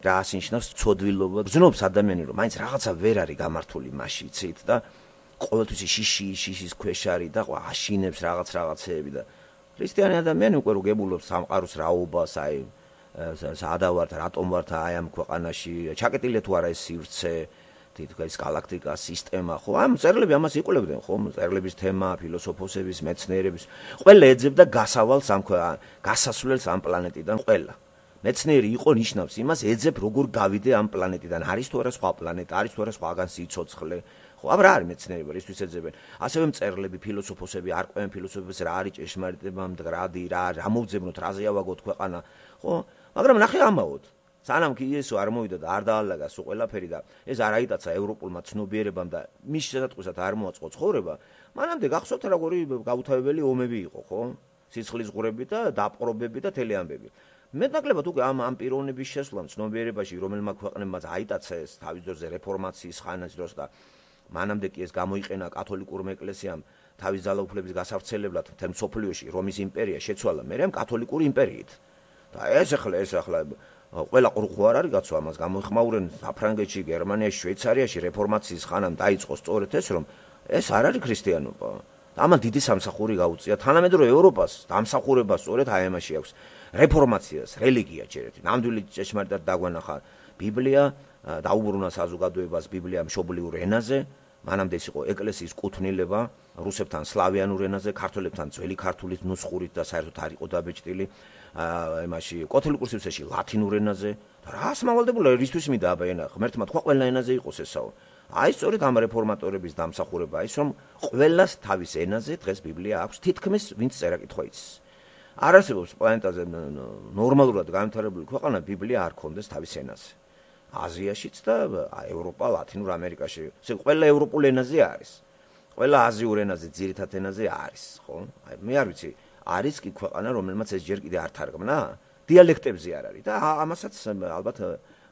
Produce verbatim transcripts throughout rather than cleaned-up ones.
რა ასინიშნავს ცოდვილობა. გრძნობს ადამიანი, რომ მაინც რაღაცა ვერ არის გამართული მასში, იცით და ყოველთვის შიში, შიშის ქვეშ არის და აშინებს რაღაც რაღაცეები და ქრისტიანი ადამიანი უკვე როგებულობს სამყაროს რაობას, აი სადა ვართ, რატომ ვართ აი ამ ქვეყანაში, ჩაკეტილია თუ არა ეს სივრცე, თითქოს galaktika სისტემა, ხო? ამ წერილები ამას იკვლევდნენ, ხო? წერილების თემა, ფილოსოფოსების, მეცნიერების, ყველა ეძებდა გასავალს ამ გასასვლელს ამ პლანეტიდან ყველა. მეცნიერი იყო ნიშნავს იმას, ეძებ როგორ გავიდე ამ პლანეტიდან, არის თუ არა სხვა პლანეტა, არის თუ არა სხვაგან სიცოცხლე. ხო, აბა რა არის მეცნიერება, რისთვის ეძებენ? ასევე მწერლები, ფილოსოფოსები, არკვევენ ფილოსოფოსებს რა არის ჭეშმარიტება, მდგრადი, რა რა მოვძებნოთ, რაზე ავაგოთ ქვეყანა, ხო? მაგრამ ნახე ამაოდ. სანამ კი იესო არ მოვიდა და არ დაალაგა სულ ყველაფერი და ეს არ აიტაცა ევროპულმა ცნობიერებამ და მის შესატყვისად არ მოაწყო ცხოვრება, მანამდე გახსოვთ როგორი გაუთავებელი ომები იყო, ხო? სიცხლის ღურები და დაპყრობები და თელი ამბები. მეტნაკლებად უკვე ამ ამ პიროვნების შესვლამ ცნობიერებაში რომელმა ქვეყნებმაც აიტაცა ეს თავის დროზე რეფორმაციის ხანის დროს და მანამდე კი ეს გამოიყენა კათოლიკურმა ეკლესიამ თავის ძალაუფლების გასავრცელებლად მთელ მსოფლიოში რომის იმპერია შეცვალა მერე კათოლიკური იმპერიით. და ეს ახლა ეს ახლა ყველა ყრუხო არ არის გაცო ამას გამოიხმაურენ საფრანგეთში, გერმანიაში, შვეიცარიაში რეფორმაციის ხანამ დაიწყო სწორედ ეს რომ ეს არ არის ქრისტიანობა. ამან დიდი სამსახური გაუწია თანამედროვე ევროპას, დამსახურება სწორედ აი ამაში აქვს. რეფორმაციას, რელიგია ჯერეთ. ნამდვილი ჭეშმარიტად დაგვანახა ბიბლია, დაუბრუნა საზოგადოებას ბიბლია მშობლიურ ენაზე, მანამდე ის იყო ეკლესიის კუთვნილება, რუსებთან სლავიანურ ენაზე, ქართველებთან ძველი ქართულით, ნუსხურით და საერთოდ არ იყო დაბეჭდილი. იმაში კათოლიკურ სივრცეში ლათინურ ენაზე და რას მავალდებულა რისთვის მინდა აბა ენა ღმერთმა თქვა ყველა ენაზე იყოს ესაო. აი სწორედ ამ რეფორმატორების დამსახურება ის რომ ყველას თავის ენაზე დღეს ბიბლია აქვს თითქმის ვინც წერა კითხვა იცის. არ არსებობს პლანეტაზე ნორმალურად განვითარებული ქვეყანა ბიბლია არ ქონდეს თავის ენაზე. აზიაშიც და ევროპა, ლათინურ ამერიკაში. ესე ყველა ევროპულ ენაზე არის. ყველა აზიურ ენაზე, ძირითად ენაზე არის, ხო? აი მე არ ვიცი არის კი ქვეყანა რომელმაც ეს ჯერ კიდე არ თარგმნა? დიალექტებზე არ არის და ამასაც ალბათ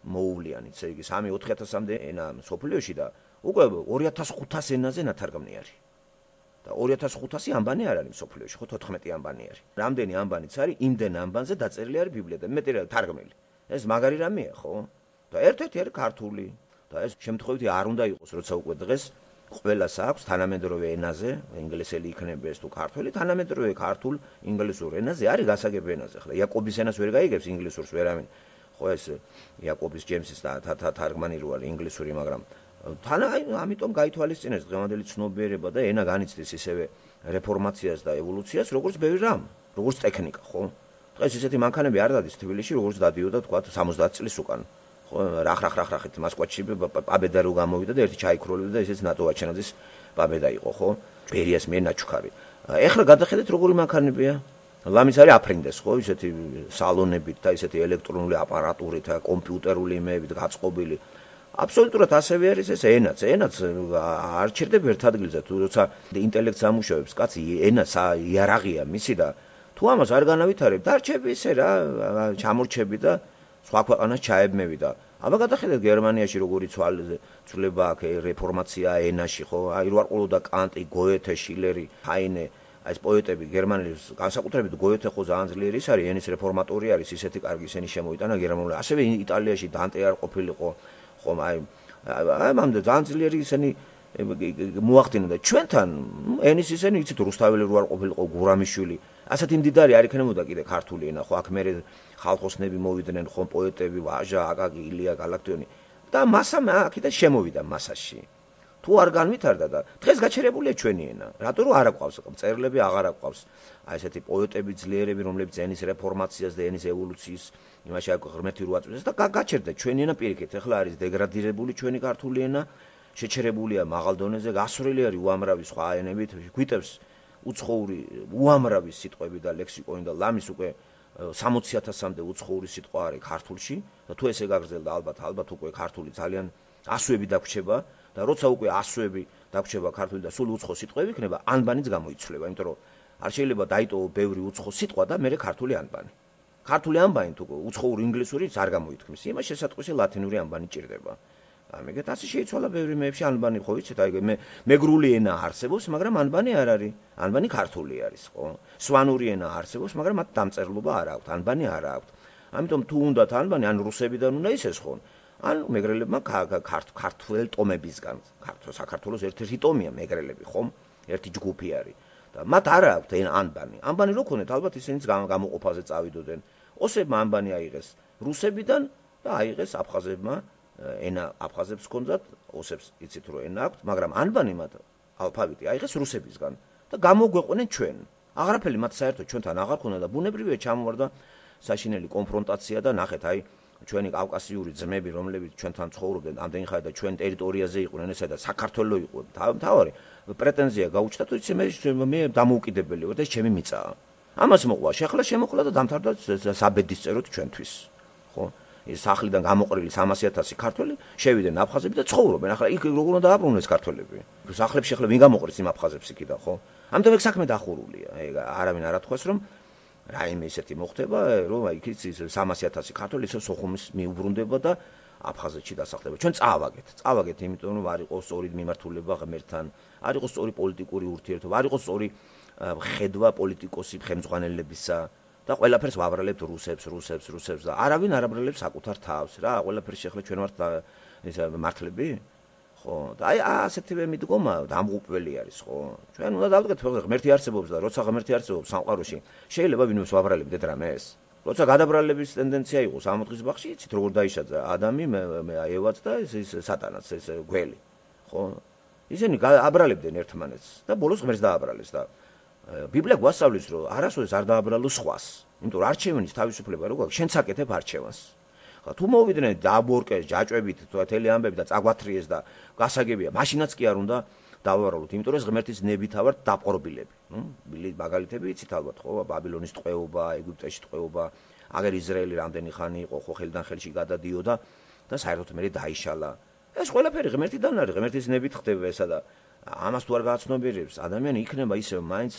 მოუვლიან, იცი იგი სამი ოთხი ათასამდე ენა სოფლიოში და უკვე ორი ათას ხუთას ენაზე ნათარგმნი არის. და ორი ათას ხუთასი ანბანი არ არის სოფლიოში, ხო თოთხმეტი ანბანი არის. რამდენი ანბანიც არის, იმდენ ანბანზე დაწერილი არის ბიბლია და მეტი თარგმნილი. ეს მაგარი რამეა, ხო? და ერთ-ერთი არის ქართული და ეს შემთხვევითი არ უნდა იყოს, როცა უკვე დღეს ყველას აქვს თანამედროვე ენაზე, ინგლისელი იქნება ეს თუ ქართველი, თანამედროვე ქართულ ინგლისურ ენაზე არის გასაგებ ენაზე. ახლა იაკობის ენას ვერ გაიგებს ინგლისურს ვერავინ. ხო ეს იაკობის ჯემსის და თარგმანი რო არის ინგლისური, მაგრამ თან აი ამიტომ გაითვალისწინეს დღევანდელი ცნობიერება და ენა განიცდის ისევე რეფორმაციას და ევოლუციას, როგორც ბევრი რამ, როგორც ტექნიკა, ხო? დღეს ისეთი მანქანები არ დადის თბილისში, როგორც დადიოდა თქვა სამოცდაათი წლის უკან. რახ რახ რახ რახით მოსკოვში პაბედა რო გამოვიდა და ერთი ჩაიქროლიდა და ესეც ნატო აჩენაძის პაბედა იყო, ხო? ბერიას მე ნაჩუქარი. ეხლა გადახედეთ როგორი მანქანებია. ლამის არის აფრინდეს, ხო? ისეთი სალონებით და ისეთი ელექტრონული აპარატურით, კომპიუტერული იმებით გაწყობილი. აბსოლუტურად ასევე არის ეს ენაც, ენაც არ ჩერდება ერთ ადგილზე, თუ როცა ინტელექტს ამუშავებს კაცი, ენა იარაღია მისი და თუ ამას არ განავითარებ, დარჩები ისე რა, ჩამორჩები და სხვა ქვეყანას ჩაებმევი და აბა გადახედეთ გერმანიაში როგორი ცვლილება აქ რეფორმაცია ენაში, ხო? აი რო არ ყოლოდა კანტი, გოეთე, შილერი, ჰაინე, აი ეს პოეტები გერმანელის განსაკუთრებით გოეთე ხო ძალიან ძლიერი ის არის, ენის რეფორმატორი არის, ისეთი კარგი ისინი შემოიტანა გერმანული. ასევე იტალიაში დანტე არ ყოფილიყო, ხო? აი ამამდე ძალიან ძლიერი ისინი მოახდინა და ჩვენთან ენის ისინი იცით რუსთაველი რო არ ყოფილიყო, გურამიშვილი. ასეთი მდიდარი არ იქნებოდა კიდე ქართული ენა, ხო? აქ მე ხალხოსნები მოვიდნენ, ხო, პოეტები, ვაჟა, აკაკი, ილია გალაქტიონი და მასა აქედან შემოვიდა მასაში. თუ არ განვითარდა და დღეს გაჩერებულია ჩვენი ენა. რატო რომ არ აყვავს, წერილები აღარ აყვავს. აი ესეთი პოეტები, ძლიერები, რომლებიც ენის რეფორმაციას და ენის ევოლუციის იმაში აქ ღრმეთი რო აწვეს და გაჩერდა ჩვენი ენა პირიქით. ეხლა არის დეგრადირებული ჩვენი ქართული ენა, შეჩერებულია მაღალ დონეზე, გასვრელი არის უამრავი სხვა ენებით, გვიტევს უცხოური უამრავი სიტყვები და ლექსიკონი და ლამის უკვე სამოცი ათასამდე უცხოური სიტყვა არის ქართულში და თუ ესე გაგრძელდა ალბათ ალბათ უკვე ქართული ძალიან ასოები დაგვრჩება და როცა უკვე ასოები დაგვრჩება ქართული და სულ უცხო სიტყვები იქნება, ანბანიც გამოიცვლება, იმიტომ რომ არ შეიძლება დაიტოვო ბევრი უცხო სიტყვა და მერე ქართული ანბანი. ქართული ანბანი თუ უცხოური ინგლისურიც არ გამოითქმის, იმას შესატყვისი ლათინური ანბანი ჭირდება. ამეგეთ ასე შეიცვალა ბევრი მეებში ანბანი, ხო ვიცით, აი მე მეგრული ენა არსებობს, მაგრამ ანბანი არ არის. ანბანი ქართული არის, ხო? სვანური ენა არსებობს, მაგრამ მათ დამწერლობა არ აქვს, ანბანი არ აქვს. ამიტომ თუ უნდათ ანბანი ან რუსებიდან უნდა ისეს ხო ან მეგრელებმა ქართულ ტომებისგან ქართულ საქართველოს ერთ-ერთი ტომია მეგრელები ხომ ერთი ჯგუფი არის და მათ არ აქვთ ანბანი ანბანი რო ქონეთ ალბათ ისინიც გამოყოფაზე წავიდოდნენ ოსებმა ანბანი აიღეს რუსებიდან და აიღეს აფხაზებმა ენა აფხაზებს ჰქონდათ ოსებს იცით რომ ენა აქვთ მაგრამ ანბანი მათ ალფავიტი აიღეს რუსებისგან და გამოგვეყვნენ ჩვენ აღარაფერი მათ საერთოდ ჩვენთან აღარ ქონდა და ბუნებრივია ჩამოვარდა საშინელი კონფრონტაცია და ნახეთ აი ჩვენი კავკასიური ძმები რომლებიც ჩვენთან ცხოვრობდნენ ამდენი ხანი და ჩვენ ტერიტორიაზე იყვნენ ესა და საქართველოს იყო თავარი პრეტენზია გაუჩნდა თუ იცი მე მე დამოუკიდებელი ვარ და ეს ჩემი მიწაა ამას მოყვა შეხლა შემოხლა და დამთავრდა საბედის წეროთ ჩვენთვის ხო ეს სახლიდან გამოყრილი სამასი ათასი ქართველი შევიდნენ აფხაზები და ცხოვრობენ ახლა იქ როგორ უნდა დააბრუნდეს ქართველები სახლებში ახლა ვინ გამოყრის იმ აფხაზებს იქიდან ხო ამიტომ ეგ საქმე დახურულია ეგ არავინ არ ათქვას რომ რაიმე ისეთი მოხდება რომ იქ ის სამასი ათასი ქართველი ისე სოხუმის მიუბრუნდება და აფხაზეთში დასახლდება ჩვენ წავაგეთ წავაგეთ იმიტომ რომ არ იყოს სწორი მიმართულება ღმერთთან არ იყოს სწორი პოლიტიკური ურთიერთობა არ იყოს სწორი ხედვა პოლიტიკოსი ხელმძღვანელებისა და ყველაფერს ვაბრალებთ რუსებს რუსებს რუსებს და არავინ არ აბრალებს საკუთარ თავს რა ყველაფერს შეხლა ჩვენ ვართ ეს მართლები ხო და აი ასეთივე მიდგომა დამღუპველი არის ხო ჩვენ უნდა დავდგეთ ღმერთი არსებობს და როცა ღმერთი არსებობს სამყაროში შეიძლება ვინმეს ვაბრალებდეთ რამეს როცა გადაბრალების ტენდენცია იყო სამოთხის ბაღში იცით როგორ დაიშაძა ადამი მე აევაც და ეს სატანაც ეს გველი ხო ისინი აბრალებდნენ ერთმანეთს და ბოლოს ღმერთს დააბრალეს და ბიბლია გვასწავლის რომ არასოდეს არ დააბრალო სხვას იმიტომ რომ არჩევნის თავისუფლება როგორ აქვს შენც აკეთებ არჩევანს თუ მოვიდნენ დააბორკეს ჯაჭვებით თელი ამბები და წაგვათრიეს და გასაგებია მაშინაც კი არ უნდა დავაბრალოთ იმიტომ რომ ეს ღმერთის ნებითა ვართ დაპყრობილები ნუ მაგალითები იცით ალბათ ხო ბაბილონის ტყვეობა ეგვიპტეში ტყვეობა აგერ ისრაელი რამდენი ხანი იყო ხო ხელიდან ხელში გადადიოდა და საერთოდ მე დაიშალა ეს ყველაფერი ღმერთიდან არის ღმერთის ნებით ხდება ესა და ამას თუ არ გააცნობიერებს ადამიანი იქნება ისევ მაინც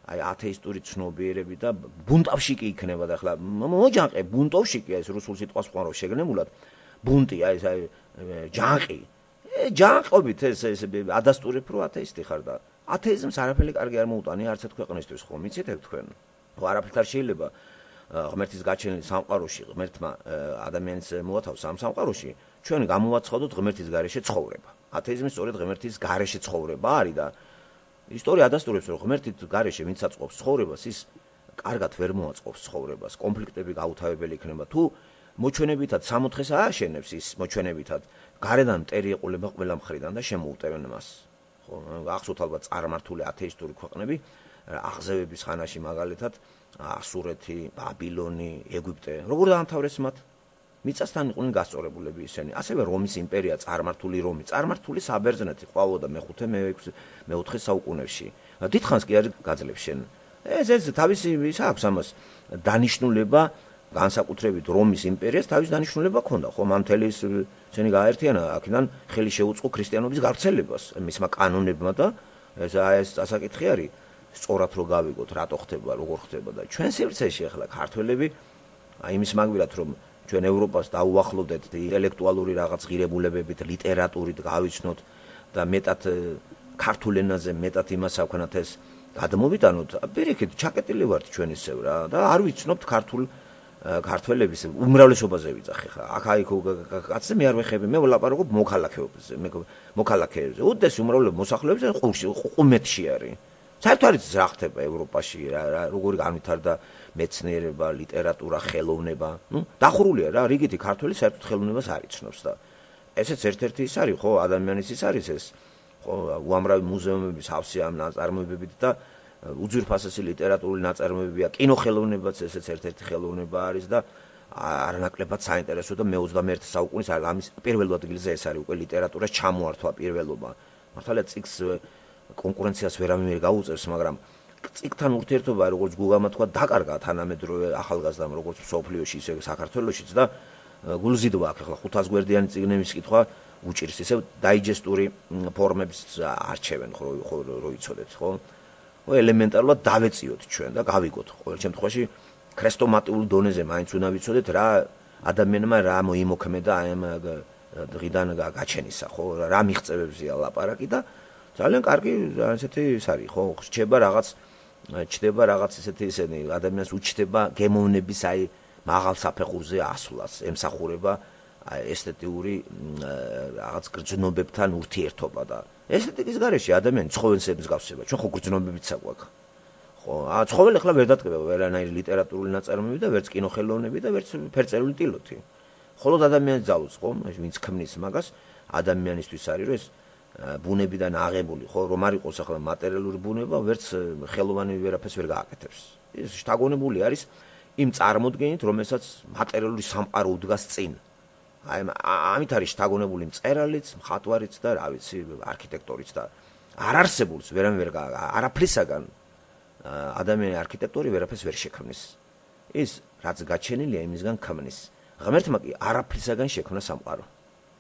აი ათეისტური ცნობიერები და ბუნტავში კი იქნება და ახლა მოჯანყე ბუნტოვში კი ეს რუსულ სიტყვას ხوارო შეგნებულად ბუნტი აი ეს აი ჯანყი ჯანყობით ეს ეს ადასტურებ რომ ათეისტი ხარ და ათეიზმს არაფერი კარგი არ მოუტანია არც ერთ ქვეყნისთვის ხო მიცით ეგ თქვენ ხო არაფერი არ შეიძლება ღმერთის გაჩენილი სამყაროში ღმერთმა ადამიანს მოათავსა ამ სამყაროში ჩვენ გამოვაცხადოთ ღმერთის გარეშე ცხოვრება ათეიზმი სწორედ ღმერთის გარეშე ცხოვრება არის და ისტორია ადასტურებს რომ ღმერთით გარეშე ვინც აწყობს ცხოვრებას ის კარგად ვერ მოაწყობს ცხოვრებას კონფლიქტები გაუთავებელი იქნება თუ მოჩვენებითად სამოთხეს ააშენებს ის მოჩვენებითად გარედან მტერი ეყოლება ყველა მხრიდან და შემოუტევენ მას ხო ახსოვთ ალბათ წარმართული ათეისტური ქვეყნები აღზევების ხანაში მაგალითად ასურეთი ბაბილონი ეგვიპტე როგორ დაამთავრეს მათ მიწასთან იყვნენ გასწორებულები ისინი ასევე რომის იმპერია წარმართული რომი წარმართული საბერძნეთი ყვაოდა მეხუთე მეოთხე საუკუნეში დიდხანს კი არ გაძლებს შენ ეს ეს თავისი ის აქვს ამას დანიშნულება განსაკუთრებით რომის იმპერიას თავის დანიშნულება ჰქონდა ხო მამთელი ისინი გააერთიანა აქედან ხელი შეუწყო ქრისტიანობის გავრცელებას მისმა კანონებმა და ეს ეს ასაკითხი არის სწორად რო გავიგოთ რატო ხდება როგორ ხდება და ჩვენ სივრცეში ახლა ქართველები აი იმის მაგვილად რომ ჩვენ ევროპას დაუახლოვდეთ ინტელექტუალური რაღაც ღირებულებებით ლიტერატურით გავიცნოთ და მეტად ქართულ ენაზე მეტად იმას ავქანათ ეს გადმოვიტანოთ პირიქით ჩაკეტილი ვართ ჩვენ ისევ რა და არ ვიცნობთ ქართულ ქართველების უმრავლესობაზე ვიძახე ხა აქ აი კაცზე მე არ ვეხები მე ვლაპარაკობ მოქალაქეებზე მე მოქალაქეებზე უდესი უმრავლესობა მოსახლეობებზე ყუმეთში არის საერთოდ არის რა ხდება ევროპაში რა როგორი განვითარდა მეცნიერება ლიტერატურა ხელოვნება ნუ დახურულია რა რიგითი ქართველი საერთოდ ხელოვნებას არ იცნობს და ესეც ერთ-ერთი ის არის ხო ადამიანის ის არის ეს ხო უამრავი მუზეუმები სავსე ამ ნაწარმოებებით და უძვირფასესი ლიტერატურული ნაწარმოებია კინოხელოვნებაც ესეც ერთ-ერთი ხელოვნება არის და არანაკლებად საინტერესო და მე-ოცდამეერთე საუკუნის ამის პირველ ადგილზე ეს არის უკვე ლიტერატურას ჩამოართვა პირველობა მართალია წიგს კონკურენციას ვერავინ გაუწევს მაგრამ წიგთან ურთიერთობა როგორც გუგამა თქვა დაკარგა თანამედროვე ახალგაზრდამ როგორც სოფლიოში ისე საქართველოშიც და გულზიდვა აქვს ახლა ხუთას გვერდიანი წიგნების კითხვა უჭირს ისე დაიჯესტური ფორმებს არჩევენ ხო რო იცოდეთ ხო ო ელემენტარულად დავეციოთ ჩვენ და გავიგოთ ყოველ შემთხვევაში ქრესტომატიულ დონეზე მაინც უნდა ვიცოდეთ რა ადამიანმა რა მოიმოქმედა აი ამ დღიდან გაჩენისა ხო რა მიღწევებზია ლაპარაკი და ძალიან კარგი ესეთი ის არის ხო რჩება რაღაც ჩდება რაღაც ესეთი ისენი ადამიანს უჩდება გემოვნების აი მაღალ საფეხურზე ასვლას, ემსახურება ესთეტიური რაღაც გრძნობებთან ურთიერთობა და ესთეტიკის გარეშე ადამიანი ცხოველს მსგავსება. ჩვენ ხო გრძნობებიც აგვაქვს. ხო, ა ცხოველი ახლა ვერ დადგება ვერანაირი ლიტერატურული ნაწარმოები და ვერც კინოხელოვნები და ვერც ფერწერული ტილოთი. ხოლო ადამიანის ძალუც ხო, ვინც ქმნის მაგას, ადამიანისთვის არის რომ ეს ბუნებიდან აღებული, ხო, რომ არ იყოს ახლა მატერიალური ბუნება, ვერც ხელოვანი ვერაფერს ვერ გააკეთებს. ეს შთაგონებული არის იმ წარმოდგენით, რომელსაც მატერიალური სამყარო უდგას წინ. აი ამით არის შთაგონებული მწერალიც, მხატვარიც და რა ვიცი, არქიტექტორიც და არ არსებულს ვერამ ვერ არაფრისაგან ადამიანი არქიტექტორი ვერაფერს ვერ შექმნის. ის რაც გაჩენილია იმისგან ქმნის. ღმერთმა კი არაფრისაგან შექმნა სამყარო.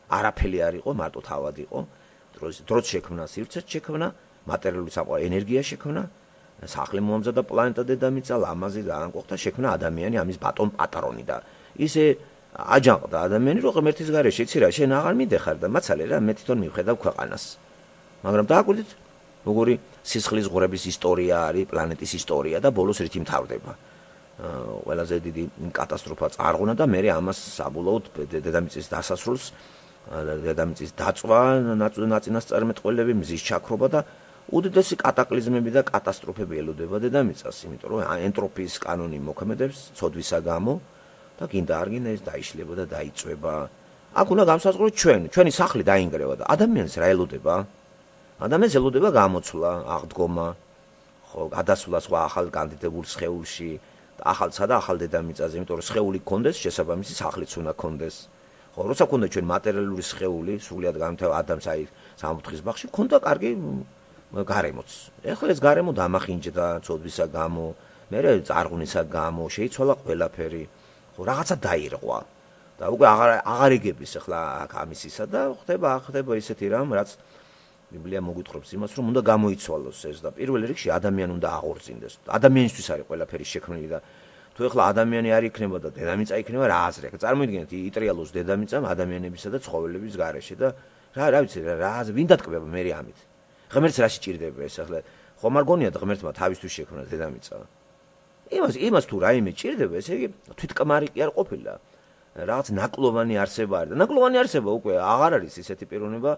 არაფერი არ იყო, მარტო თავად იყო. დროც დროც შექმნა, სივრცეც შექმნა, მატერიალური სამყარო, ენერგია შექმნა, სახლი მოამზადა, პლანეტა დედამიწა, ლამაზი და ანკოხთა შექმნა ადამიანი, ამის ბატონ პატრონი და ისე აჯანყდა ადამიანი, რომ ღმერთის გარეშე იცი რა, შენ აღარ მიდეხარ და მაცალე რა, მე თვითონ მივხედავ ქვეყანას. მაგრამ დააკვირდით, როგორი სისხლის ღვრების ისტორია არის, პლანეტის ისტორია და ბოლოს რითი მთავრდება. ყველაზე დიდი კატასტროფა წარღვნა და მე ამას საბოლოოდ დედამიწის დასასრულს, დედამიწის დაწვა, ნაწინასწარმეტყველები, მზის ჩაქრობა და უდიდესი კატაკლიზმები და კატასტროფები ელოდება დედამიწას, იმიტომ რომ ენტროპიის კანონი მოქმედებს ცოდვისა გამო და გინდა არ გინდა ეს დაიშლება და დაიწვება. აქ უნდა განსაზღვროთ ჩვენ, ჩვენი სახლი დაინგრევა და ადამიანს რა ელოდება? ადამიანს ელოდება გამოცვლა, აღდგომა, ხო, გადასვლა სხვა ახალ კანდიდებულ სხეულში, ახალსა და ახალ დედამიწაზე, იმიტომ რომ სხეული გქონდეს, შესაბამისი სახლიც უნდა გქონდეს. ხო, როცა გქონდა ჩვენ მატერიალური სხეული, სრულიად განვითარებულ ადამიანს აი სამოთხის ბაღში გქონდა კარგი გარემოც. ეხლა ეს გარემო დამახინჯდა ცოდვისა გამო, მერე წარღვნისა გამო, შეიცვალა ყველაფერი. ხო, რაღაცა დაირღვა. და უკვე აღარ აღარ იგების ახლა აქ ამისისა და ხდება ხდება ისეთი რამ, რაც ბიბლია მოგვითხრობს იმას, რომ უნდა გამოიცვალოს ეს და პირველ რიგში ადამიანი უნდა აღორძინდეს. ადამიანისთვის არის ყველაფერი შექმნილი და თუ ეხლა ადამიანი არ იქნება და დედამიწა იქნება, რა აზრი აქვს? წარმოიდგინეთ, იტრიალოს დედამიწამ ადამიანებისა და ცხოველების გარეშე და რა რა ვიცი რა რა ვინ დატკბება მე ამით? ღმერთს რა სჭირდება ეს ახლა? ხომ არ გონიათ ღმერთმა თავისთვის შექმნა დედამიწა? იმას იმას თუ რაიმე ჭირდება, ესე იგი თვითკმარი კი არ ყოფილა. რაღაც ნაკლოვანი არსება არის და ნაკლოვანი არსება უკვე აღარ არის ისეთი პიროვნება,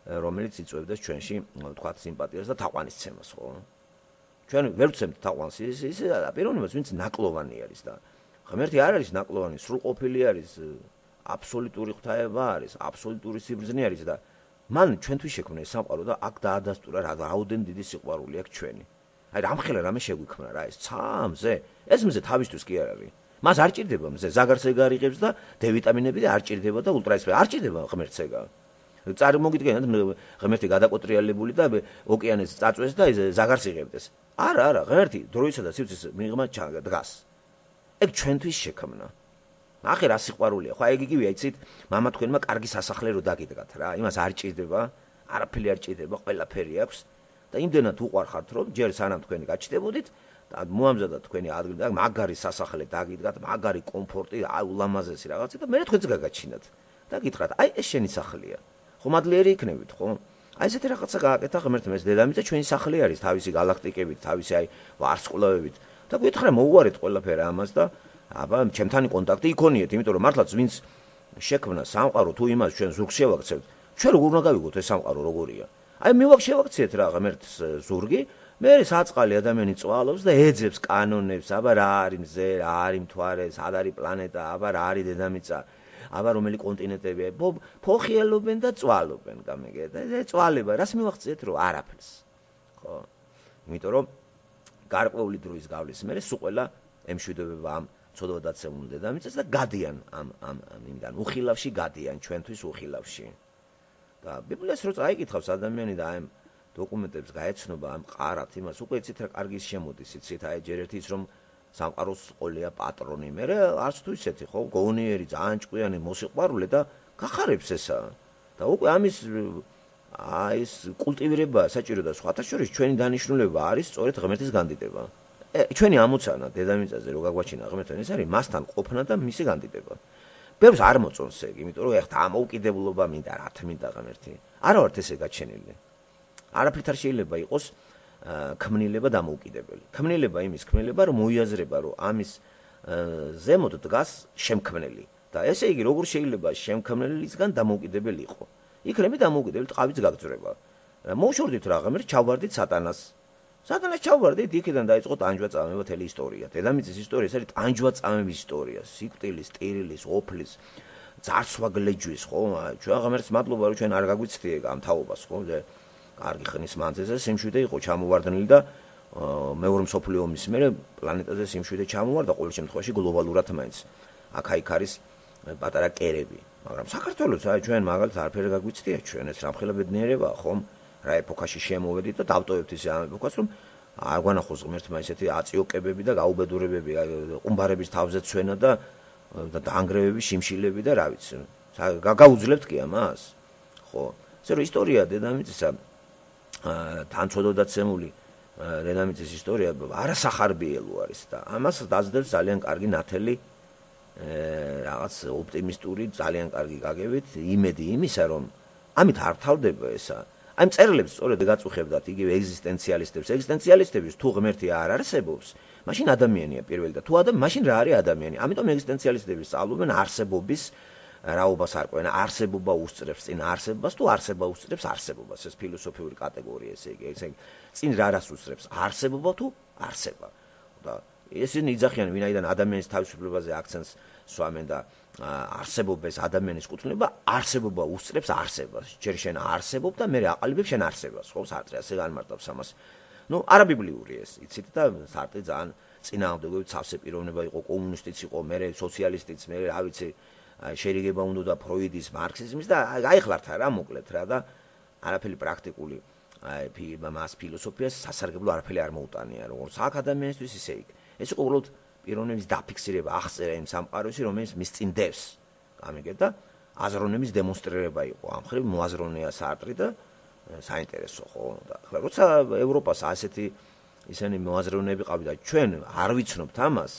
რომელიც იწვევდეს ჩვენში, თქვათ, სიმპათიას და თაყვანისცემას, ხო? ჩვენ ვერ ვცემთ თაყვანს ის ის პიროვნებას, ვინც ნაკლოვანი არის და ღმერთი არ არის ნაკლოვანი, სრულყოფილი არის, აბსოლუტური ღვთაება არის, აბსოლუტური სიბრძნე არის და მან ჩვენთვის შექმნა ეს სამყარო და აქ დაადასტურა რა რაოდენ დიდი სიყვარული აქვს ჩვენი. აი რამხელა რამე შეგვიქმნა რა ეს ცა მზე, ეს მზე თავისთვის კი არ არის. მას არ ჭირდება მზე, ზაგარსეგა არიღებს და დე ვიტამინები და არ ჭირდება და ულტრაესფერი, არ ჭირდება ღმერთსეგა. წარმოგიდგენთ ღმერთი გადაკოტრიალებული და ოკეანეს წაწვეს და ზაგარს იღებდეს. არა, არა, ღმერთი დროისა და სივრცის მიღმა დგას. ეგ ჩვენთვის შექმნა. ახე რა სიყვარულია. ხო, ეგ იგივე იცით, მამა თქვენმა კარგი სასახლე რო დაგიდგათ რა. იმას არ ჭირდება, არაფერი არ ჭირდება, ყველაფერი აქვს და იმდენად უყვარხართ, რომ ჯერ სანამ თქვენი გაჩნდებოდით და მოამზადოთ თქვენი ადგილი და მაგარი სასახლე დაგიდგათ, მაგარი კომფორტი, აი ულამაზესი რაღაცა და მე თქვენც გაგაჩინათ. და გითხრათ, აი ეს შენი სახლია. ხო, მადლიერი იქნებით, ხო? აი ესეთი რაღაცა გააკეთა ღმერთმა, ეს დედამიწა ჩვენი სახლი არის, თავისი galaktikებით, თავისი აი ვარსკვლავებით. და გითხრა მოუარეთ ყველაფერი ამას და აბა ჩემთან კონტაქტი იქონიეთ, იმიტომ რომ მართლაც ვინც შექმნა სამყარო თუ იმას ჩვენ ზურგს შევაქცევთ, ჩვენ როგორ უნდა გავიგოთ ეს სამყარო როგორია? აი მივაქ შევაქციეთ რა ღმერთს ზურგი, მე საწყალი ადამიანი წვალობს და ეძებს კანონებს, აბა რა არის მზე, რა არის მთვარე, სად არის პლანეტა, აბა რა არის დედამიწა. აბა რომელი კონტინენტებია, ფოხიელობენ და წვალობენ, გამიგეთ. ეს წვალება, რას მივახციეთ რომ არაფერს. ხო? იმიტომ რომ გარკვეული დროის გავლის მერე სულ ყველა ემშვიდობება ამ ცოდვადაცემულ დედამიწას და გადიან ამ ამ იმიდან უხილავში გადიან ჩვენთვის უხილავში. და ბიბლიას რო წაიკითხავს ადამიანი და ამ დოკუმენტებს გაეცნობა ამ ყარათ იმას, უკვე იცით რა კარგი შემოდის, იცით აი ჯერ ერთი ის რომ სამყაროს ყოლია პატრონი, მე არც თუ ისეთი ხო, გონიერი, ძალიან ჭკვიანი, მოსიყვარულე და გახარებს ესა. და უკვე ამის აი ეს კულტივირება საჭირო და სხვათა შორის ჩვენი დანიშნულება არის სწორედ ღმერთის განდიდება. ჩვენი ამოცანა დედამიწაზე რო გაგვაჩინა ღმერთთან ეს არის მასთან ყოფნა და მისი განდიდება. ბევრს არ მოწონს ეგ, იმიტომ რომ ეხლა ამოუკიდებლობა მინდა, რა თმინდა ღმერთი. არა ვართ ესე გაჩენილი. არაფრით არ შეიძლება იყოს ქმნილება დამოუკიდებელი. ქმნილება იმის ქმნილება, რომ მოიაზრება, რომ ამის ზემოთ დგას შემქმნელი და ესე იგი როგორ შეიძლება შემქმნელისგან დამოუკიდებელი იყო. იქნები დამოუკიდებელი ტყავიც გაგძვრება. მოუშვიდით რა ღმერთ ჩავვარდით სატანას. სატანას ჩავვარდით, იქიდან დაიწყო ტანჯვა წამება თელი ისტორია. დედამიწის ისტორია ეს არის ტანჯვა წამების ისტორია, სიკვდილის, ტირილის, ოფლის, ძარცვა გლეჯვის, ხო? ჩვენ ღმერთს მადლობა რომ ჩვენ არ გაგვიცდიე ამ თაობას, ხო? კარგი ხნის მანძილზე სიმშვიდე იყო ჩამოვარდნილი და მეორე მსოფლიო ომის მერე პლანეტაზე სიმშვიდე ჩამოვარდა ყოველ შემთხვევაში გლობალურად მაინც. აქა-იქ არის პატარა კერები, მაგრამ საქართველოს აი ჩვენ მაგალითად არაფერი გაგვიცდია ჩვენ ეს რამხელა ბედნიერებაა, ხომ? რა ეპოქაში შემოვედით და დავტოვებთ ისე ამ ეპოქას, რომ არ გვანახოს ღმერთმა ესეთი აწიოკებები და გაუბედურებები, ყუმბარების თავზე ცვენა და და დაანგრევები, შიმშილები და რა ვიცი. გაუძლებთ კი ამას? ხო. ესე რომ ისტორია დედამიწისა თან წოდოდაცემული დედამიწის ისტორია არასახარბიელო არის და ამას დაძდებს ძალიან კარგი ნათელი რაღაც ოპტიმისტური, ძალიან კარგი გაგებით იმედი იმისა, რომ ამით არ თავდება ესა. აი მწერლებს სწორედ გაწუხებდათ იგივე ეგზისტენციალისტებს. ეგზისტენციალისტების თუ ღმერთი არ არსებობს, მაშინ ადამიანია პირველი და თუ ადამიანი, მაშინ რა არის ადამიანი? ამიტომ ეგზისტენციალისტები სწავლობენ არსებობის რაობას არკვენ, არსებობა უსწრებს წინ არსებობას თუ არსება უსწრებს არსებობას. ეს ფილოსოფიური კატეგორია ესე იგი, ესე იგი წინ რა რას უსწრებს? არსებობა თუ არსება. და ესენი იძახიან, ვინაიდან ადამიანის თავისუფლებაზე აქცენტს სვამენ და არსებობას ადამიანის კუთვნება, არსებობა უსწრებს არსებას. ჯერ შენ არსებობ და მე აყალიბებ შენ არსებას, ხო? სარტრი ასე განმარტავს ამას. ნუ არაბიბლიური ეს, იცით და სარტრი ძალიან წინააღმდეგობით სავსე პიროვნება იყო, კომუნისტიც იყო, მე სოციალისტიც, მე რა ვიცი შერიგება უნდა და ფროიდის, მარქსიზმის და გაიხლართ რა მოკლედ რა და არაფერი პრაქტიკული აი მას ფილოსოფიას სასარგებლო არაფერი არ მოუტანია, როგორც აქ ადამიანისთვის ისე იქ. ეს იყო უბრალოდ პიროვნების დაფიქსირება, აღწერა იმ სამყაროში, რომელიც მის წინ დევს. გამიგეთ და აზროვნების დემონსტრირება იყო. ამ ხრივ მოაზროვნეა სარტრი და საინტერესო ხო და ახლა როცა ევროპას ასეთი ისინი მოაზროვნეები ყავდა, ჩვენ არ ვიცნობთ ამას.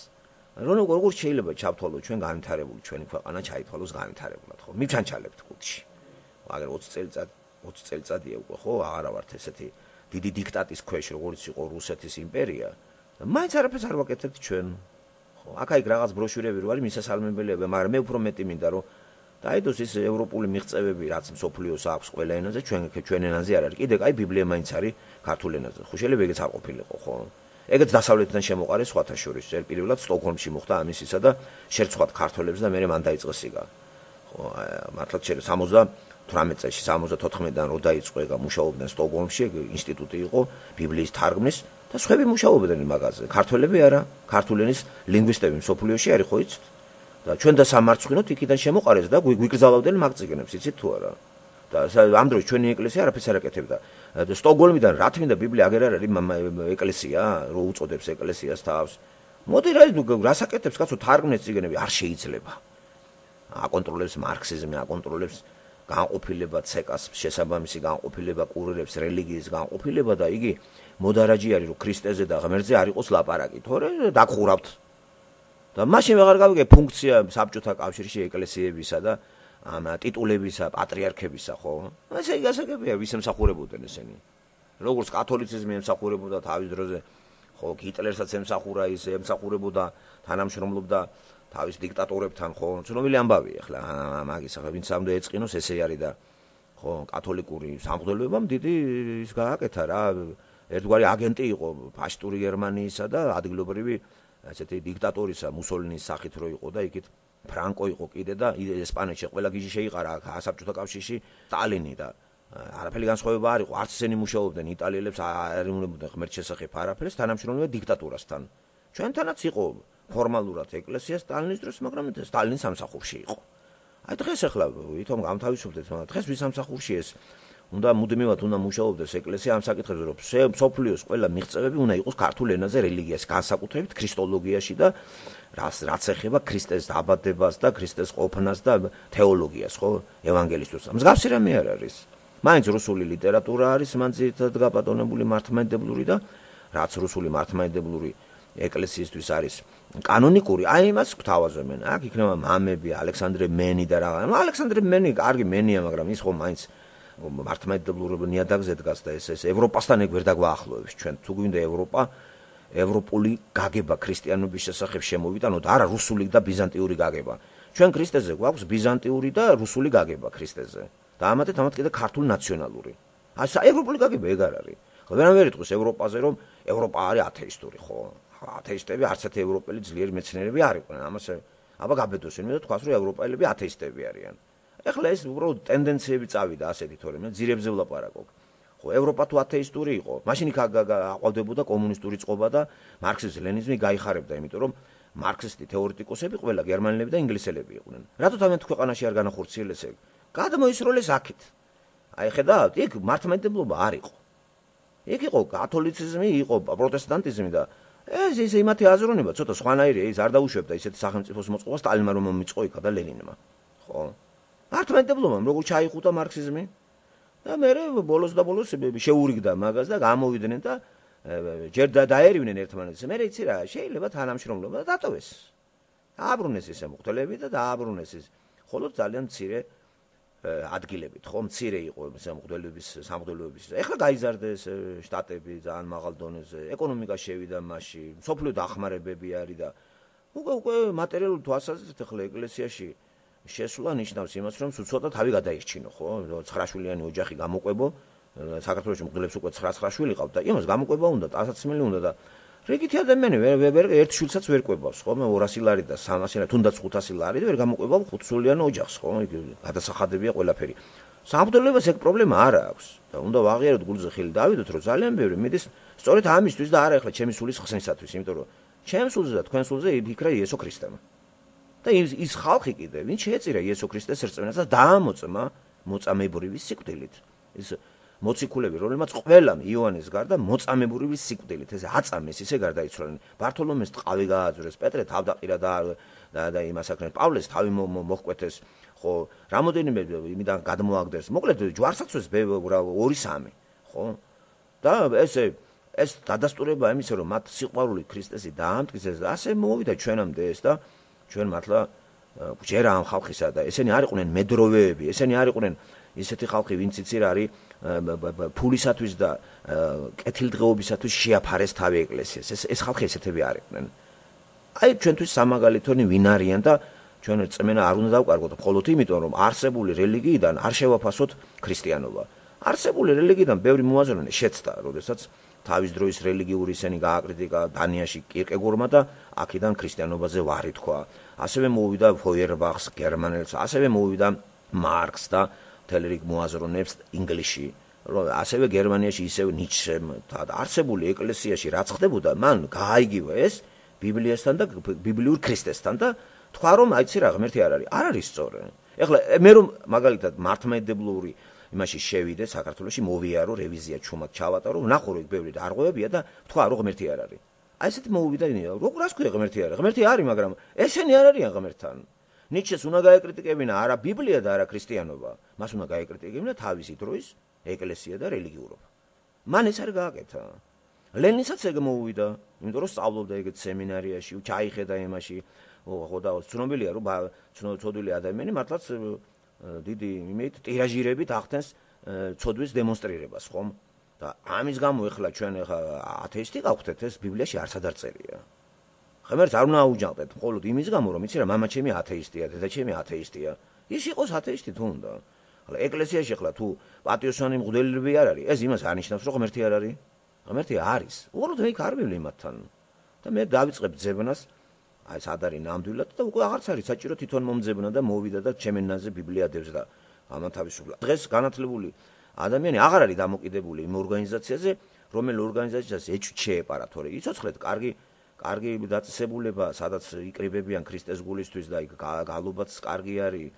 რომ როგორ შეიძლება ჩავთვალოთ ჩვენ განვითარებული ჩვენი ქვეყანა ჩაითვალოს განვითარებულად, ხო? მივჩანჩალებთ კუთხში. მაგრამ ოცი წელიწად ოცი წელიწადია უკვე, ხო? აღარა ვართ ესეთი დიდი დიქტატის ქვეშ, როგორც იყო რუსეთის იმპერია. მაინც არაფერს არ ვაკეთებთ ჩვენ. ხო? აქა-იქ რაღაც ბროშურები რო არის მისასალმებელია, მაგრამ მე უფრო მეტი მინდა რომ დაიდოს ის ევროპული მიღწევები, რაც მსოფლიოს აქვს ყველა ენაზე, ჩვენ ჩვენ ენაზე არ არის. კიდე კაი ბიბლია მაინც არის ქართულ ენაზე. ხო შეიძლება ეგეც არ ყოფილიყო, ხო? ეგეც დასავლეთიდან შემოყარეს სხვათა შორის. პირველად სტოკჰოლმში მოხდა ამის ისა და შერცხვათ ქართველებს და მე მან დაიწყო სიგა. ხო, მართლაც შეიძლება სამოცდათვრამეტ წელს სამოცდათოთხმეტიდან რო დაიწყო ეგა მუშაობდნენ სტოკჰოლმში, ინსტიტუტი იყო ბიბლიის თარგმნის და სხვები მუშაობდნენ მაგაზე. ქართველები არა, ქართული ენის ლინგვისტები მსოფლიოში არის, ხო იცით? და ჩვენ და სამარცხვინოთ იქიდან შემოყარეს და გვიგზავნდნენ მაგწიგნებს, იცით თუ არა? და ამ დროს ჩვენი ეკლესია არაფერს არ აკეთებდა. სტოკჰოლმიდან რა თქმა უნდა ბიბლია აგერ არ არის ეკლესია, რო უწოდებს ეკლესიას თავს. მოდი რა რას აკეთებს კაცო თარგმნეს წიგნები არ შეიძლება. აკონტროლებს მარქსიზმი, აკონტროლებს განყოფილება ცეკას, შესაბამისი განყოფილება კურირებს რელიგიის განყოფილება და იგი მოდარაჯი არის რომ ქრისტეზე და ღმერთზე არ იყოს ლაპარაკი, თორე დაგხურავთ. და მაშინ ვეღარ გავიგე ფუნქცია საბჭოთა კავშირში ეკლესიებისა და ამ ტიტულებისა, პატრიარქებისა, ხო? ესე იგი გასაგებია, ვის ემსახურებოდნენ ესენი. როგორც კათოლიციზმი ემსახურებოდა თავის დროზე, ხო, ჰიტლერსაც ემსახურა, ის ემსახურებოდა, თანამშრომლობდა თავის დიქტატორებთან, ხო? ცნობილი ამბავია, ახლა მაგის ახლა ვინც ამდე ეწყინოს, ესე არის და ხო, კათოლიკური სამღვდელოებამ დიდი ის გააკეთა რა, ერთგვარი აგენტი იყო ფაშისტური გერმანიისა და ადგილობრივი ასეთი დიქტატორისა, მუსოლინის სახით რო იყო და იქით ფრანკო იყო კიდე და ესპანეთში ყველა გიჟი შეიყარა საბჭოთა კავშირში სტალინი და არაფერი განსხვავება არ იყო, არც ისინი მუშაობდნენ იტალიელებს არ იმუნებოდნენ ღმერთ შესახებ არაფერს, თანამშრომლობა დიქტატურასთან. ჩვენთანაც იყო ფორმალურად ეკლესია სტალინის დროს, მაგრამ სტალინის სამსახურში იყო. აი დღეს ახლა ვითომ გამთავისუფლდეთ, მაგრამ დღეს ვის სამსახურში ეს უნდა მუდმივად უნდა მუშაობდეს ეკლესია ამ საკითხებზე, რომ მსოფლიოს ყველა მიღწევები უნდა იყოს ქართულ ენაზე რელიგიას, განსაკუთრებით ქრისტოლოგიაში და რაც რაც ეხება ქრისტეს დაბადებას და ქრისტეს ყოფნას და თეოლოგიას, ხო, ევანგელისტურს. მსგავსი რამე არ არის. მაინც რუსული ლიტერატურა არის მანძილად გაბატონებული მართლმადიდებლური და რაც რუსული მართლმადიდებლური ეკლესიისთვის არის კანონიკური, აი იმას გვთავაზობენ. აქ იქნება მამები, ალექსანდრე მენი და რა. ნუ ალექსანდრე მენი კარგი მენია, მაგრამ ის ხო მაინც მართლმადიდებლურ ნიადაგზე დგას და ეს ეს ევროპასთან ეგ ვერ დაგვაახლოებს ჩვენ. თუ გვინდა ევროპა, ევროპული გაგება ქრისტიანობის შესახებ შემოვიდა, ანუ არა რუსული და ბიზანტიური გაგება. ჩვენ ქრისტეზე გვაქვს ბიზანტიური და რუსული გაგება ქრისტეზე. და ამათეთ ამათ კიდე ქართული ნაციონალური. ასე ევროპული გაგება ეგ არ არის. ხო ვერავინ იტყვის ევროპაზე რომ ევროპა არის ათეისტური, ხო? ათეისტები არც ერთი ევროპელი ძლიერი მეცნიერები არ იყვნენ. ამას აბა გაბედოს იმედი და თქვას რომ ევროპელები ათეისტები არიან. ეხლა ეს უბრალოდ ტენდენციები წავიდა ასეთი თორემ ძირებზე ვლაპარაკობ. ხო ევროპა თუ ათეისტური იყო, მაშინ იქ აყვავდებოდა კომუნისტური წყობა და მარქსიზმი, ლენინიზმი გაიხარებდა, იმიტომ რომ მარქსისტი თეორეტიკოსები ყველა გერმანელები და ინგლისელები იყვნენ. რატო თავიანთ ქვეყანაში არ განახორციელეს ეგ? გადმოისროლეს აქეთ. აი ხედავთ, იქ მართლმადიდებლობა არ იყო. იქ იყო კათოლიციზმი, იყო პროტესტანტიზმი და ეს ის იმათი აზროვნება ცოტა სხვანაირია, ის არ დაუშვებდა ისეთ სახელმწიფოს მოწყობას სტალინმა რომ მომიწყო იქა და ლენინმა. ხო? მართლმადიდებლობამ როგორ ჩაიხუტა მარქსიზმი? და მე ბოლოს და ბოლოს შეურიგდა მაგას და გამოვიდნენ და ჯერ დაერივნენ ერთმანეთს. მე იცი რა, შეიძლება თანამშრომლობა და დატოვეს. დააბრუნეს ეს მუხტელები და დააბრუნეს ეს. ხოლო ძალიან მცირე ადგილებით, ხო, მცირე იყო სამღვდელოების სამღვდელოების. ეხლა გაიზარდეს შტატები ძალიან მაღალ დონეზე, ეკონომიკა შევიდა მასში, სოფლიო დახმარებები არის და უკვე უკვე მატერიალური თვალსაზრისით ეხლა ეკლესიაში შესვლა ნიშნავს იმას, რომ ცოტა თავი გადაიხჩინო, ხო? ცხრა შვილიანი ოჯახი გამოყვებო, საქართველოში მღვდლებს უკვე ცხრა ცხრა შვილი ყავთ და იმას გამოყვება უნდა, ტასაცმელი უნდა და რიგითი ადამიანი ვერ ერთ შვილსაც ვერ ყვებავს, ხო? მე ორასი ლარი და სამასი ლარი, თუნდაც ხუთასი ლარი და ვერ გამოყვება ხუთსულიან ოჯახს, ხო? გადასახადებია ყველაფერი. სამღვდელოებას ეგ პრობლემა არ აქვს და უნდა ვაღიაროთ გულზე ხილი დავიდოთ, რომ ძალიან ბევრი მიდის სწორედ ამისთვის და არა ეხლა ჩემი სულის ხსნისათვის, იმიტომ რომ ჩემს სულზე და თქვენ სულზე იფიქრა იესო ქრისტემ. და ის ის ხალხი კიდე, ვინც შეეწირა იესო ქრისტეს რწმენას და დაამოწმა მოწამებურის სიკვდილით. ის მოციქულები, რომლებმაც ყველამ იოანეს გარდა მოწამებურის სიკვდილით, ეს აწამეს, ისე გარდაიცვალნენ. ბართოლომეს ტყავი გააძვრეს, პეტრე თავდაყირა და და იმას აკრენ, პავლეს თავი მოჰკვეთეს, ხო, რამოდენიმე იმიდან გადმოაგდეს. მოკლედ ჯვარსაცვეს ორი სამი, ხო? და ესე ეს დადასტურება იმისა, რომ მათ სიყვარული ქრისტესი დაამტკიცეს და ასე მოვიდა ჩვენამდე ეს და ჩვენ მართლა ჯერა ამ ხალხისა და ესენი არ იყვნენ მედროვეები, ესენი არ იყვნენ ისეთი ხალხი, ვინც იცი რა არის ფულისათვის და კეთილდღეობისათვის შეაფარეს თავი ეკლესიას. ეს ეს ხალხი ესეთები არ იყვნენ. აი ჩვენთვის სამაგალითონი ვინ არიან და ჩვენ რწმენა არ უნდა დავკარგოთ მხოლოდ იმიტომ, რომ არსებული რელიგიიდან არ შევაფასოთ ქრისტიანობა. არსებული რელიგიიდან ბევრი მოაზროვნე შეცდა, როდესაც თავის დროის რელიგიური ისენი გააკრიტიკა დანიაში კირკეგორმა და აქედან ქრისტიანობაზე ვარი თქვა. ასევე მოვიდა ფოიერბახს გერმანელს, ასევე მოვიდა მარკს და მთელი რიგ მოაზროვნეებს ინგლისში. ასევე გერმანიაში ისევ ნიცშემ და არსებული ეკლესიაში რაც ხდებოდა, მან გააიგივა ეს ბიბლიასთან და ბიბლიურ ქრისტესთან და თქვა რომ აიცი რა ღმერთი არ არის. არ არის სწორი. ეხლა მე რომ მაგალითად მართლმადიდებლური იმაში შევიდე საქართველოში მოვიარო რევიზია ჩუმად ჩავატარო, ვნახო რომ ბევრი დარღვევებია და თქვა რომ ღმერთი არ არის. აი ესეთი მოვიდა ინია. როგორ ასქვია ღმერთი არის? ღმერთი არის, მაგრამ ესენი არ არიან ღმერთთან. ნიჩეს უნდა გაეკრიტიკებინა არა ბიბლია და არა ქრისტიანობა. მას უნდა გაეკრიტიკებინა თავისი დროის ეკლესია და რელიგიურობა. მან ეს არ გააკეთა. ლენინსაც ეგ მოვიდა, იმიტომ რომ სწავლობდა ეგეთ სემინარიაში, ჩაიხედა იმაში. ხო და ცნობილია რომ ცნობილი ადამიანი მართლაც დიდი იმით ტირაჟირებით ახდენს ცოდვის დემონსტრირებას, ხომ? და ამის გამო ეხლა ჩვენ ეხლა ათეისტი გავხდეთ, ეს ბიბლიაში არც არ წერია. ღმერთს არ უნდა აუჯანყდეთ, მხოლოდ იმის გამო, რომ იცი რა, მამა ჩემი ათეისტია, დედა ჩემი ათეისტია. ის იყოს ათეისტი თუ უნდა. ახლა ეკლესიაში ახლა თუ პატიოსანი მღვდელები არ არის, ეს იმას არნიშნავს, რომ ღმერთი არ არის. ღმერთი არის. უბრალოდ მე არ ვივლი მათთან. და მე დავიწყებ ძებნას აი ეს არ არის ნამდვილად და უკვე აღარც არის საჭირო თვითონ მომძებნა და მოვიდა და ჩემენაზე ბიბლია დევს და ამან თავისუფლად. დღეს განათლებული ადამიანი აღარ არის დამოკიდებული იმ ორგანიზაციაზე, რომელი ორგანიზაციას ეჭვ შეეპარა, თორე იცოცხლეთ, კარგი კარგი დაწესებულება, სადაც იკრიბებიან ქრისტეს გულისთვის და იქ გალობაც კარგი არის,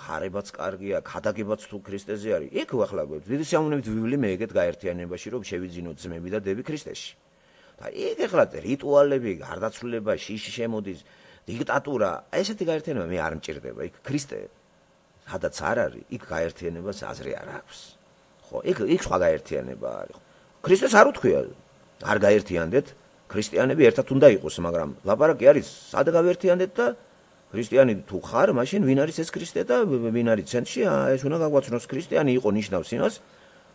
ხარებაც კარგია, ქადაგებაც თუ ქრისტეზე არის. იქ ახლა დიდი სიამოვნებით ვივლი მე ეგეთ გაერთიანებაში, რომ შევიძინოთ ძმები და დები ქრისტეში. და იქ ახლა რიტუალები, გარდაცვლილება, შიში შემოდის, დიქტატურა, ესეთი გაერთიანება მე არ მჭირდება. იქ ქრისტე სადაც არ არის, იქ გაერთიანებას აზრი არ აქვს. ხო, იქ იქ სხვა გაერთიანება არის. ქრისტეს არ უთქვია, არ გაერთიანდეთ, ქრისტიანები ერთად უნდა იყოს, მაგრამ ლაპარაკი არის, სად გავერთიანდეთ და ქრისტიანი თუ ხარ, მაშინ ვინ არის ეს ქრისტე და ვინ არის ცენტრში? ეს უნდა გაგვაცნოს ქრისტიანი იყო ნიშნავს იმას,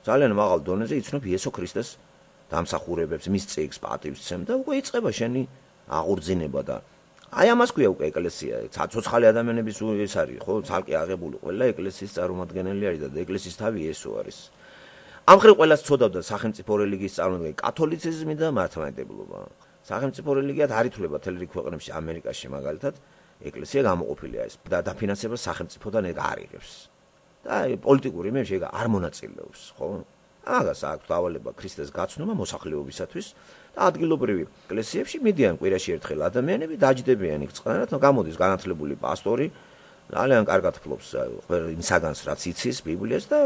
ძალიან მაღალ დონეზე იცნობ იესო ქრისტეს დამსახურებებს, მის წიგნს პატივს და უკვე იწყება შენი აღორძინება და აი ამას ქვია უკვე ეკლესია. ცოცხალი ადამიანების ეს არის, ხო, ცალკე აღებული ყველა ეკლესიის წარმომადგენელი არის და ეკლესიის თავი ესო არის. ამ ხრივ ყველას ცოდავდა სახელმწიფო რელიგიის წარმოდგენა, კათოლიციზმი და მართლმადიდებლობა. სახელმწიფო რელიგიად არ ითვლება თელ რიგ ქვეყნებში, ამერიკაში მაგალითად, ეკლესია გამოყოფილია ეს და დაფინანსება სახელმწიფოდან ეგ არ იღებს. და პოლიტიკური იმებში ეგ არ მონაწილეობს, ხო? აგას აქვს დავალება ქრისტეს გაცნობა მოსახლეობისათვის და ადგილობრივი ეკლესიებში მიდიან კვირაში ერთხელ ადამიანები, დაჯდებიან იქ წყნარად, გამოდის განათლებული პასტორი, ძალიან კარგად ფლობს იმ საგანს, რაც იცის ბიბლიას და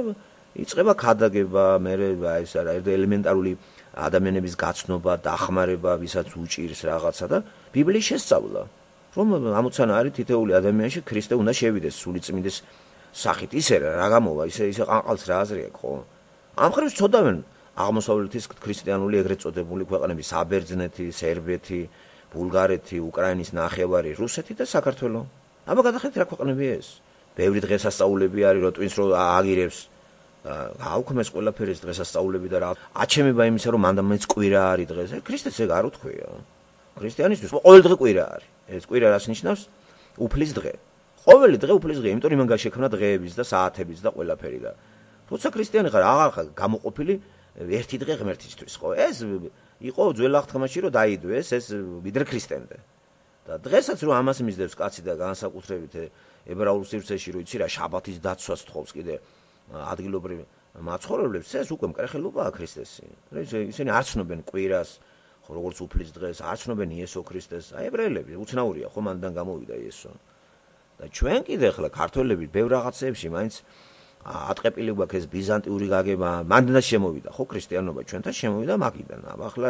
იწყება ქადაგება, მე ეს ელემენტარული ადამიანების გაცნობა, დახმარება, ვისაც უჭირს რაღაცა და ბიბლიის შესწავლა. რომ ამოცანა არის თითოეული ადამიანში ქრისტე უნდა შევიდეს სულიწმინდის სახით, ისე რა გამოვა, ისე ისე ყანყალს რა აზრი აქვს, ხო? ამ ხრივ ცოდავენ აღმოსავლეთის ქრისტიანული ეგრეთ წოდებული ქვეყნები, საბერძნეთი, სერბეთი, ბულგარეთი, უკრაინის ნახევარი, რუსეთი და საქართველო. აბა გადახედეთ რა ქვეყნებია ეს? ბევრი დღესასწაულები არის, რო twins რო აგირებს. აუქმეს ყველაფერი ეს დღესასწაულები და რა. აჩემება იმისა, რომ მანდ მეც კვირა არის დღეს. ქრისტეს ეგ არ უთქვია. ქრისტიანისთვის ყოველ დღე კვირა არის. ეს კვირა რას ნიშნავს? უფლის დღე. ყოველი დღე უფლის დღე, იმიტომ იმან გაშექმნა დღეების და საათების და ყველაფერი და როცა ქრისტიანი ხარ, აღარ ხარ გამოყოფილი ერთი დღე ღმერთისთვის, ხო? ეს იყო ძველ აღთქმაში, რომ დაიდვეს ეს ვიდრე ქრისტემდე. და დღესაც რომ ამას მისდევს კაცი და განსაკუთრებით ებრაულ სივრცეში, რომ იცი რა, შაბათის დაცვას თხოვს კიდე ადგილობრივ მაცხოვრებლებს, ეს უკვე მკრეხელობაა ქრისტესი. ისინი არ ცნობენ კვირას, ხო, როგორც უფლის დღეს, არ ცნობენ იესო ქრისტეს. აი ებრაელები უცნაურია, ხო, მანდან გამოვიდა იესო. და ჩვენ კიდე ახლა ქართველები ბევრ რაღაცებში მაინც ატყეპილი გვაქვს ეს ბიზანტიური გაგება, მანდანაც შემოვიდა, ხო, ქრისტიანობა ჩვენთან შემოვიდა მაგიდან. ახლა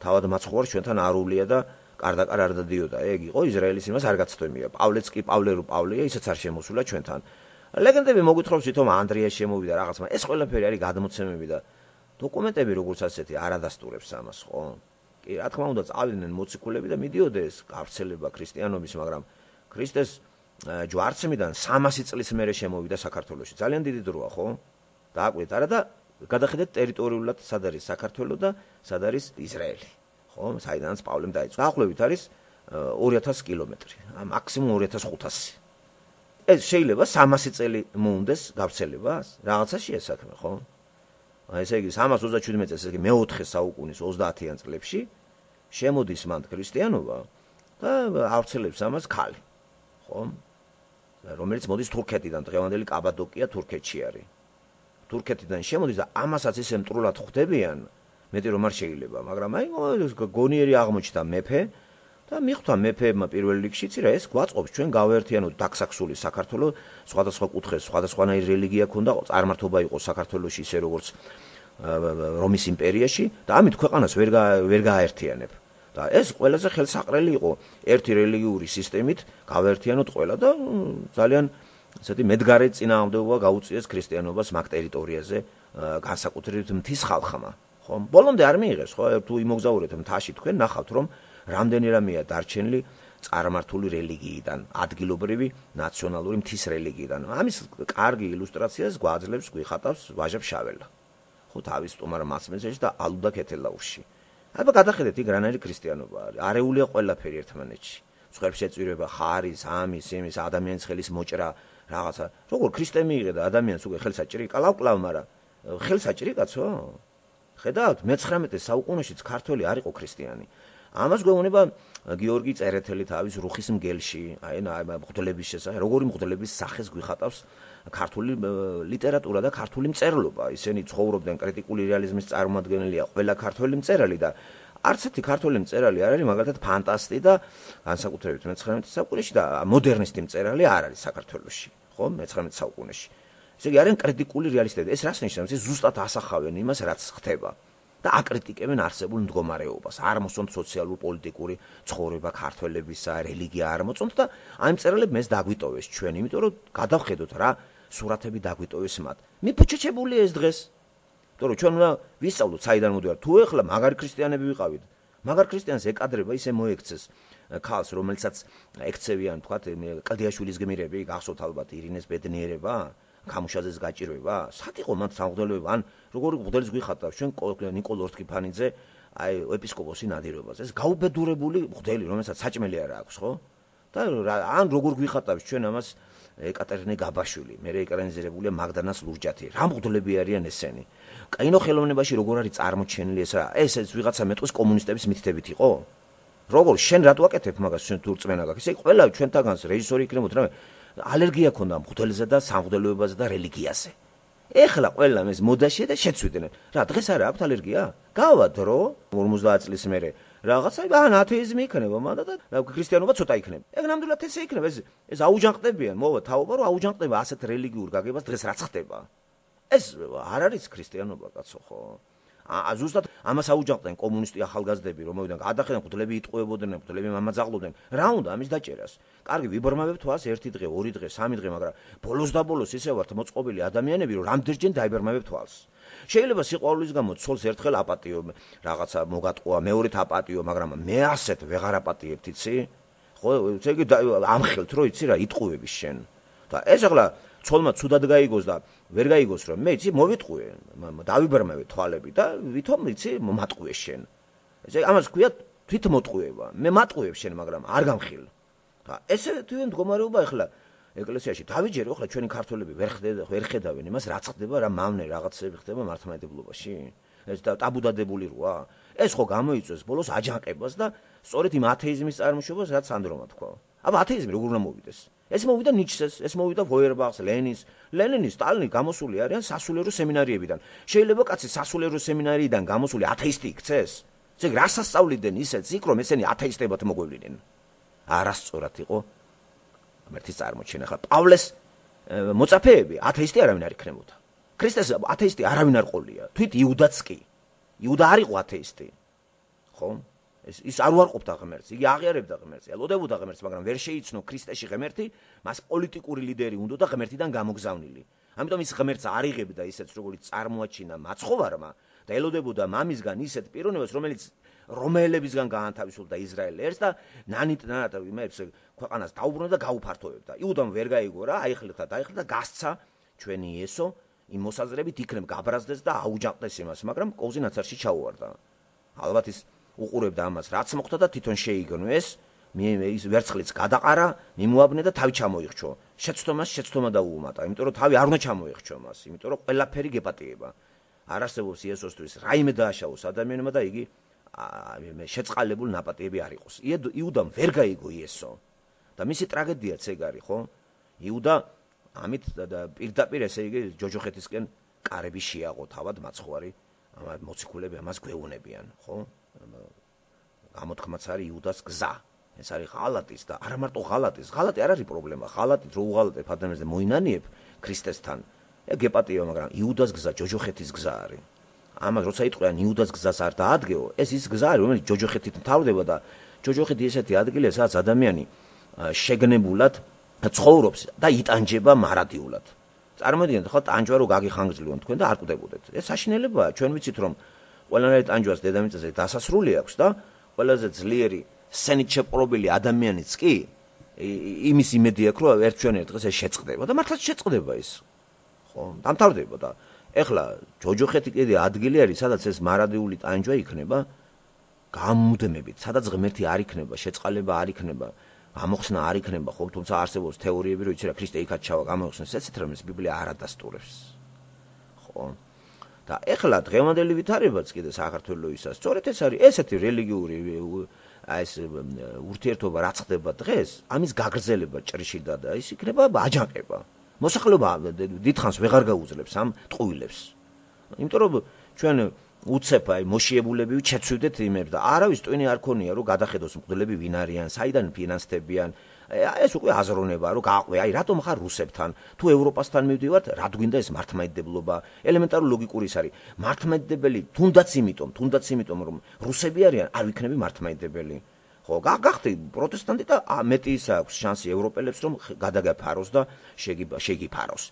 თავად მაცხოვარ ჩვენთან არულია და კარდაკარ არ დადიოდა. ეგ იყო ისრაელის იმას არ გაცდომია. პავლეც კი პავლე რო პავლეა, ისაც არ შემოსულა ჩვენთან. ლეგენდები მოგვითხრობს თვითონ ანდრია შემოვიდა რაღაცა. ეს ყველაფერი არის გადმოცემები და დოკუმენტები როგორც ასეთი არ ადასტურებს ამას, ხო? კი, რა თქმა უნდა, წავიდნენ მოციქულები და მიდიოდეს გავრცელება ქრისტიანობის, მაგრამ ქრისტეს ჯვარცმიდან სამასი წლის მერე შემოვიდა საქართველოში. ძალიან დიდი დროა, ხო? დააკვირდით, არა და გადახედეთ ტერიტორიულად სად არის საქართველო და სად არის ისრაელი, ხო? საიდანაც პავლემ დაიწყო. დაახლოებით არის ორი ათასი კილომეტრი, მაქსიმუმ ორი ათას ხუთასი. ეს შეიძლება სამასი წელი მოუნდეს გავრცელებას, რაღაცა შეესაქმე, ხო? აი ესე იგი სამას ოცდაშვიდი წელს, ესე იგი მეოთხე საუკუნის ოცდაათიან წლებში შემოდის მანდ ქრისტიანობა და ავრცელებს ამას ქალი, ხო? რომელიც მოდის თურქეთიდან, დღევანდელი კაბადოკია თურქეთში არის. თურქეთიდან შემოდის და ამასაც ისე მტრულად ხვდებიან, მეტი რომ არ შეიძლება, მაგრამ აი გონიერი აღმოჩნდა მეფე და მიხვდა მეფეებმა პირველ რიგში, იცი რა, ეს გვაწყობს ჩვენ გავაერთიანოთ დაქსაქსული საქართველო, სხვადასხვა კუთხეს, სხვადასხვანაირი რელიგია ქონდა, წარმართობა იყო საქართველოში ისე როგორც რომის იმპერიაში და ამით ქვეყანას ვერ ვერ გააერთიანებ. და ეს ყველაზე ხელსაყრელი იყო ერთი რელიგიური სისტემით გავაერთიანოთ ყველა და ძალიან ესეთი მედგარი წინააღმდეგობა გაუწიეს ქრისტიანობას მაგ ტერიტორიაზე განსაკუთრებით მთის ხალხმა, ხო? ბოლომდე არ მიიღეს, ხო? თუ იმოგზაურეთ მთაში თქვენ ნახავთ, რომ რამდენი რამეა დარჩენილი წარმართული რელიგიიდან, ადგილობრივი ნაციონალური მთის რელიგიიდან. ამის კარგი ილუსტრაციას გვაძლევს, გვიხატავს ვაჟა ფშაველა. ხო, თავის სტუმარ მასმედიაში და ალუდა ქეთელაურში. აბა გადახედეთ, იქ რანაირი ქრისტიანობა არის. არეულია ყველაფერი ერთმანეთში. სხვებს ეწვირება ხარის, ამის, იმის, ადამიანის ხელის მოჭრა, რაღაცა. როგორ ქრისტე მიიღე და ადამიანს უკვე ხელს აჭრიკა, ლავ-კლავ, მაგრამ ხელს აჭრიკაცო? ხედავთ, მეცხრამეტე საუკუნეშიც ქართველი არ იყო ქრისტიანი. ამას გვეუბნება გიორგი წერეთელი თავის რუხის მგელში, აი მღვდლების შესახებ, როგორი მღვდლების სახეს გვიხატავს ქართული ლიტერატურა და ქართული მწერლობა. ისინი ცხოვრობდნენ კრიტიკული რეალიზმის წარმომადგენელია ყველა ქართველი მწერალი და არც ერთი ქართველი მწერალი არ არის მაგალითად ფანტასტი და განსაკუთრებით მეცხრამეტე საუკუნეში და მოდერნისტი მწერალი არ არის საქართველოში, ხო, მეცხრამეტე საუკუნეში. ესე იგი არიან კრიტიკული რეალისტები. ეს რას ნიშნავს? ეს ზუსტად ასახავენ იმას, რაც ხდება. და აკრიტიკებენ არსებულ მდგომარეობას, არ მოსწონთ სოციალურ პოლიტიკური ცხოვრება ქართველებისა, რელიგია არ მოწონთ და აი მწერლები მეს დაგვიტოვეს ჩვენ, იმიტომ რომ გადავხედოთ რა სურათები დაგვიტოვეს მათ. მიფუჩეჩებულია ეს დღეს. იმიტომ რომ ჩვენ უნდა ვისწავლოთ საიდან მოდივარ. თუ ეხლა მაგარი ქრისტიანები ვიყავით, მაგარ ქრისტიანს ეკადრება ისე მოექცეს ქალს, რომელსაც ექცევიან, თქვათ, კლდიაშვილის გმირები, გახსოვთ ალბათ ირინეს ბედნიერება. გამუშაძეს გაჭირვება? სად იყო მათ სამღვდელოება? ან როგორი მღვდელის გვიხატავს ჩვენ ნიკოლ ორთქიფანიძე აი ეპისკოპოსი ნადირობაზე. ეს გაუბედურებული მღვდელი, რომელსაც საჭმელი არ აქვს, ხო? და ან როგორ გვიხატავს ჩვენ ამას ეკატერინე გაბაშვილი, მე ეკრანიზირებულია მაგდანას ლურჯათი. რა მღვდლები არიან ესენი? კინო ხელოვნებაში როგორ არის წარმოჩენილი ეს რა? ეს ეს ვიღაცა მეტყვის კომუნისტების მითითებით იყო? როგორ შენ რატო აკეთებ მაგას ჩვენ თუ რწმენა გაქვს? ესე ყველა ჩვენთაგანს რეჟისორი იქნებოდა, რა ალერგია ქონდა მღვდელზე და სამღვდელოებაზე და რელიგიაზე. ეხლა ყველა ეს მოდაშია და შეცვიდნენ. რა დღეს არა აქვთ ალერგია? გავა დრო ორმოცდაათ წლის მერე რაღაცა ან ათეიზმი იქნება მანდა და ქრისტიანობა ცოტა იქნება. ეგ ნამდვილად ესე იქნება. ეს ეს აუჯანყდებიან, მოვა თავობა რომ აუჯანყდება ასეთ რელიგიურ გაგებას დღეს რაც ხდება. ეს არ არის ქრისტიანობა კაცო ხო? ა ზუსტად ამას აუჯანყდნენ კომუნისტი ახალგაზრდები, რომელიდან გადახედან მღვდლები იტყუებოდნენ, მღვდლები მამაძაღლობდნენ. რა უნდა ამის დაჭერას? კარგი, ვიბრმავებთ თვალს ერთი დღე, ორი დღე, სამი დღე, მაგრამ ბოლოს და ბოლოს ისე ვართ მოწყობილი ადამიანები, რომ რამდენჯერ დაიბრმავებთ თვალს. შეიძლება სიყვარულის გამო ცოლს ერთხელ აპატიო, რაღაცა მოგატყუა, მეორედ აპატიო, მაგრამ მე ასეთ ვეღარ აპატიებთ, იცი? ხო, ესე იგი ამხელთ, რომ იცი რა, იტყუების შენ. და ეს ახლა ცოლმა ცუდად გაიგოს და ვერ გაიგოს რომ მე იცი მოვიტყუე, დავიბრმავე თვალები და ვითომ იცი მომატყუე შენ. ესე ამას ქვია თვითმოტყუება. მე მატყუებ შენ, მაგრამ არ გამხილ. და ესე თვითონ მდგომარეობა ახლა ეკლესიაში დავიჯერო, ახლა ჩვენი ქართველები ვერ ხდება, ვერ ხედავენ იმას, რაც ხდება, რა მავნე რაღაცები ხდება მართლმადიდებლობაში. ეს ტაბუდადებული როა. ეს ხო გამოიწვევს ბოლოს აჯანყებას და სწორედ იმ ათეიზმის წარმოშობას, რაც სანდრომა თქვა. აბა ათეიზმი როგორ უნდა მოვიდეს? ეს მოვიდა ნიჩეს, ეს მოვიდა ვოიერბახს, ლენინს. ლენინი, სტალინი გამოსული არიან სასულიერო სემინარიებიდან. შეიძლება კაცი სასულიერო სემინარიიდან გამოსული ათეისტი იქცეს? ზეგ რას ასწავლიდან ისეც იქ რომ ესენი ათეისტებად მოგვევლინენ? არასწორად იყო ღმერთის წარმოჩენა. ხა პავლეს მოწაფეები ათეისტი არავინ არ იქნებოდა. ქრისტეს ათეისტი არავინ არ ყოლია. თვით იუდაც კი. იუდა არ იყო ათეისტი. ხო? ეს ის არ უარყოფდა ღმერთს, იგი აღიარებდა ღმერთს, ელოდებოდა ღმერთს, მაგრამ ვერ შეიცნო ქრისტეში ღმერთი, მას პოლიტიკური ლიდერი უნდა და ღმერთიდან გამოგზავნილი. ამიტომ ის ღმერთს არ იღებდა ისეთს, როგორც წარმოაჩინა მაცხოვარმა და ელოდებოდა მამისგან ისეთ პიროვნებას, რომელიც რომაელებისგან გაანთავისუფლდა ისრაელ ერს და ნანიტ-ნანატ იმებს ქვეყანას დაუბრუნდა და გაუფართოვებდა. იუდამ ვერ გაიგო რა, აიხლიხა, დაიხლიხა და გასცა ჩვენი იესო იმ მოსაზრებით იქნებ გაბრაზდეს და აუჯანყდეს იმას, მაგრამ კოვზი ნაცარში ჩაუვარდა. ალბათ ის უყურებდა ამას, რაც მოხდა და თვითონ შეიგონეს, ის ვერცხლიც გადაყარა, მიმოაბნე და თავი ჩამოიხჩო. შეცდომას შეცდომა დაუუმატა, იმიტომ რომ თავი არ უნდა ჩამოიხჩო მას, იმიტომ რომ ყველაფერი გეპატიება. არ არსებობს იესოსთვის რაიმე დააშაოს ადამიანმა და იგი შეწყალებულ ნაპატიები არ იყოს. იუდამ ვერ გაიგო იესო. და მისი ტრაგედიაც ეგ არის, ხო? იუდა ამით პირდაპირ ესე იგი ჯოჯოხეთისკენ კარები შეაყო თავად მაცხვარი, ამ მოციქულები ამას გვეუბნებიან, ხო? გამოთქმაც არის იუდას გზა. ეს არის ღალატის და არა მარტო ღალატის, ღალატი არ არის პრობლემა, ღალატით რო უღალატებ ადამიანს და მოინანიებ ქრისტესთან, ეგ გეპატიება, მაგრამ იუდას გზა ჯოჯოხეთის გზა არის. ამას როცა იტყვიან იუდას გზას არ დაადგეო, ეს ის გზა არის, რომელიც ჯოჯოხეთით მთავრდება და ჯოჯოხეთი ესეთი ადგილია, სადაც ადამიანი შეგნებულად ცხოვრობს და იტანჯება მარადიულად. წარმოვიდგინეთ, ხო, ტანჯვა რო გაგიხანგრძლივონ თქვენ და არ კვდებოდეთ. ეს საშინელებაა, ჩვენ ვიცით რომ ყველანაირ ტანჯვას დედამიწაზე დასასრული აქვს და ყველაზე ძლიერი სცენით შეპყრობილი ადამიანიც კი იმის იმედი აქვს, რომ ერთ ჩვენ ერთ დღეს ეს შეწყდება და მართლაც შეწყდება ის. ხო, დამთავრდება და ეხლა ჯოჯოხეთი კიდე ადგილი არის, სადაც ეს მარადიული ტანჯვა იქნება გამუდმებით, სადაც ღმერთი არ იქნება, შეწყალება არ იქნება, გამოხსნა არ იქნება, ხო, თუმცა არსებობს თეორიები, რომ იცი რა ქრისტე იქაც ჩავა გამოხსნეს, ესეთ რამეს ბიბლია არ ადასტურებს. ხო. და ეხლა დღევანდელი ვითარებაც კიდე საქართველოისას, სწორედ ეს არის ესეთი რელიგიური ეს ურთიერთობა რაც ხდება დღეს, ამის გაგრძელება ჭრიშიდა და ის იქნება აჯანყება. მოსახლეობა დიდხანს ვეღარ გაუძლებს ამ ტყუილებს. იმიტომ რომ ჩვენ უცებ აი მოშიებულები შეცვიდეთ იმებს და არავის ტვინი არ ქონია რომ გადახედოს მღვდლები ვინ არიან, საიდან ფინანსდებიან. ეს უკვე აზროვნებაა რომ გააყვე, აი რატომ ხარ რუსებთან, თუ ევროპასთან მივდივართ, რა გვინდა ეს მართლმადიდებლობა, ელემენტარული ლოგიკური ის არის. მართლმადიდებელი თუნდაც იმიტომ, თუნდაც იმიტომ რომ რუსები არიან, არ ვიქნები მართლმადიდებელი. ხო, გახდი პროტესტანტი და მეტი ის აქვს შანსი ევროპელებს რომ გადაგაფაროს და შეგიფაროს.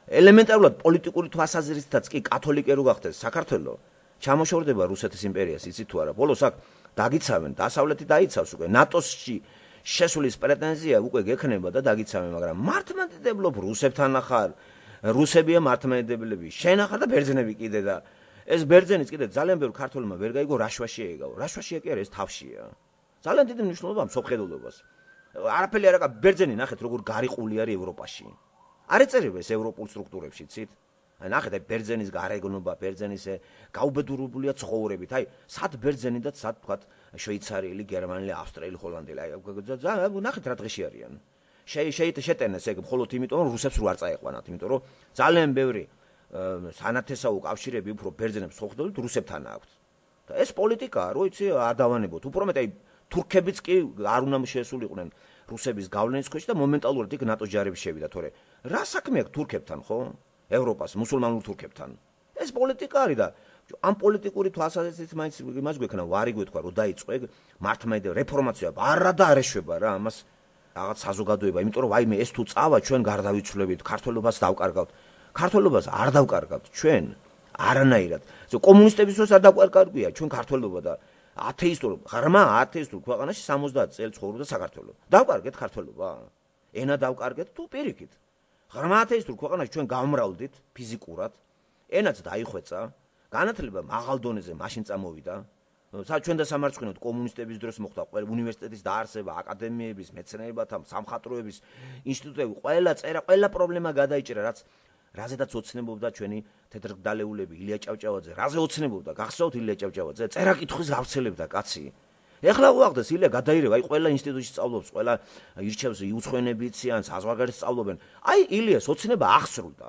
ელემენტარულად პოლიტიკური თვალსაზრისითაც კი კათოლიკე რო გახდეს საქართველო, ჩამოშორდება რუსეთის იმპერიას, იცით თუ არა, ბოლოს აქ დაგიცავენ, დასავლეთი დაიცავს უკვე, ნატოში შესulis პრეტენზია უკვე გექნება და დაგიცავენ, მაგრამ მართლმადიდებლობ რუსებთან ახარ, რუსებია მართლმადიდებლები, შენ ახარ და ბერძნები კიდე და ეს ბერძენიც კიდე ძალიან ბევრ ქართველმა ვერ გაიგო რაშვაში ეკავა. რაშვაშია კი არა, ეს თავშია. ძალიან დიდი მნიშვნელობა მსოფლმხედველობას. არაფერი არ აკა ბერძენი ნახეთ როგორ გარიყული არის ევროპაში. არ ეწერება ეს ევროპულ სტრუქტურებში, ცით? აი ნახეთ აი ბერძენის გარეგნობა, ბერძენის გაუბედურებულია ცხოვრებით. აი სად ბერძენი და სად თქვათ შვეიცარიელი, გერმანელი, ავსტრიელი, ჰოლანდელი. აი ნახეთ რა დღეში არიან. შეიძლება შეტენეს ეგ მხოლოდ იმიტომ რომ რუსებს რო არ წაეყვანათ, იმიტომ რომ ძალიან ბევრი სანათესაო კავშირები უფრო ბერძენებს ხოხდებით რუსებთან აქვს. და ეს პოლიტიკაა, რო იცი არ დავანებოთ. უფრო მეტ აი თურქებიც კი არ უნდა შეესულიყვნენ რუსების გავლენის ქვეშ და მომენტალურად იქ ნატოს ჯარები შევიდა, თორე რა საქმე აქვს თურქებთან, ხო? ევროპას, მუსულმანურ თურქებთან. ეს პოლიტიკა არის და ამ პოლიტიკური თვალსაზრისით მაინც იმას გვექნა ვარი გვეთქვა, რომ დაიწყო ეგ მართლმადიდებლობა რეფორმაცია, არა და არ ეშვება რა, ამას რაღაც საზოგადოება, იმიტომ რომ ვაიმე ეს თუ წავა ჩვენ გარდავიცვლებით, ქართველობას დავკარგავთ. ქართველობას არ დავკარგავთ ჩვენ არანაირად. კომუნისტების დროს არ დავკარგავია ჩვენ ქართველობა და ათეისტურ, ღრმა ათეისტურ ქვეყანაში სამოცდაათ წელი ცხოვრობდა საქართველოს. დავკარგეთ ქართველობა? ენა დავკარგეთ თუ პირიქით? ღრმა ათეისტურ ქვეყანაში ჩვენ გავმრავლდით ფიზიკურად, ენაც დაიხვეწა, განათლება მაღალ დონეზე მაშინ წამოვიდა. ჩვენ და სამარცხვინოდ კომუნისტების დროს მოხდა ყველა უნივერსიტეტის დაარსება, აკადემიების, მეცნიერებათა, სამხატვროების ინსტიტუტები, ყველა წერა, ყველა პრობლემა გადაიჭრა, რაც რაზედაც ოცნებობდა ჩვენი თეთრგდალეულები, ილია ჭავჭავაძე, რაზე ოცნებობდა, გახსოვთ ილია ჭავჭავაძე, წერა კითხვის გავრცელებდა კაცი. ეხლა უახდეს ილია გადაირება, აი ყველა ინსტიტუტში სწავლობს, ყველა ირჩევს იუცხვენებიცი ან საზღვარგარეთ სწავლობენ. აი ილიას ოცნება აღსრულდა,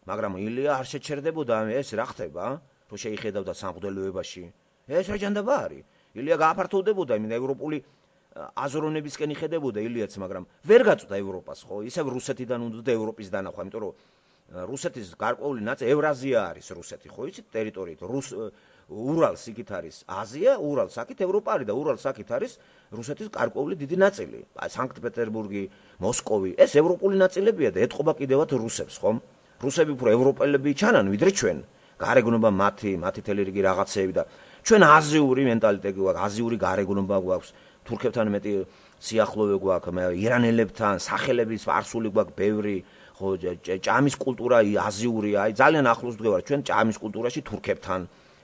მაგრამ ილია არ შეჩერდებოდა ეს რა ხდება, რომ შეიხედავდა სამღვდელოებაში. ეს რა ჯანდაბა არის? ილია გააფართოვდებოდა იმ ევროპული აზროვნებისკენ იხედებოდა ილიაც, მაგრამ ვერ გაწვდა ევროპას, ხო? ისევ რუსეთიდან უნდა ევროპის დანახვა, იმიტომ რომ რუსეთის გარკვეული ნაწილი ევრაზია არის რუსეთი, ხო იცით ტერიტორიით. რუს ურალს იქით არის აზია, ურალს აქეთ ევროპა არის და ურალს აქეთ არის რუსეთის გარკვეული დიდი ნაწილი. აი სანქტ-პეტერბურგი, მოსკოვი, ეს ევროპული ნაწილებია და ეთყობა კიდევაც რუსებს, ხომ? რუსები უფრო ევროპელები ჩანან ვიდრე ჩვენ. გარეგნობა მათი, მათი თელი რიგი რაღაცეები და ჩვენ აზიური მენტალიტეტი გვაქვს, აზიური გარეგნობა გვაქვს, თურქებთან მეტი სიახლოვე გვაქვს, ირანელებთან, სახელების არსული გვაქვს ბევრი, ხო, ჭამის კულტურა აზიურია, აი ძალიან ახლოს ვდგევარ ჩვენ ჭამის კულტურაში თურქებთან.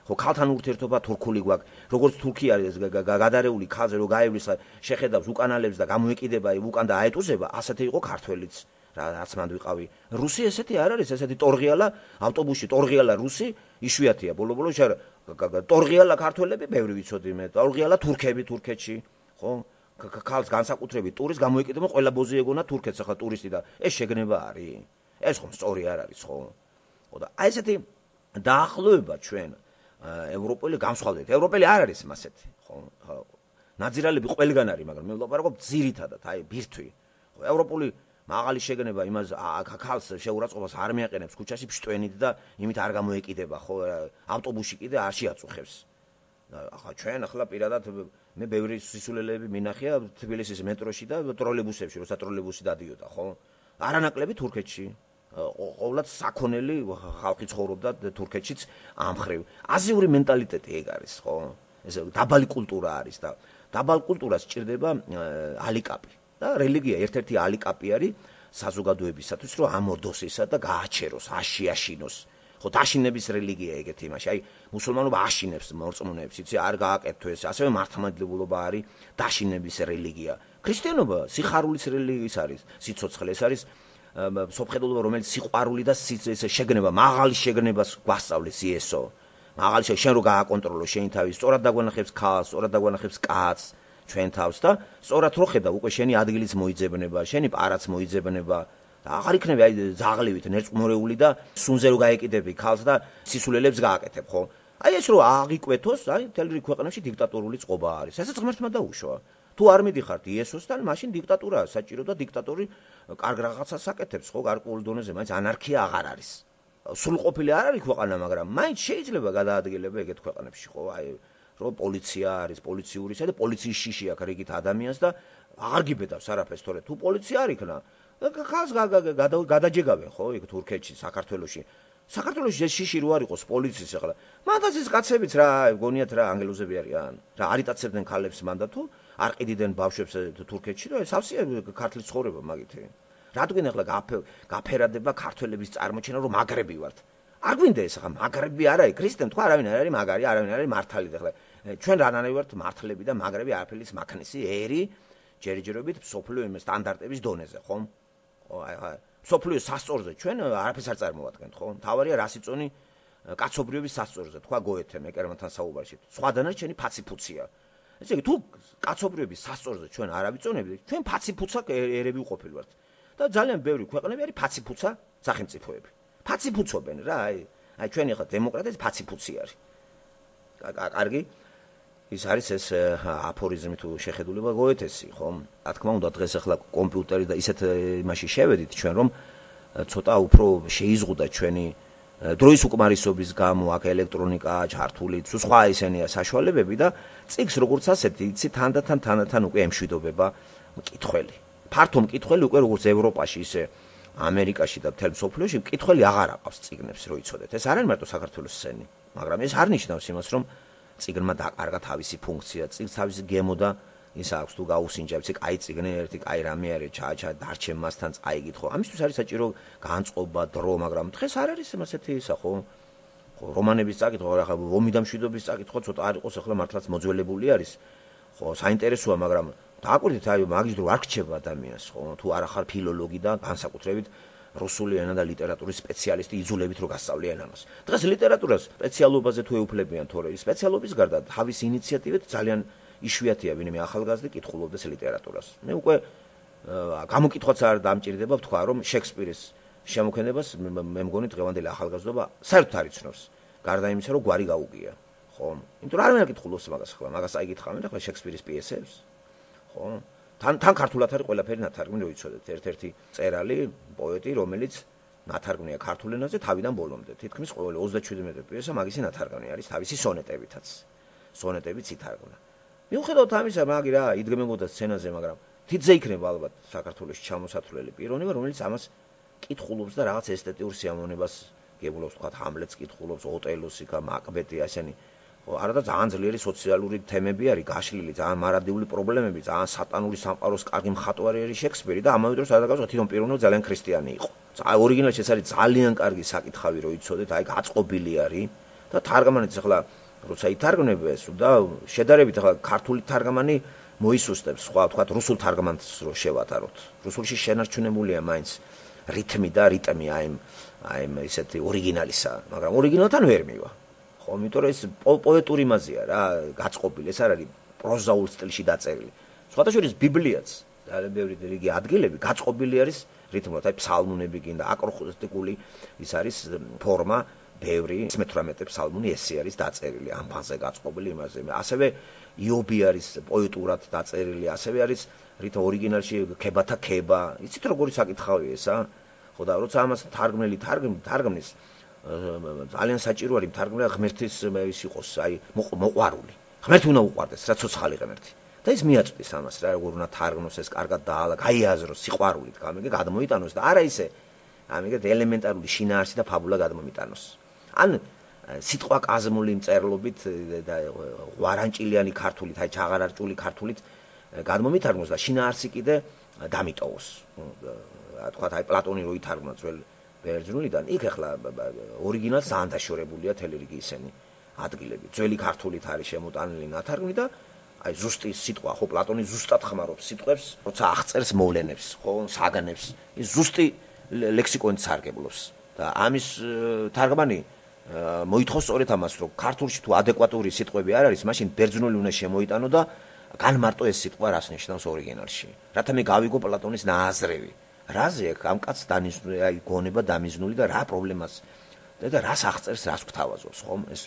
ხო, ქალთან ურთიერთობა თურქული გვაქვს. როგორც თურქი არის გადარეული ქალზე რო გაევლის, შეხედავს უკანალებს და გამოეკიდება უკან და აეტუზება, ასეთი იყო ქართველიც. რაც მანდ ვიყავი. რუსი ესეთი არ არის, ესეთი ტორღიალა ავტობუსში, ტორღიალა რუსი იშვიათია. ბოლო-ბოლო ტორღიალა ქართველები ბევრი ვიცოდი მე. ტორღიალა თურქები თურქეთში, ხო? ქალს განსაკუთრებით ტურის გამოიკიდება ყველა ბოზი ეგონა თურქეთს ახლა ტურისტი და ეს შეგნება არის. ეს ხომ სწორი არ არის, ხო? ხო და აი ესეთი დაახლოება ჩვენ ევროპელი გამსხვალდეთ. ევროპელი არ არის მასეთი, ხო? ნაძირალები ყველგან არის, მაგრამ მე ვლაპარაკობ ძირითადად, აი ბირთვი. ხო, ევროპული მაღალი შეგნება იმას ქალს შეურაცხყოფას არ მიაყენებს ქუჩაში ფშტვენით და იმით არ გამოეკიდება, ხო? ავტობუსში კიდე არ შეაწუხებს. ახლა ჩვენ ახლა პირადად მე ბევრი სისულელეები მინახია თბილისის მეტროში და ტროლეიბუსებში, როცა ტროლეიბუსი დადიოდა, ხო? არანაკლები თურქეთში. ყოვლად საქონელი ხალხი ცხოვრობდა თურქეთშიც ამხრივ. აზიური მენტალიტეტი ეგ არის, ხო? ეს დაბალი კულტურა არის და დაბალ კულტურას სჭირდება ალიკაპი. და რელიგია ერთ-ერთი ალიკაპი არის საზოგადოებისათვის, რომ ამორდოს ისა და გააჩეროს, აშიაშინოს. ხო, დაშინების რელიგია ეგეთი იმაში. აი, მუსულმანობა აშინებს მორწმუნეებს, იცი, არ გააკეთო ეს. ასევე მართლმადიდებლობა არის დაშინების რელიგია. ქრისტიანობა სიხარულის რელიგიის არის, სიცოცხლე, ეს არის სოფხედულობა, რომელიც სიყვარული და შეგნება, მაღალი შეგნებას გვასწავლეს იესო. მაღალი შენ რო გააკონტროლო შენი თავი, სწორად დაგვანახებს ქალს, სწორად დაგვანახებს კაცს. ჩვენ თავს და სწორად რო ხედავ უკვე შენი ადგილის მოიძებნება, შენი პარაც მოიძებნება და აღარ იქნება აი ზაღლივით ნერწმურეული და სუნზე რო გაეკიდები ქალს და სისულელებს გააკეთებ, ხო? აი ეს რო აღიკვეთოს, აი მთელი ქვეყანაში დიქტატორული წყობა არის. ესაც ღმერთმა დაუშვა. თუ არ მიდიხართ იესოსთან, მაშინ დიქტატურაა საჭირო და დიქტატორი კარგ რაღაცას აკეთებს, ხო? გარკვეულ დონეზე, მაინც ანარქია აღარ არის. სრულყოფილი არ არის ქვეყანა, მაგრამ მაინც შეიძლება გადაადგილება ეგეთ ქვეყანებში, ხო? აი რომ პოლიცია არის, პოლიციური და პოლიციის შიში აქვს რიგით ადამიანს და აღარ გიბედავს არაფერს, თორე თუ პოლიცია არ იქნა, ხალხს გადაჯეგავენ, ხო, იქ თურქეთში, საქართველოში. საქართველოში ეს შიში რო არ იყოს პოლიციის ახლა. მანდაც ეს კაცებიც რა, გონიათ რა ანგელოზები არიან. რა არიტაცებდნენ ქალებს მანდა თუ არ ყიდიდნენ ბავშვებს თურქეთში, რა სავსეა ქართლის ცხოვრება მაგითი. რადგან ახლა გაფერადება ქართველების წარმოჩენა რომ მაგრები ვართ. არ გვინდა ეს ახლა მაგრები არ არის ქრისტემ თქვა არავინ არ არის მაგარი, არავინ არ არის მართალი და ახლა ჩვენ რანანები ვართ მართლები და მაგრები არაფერის მანქანის ერი ჯერჯერობით სოფლიო იმ სტანდარტების დონეზე, ხომ? ხო, აი ხა სოფლიო სასწორზე ჩვენ არაფერს არ წარმოვადგენთ, ხო? თავარია რასიწონი კაცობრიობის სასწორზე, თქვა გოეთემ ეკერმანთან საუბარში. სხვა დანარჩენი ფაციფუცია. ესე იგი თუ კაცობრიობის სასწორზე ჩვენ არ ავიწონებთ, ჩვენ ფაციფუცა ერები ვყოფილი ვართ. და ძალიან ბევრი ქვეყნები არის ფაციფუცა სახელმწიფოები. ფაციფუცობენ რა, აი, აი ჩვენი ახლა დემოკრატია ფაციფუცი არის. კარგი? ის არის ეს აფორიზმი თუ შეხედულება გოეთესი, ხო? რა თქმა უნდა დღეს ახლა კომპიუტერი და ისეთ იმაში შევედით ჩვენ რომ ცოტა უფრო შეიზღუდა ჩვენი დროის უკმარისობის გამო აქ ელექტრონიკა, ჩართული, სხვა ისენია საშუალებები და წიგს როგორც ასეთი, იცი თანდათან თანდათან უკვე ემშვიდობება მკითხველი. ფართო მკითხველი უკვე როგორც ევროპაში, ისე ამერიკაში და მთელ მსოფლიოში მკითხველი აღარ აყავს წიგნებს, რო იცოდეთ. ეს არ არის მარტო საქართველოს სცენი, მაგრამ ეს არ ნიშნავს იმას, რომ წიგნმა დაკარგა თავისი ფუნქცია, წიგნს თავისი გემო და ის აქვს თუ გაუსინჯა, ვიცი, კაი წიგნი ერთი, კაი რამე არის, ჩააჩა დარჩენ მასთან წაიგითხო. ამისთვის არის საჭირო განწყობა, დრო, მაგრამ დღეს არ არის ასეთი ისა, ხო? ხო, რომანების წაკითხვა, ახლა ომი და მშვიდობის წაკითხვა ცოტა არ იყოს, ახლა მართლაც მოძველებული არის. ხო, საინტერესოა, მაგრამ დააკვირდით, აი, მაგის დრო არ რჩება ადამიანს, ხო? თუ არ ახარ ფილოლოგი და განსაკუთრებით რუსული ენა და ლიტერატურის სპეციალისტი იძულებით რო გასწავლიან ამას. დღეს ლიტერატურას სპეციალობაზე თუ ეუფლებიან, თორე სპეციალობის გარდა თავის ინიციატივით ძალიან იშვიათია ვინმე ახალგაზრდა კითხულობდეს ლიტერატურას. მე უკვე გამოკითხვაც არ დამჭირდება ვთქვა, რომ შექსპირის შემოქმედებას მე მგონი დღევანდელი ახალგაზრდობა საერთოდ არ იცნობს. გარდა იმისა, რომ გვარი გაუგია, ხო? იმიტომ რომ არ ვინ აკითხულობს მაგას ახლა, მაგას აიგითხავენ ახლა შექსპირის პიესებს, ხო? თან თან ქართულად არის ყველაფერი ნათარგმნი, რო იცოდეთ, ერთ-ერთი წერალი, პოეტი, რომელიც ნათარგმნია ქართულ ენაზე თავიდან ბოლომდე. თითქმის ყოველი ოცდაშვიდმეტე პიესა მაგისი ნათარგმნი არის თავისი სონეტებითაც. სონეტებიც ითარგმნა. მიუხედავად ამისა, მაგი რა, იდგმებოდა სცენაზე, მაგრამ თითზე იქნება ალბათ საქართველოში ჩამოსათვლელი პიროვნება, რომელიც ამას კითხულობს და რაღაც ესთეტიურ სიამოვნებას გებულობს, თქვა ჰამლეტს კითხულობს, ოტელოსი, მაკბეტი, ასენი. ხო, არა და ძალიან ძლიერი სოციალური თემები არის გაშლილი, ძალიან მარადიული პრობლემები, ძალიან სატანური სამყაროს კარგი მხატვარი არის შექსპირი და ამავე დროს ადაგავს თვითონ პიროვნულად ძალიან ქრისტიანი იყო. ორიგინალში ეს არის ძალიან კარგი საკითხავი, რო იცოდეთ, აი გაწყობილი არის და თარგმანიც ახლა როცა ითარგმნებს და შედარებით ახლა ქართული თარგმანი მოისუსტებს, სხვა თქვა რუსულ თარგმანს რო შევატაროთ. რუსულში შენარჩუნებულია მაინც რითმი და რიტმი აი აი ესეთი ორიგინალისა, მაგრამ ორიგინალთან ვერ მივა. ხო, იმიტომ რომ ეს პოეტური მაზია რა, გაწყობილი, ეს არ არის პროზაულ სტილში დაწერილი. სხვადასხვა ბიბლიაც, ძალიან ბევრი რიგი ადგილები გაწყობილი არის რითმულად, აი ფსალმუნები გინდა, აკროსტიკული ის არის ფორმა, ბევრი მეთვრამეტე ფსალმუნი ესე არის დაწერილი, ამ ფაზე გაწყობილი იმაზე. ასევე იობი არის პოეტურად დაწერილი, ასევე არის რით ორიგინალში ქებათა ქება. იცით როგორი საკითხავია ესა? ხო და როცა ამას თარგმნელი თარგმნის ძალიან საჭირო არის თარგმნა ღმერთის ის იყოს, აი მოყვარული. ღმერთი უნდა უყვარდეს, რა ცოცხალი ღმერთი. და ის მიაწვდის ამას რა, როგორ უნდა თარგმნოს ეს კარგად დაალა, გაიაზროს სიყვარულით, გამიგე გადმოიტანოს და არა ისე ამიგე ელემენტარული შინაარსი და ფაბულა გადმოიტანოს. ან სიტყვა კაზმული მწერლობით და ღვარანჭილიანი ქართულით, აი ჩაღარარჭული ქართულით გადმომითარგმნოს და შინაარსი კიდე დამიტოვოს. თქვა აი პლატონი რო ითარგმნა ძველ ბერძნულიდან, იქ ახლა ორიგინალს ძალიან დაშორებულია თელი რიგი ისენი ადგილები. ძველი ქართულით არის შემოტანილი ნათარგმნი და აი ზუსტი სიტყვა, ხო პლატონი ზუსტად ხმარობს სიტყვებს, როცა აღწერს მოვლენებს, ხო საგანებს, ის ზუსტი ლექსიკონით სარგებლობს. და ამის თარგმანი მოითხოვს სწორედ ამას, რომ ქართულში თუ ადეკვატური სიტყვები არ არის, მაშინ ბერძნული უნდა შემოიტანო და განმარტო ეს სიტყვა რას ნიშნავს ორიგინალში. რათა მე გავიგო პლატონის ნააზრევი. რაზე აქ ამ კაცს დანიშნული, აი გონება დამიზნული და რა პრობლემას და რას აღწერს, რას გვთავაზობს, ხომ? ეს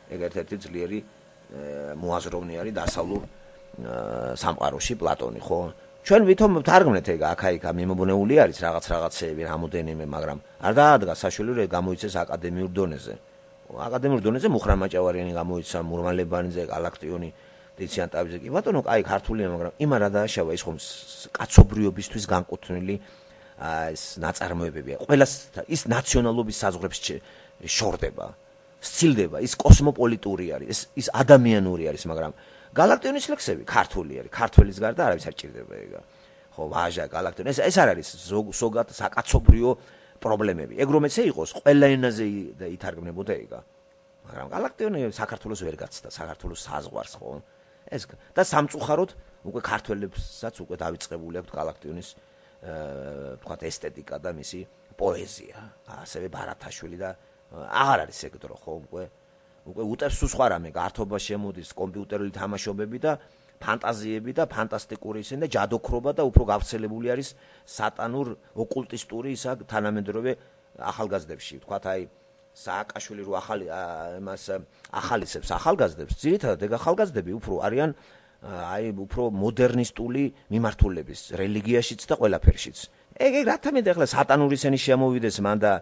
ეგ ერთ-ერთი ძლიერი მოაზროვნე არის დასავლურ სამყაროში პლატონი, ხო? ჩვენ ვითომ თარგმნეთ ეგ აქა-იქა მიმობნეული არის რაღაც რაღაცეები, რამოდენიმე, მაგრამ არ დაადგა საშუალება გამოიცეს აკადემიურ დონეზე. აკადემიურ დონეზე მუხრან მაჭავარიანი გამოიცა, მურმალებანიძე, გალაქტიონი, დიციან ტაბიძე კი ბატონო, აი ქართულია, მაგრამ იმა რა დააშავა ის ხომ კაცობრიობისთვის განკუთვნილი ეს ნაწარმოებებია. ყველას ის ნაციონალობის საზღვრებს შორდება, სცილდება, ის კოსმოპოლიტური არის, ის ის ადამიანური არის, მაგრამ გალაქტიონის ლექსები ქართული არის, ქართველის გარდა არავის არ ჭირდება ეგა. ხო, ვაჟა, galaktion. ეს ეს არ არის ზოგად საკაცობრიო პრობლემები. ეგ რომ ესე იყოს, ყველა ენაზე ითარგმნებოდა ეგა. მაგრამ galaktion-ი საქართველოს ვერ გაცდა, საქართველოს საზღვარს, ხო? ეს და სამწუხაროდ უკვე ქართველებსაც უკვე დავიწყებული აქვს galaktion-ის თქვათ ესთეტიკა და მისი პოეზია. ასევე ბარათაშვილი და აღარ არის ეგ დრო, ხო, უკვე უკვე უტევს სხვა რამე, გართობა შემოდის კომპიუტერული თამაშობები და ფანტაზიები და ფანტასტიკური ისინი და ჯადოქრობა და უფრო გავრცელებული არის სატანურ ოკულტისტური ისა თანამედროვე ახალგაზრდებში. თქვათ აი სააკაშვილი რო ახალი მას ახალისებს ახალგაზრდებს, ძირითადად ეგ ახალგაზრდები უფრო არიან აი უფრო მოდერნისტული მიმართულების რელიგიაშიც და ყველაფერშიც. ეგ ეგ რა თქმა უნდა ახლა სატანური ისინი შემოვიდეს მან და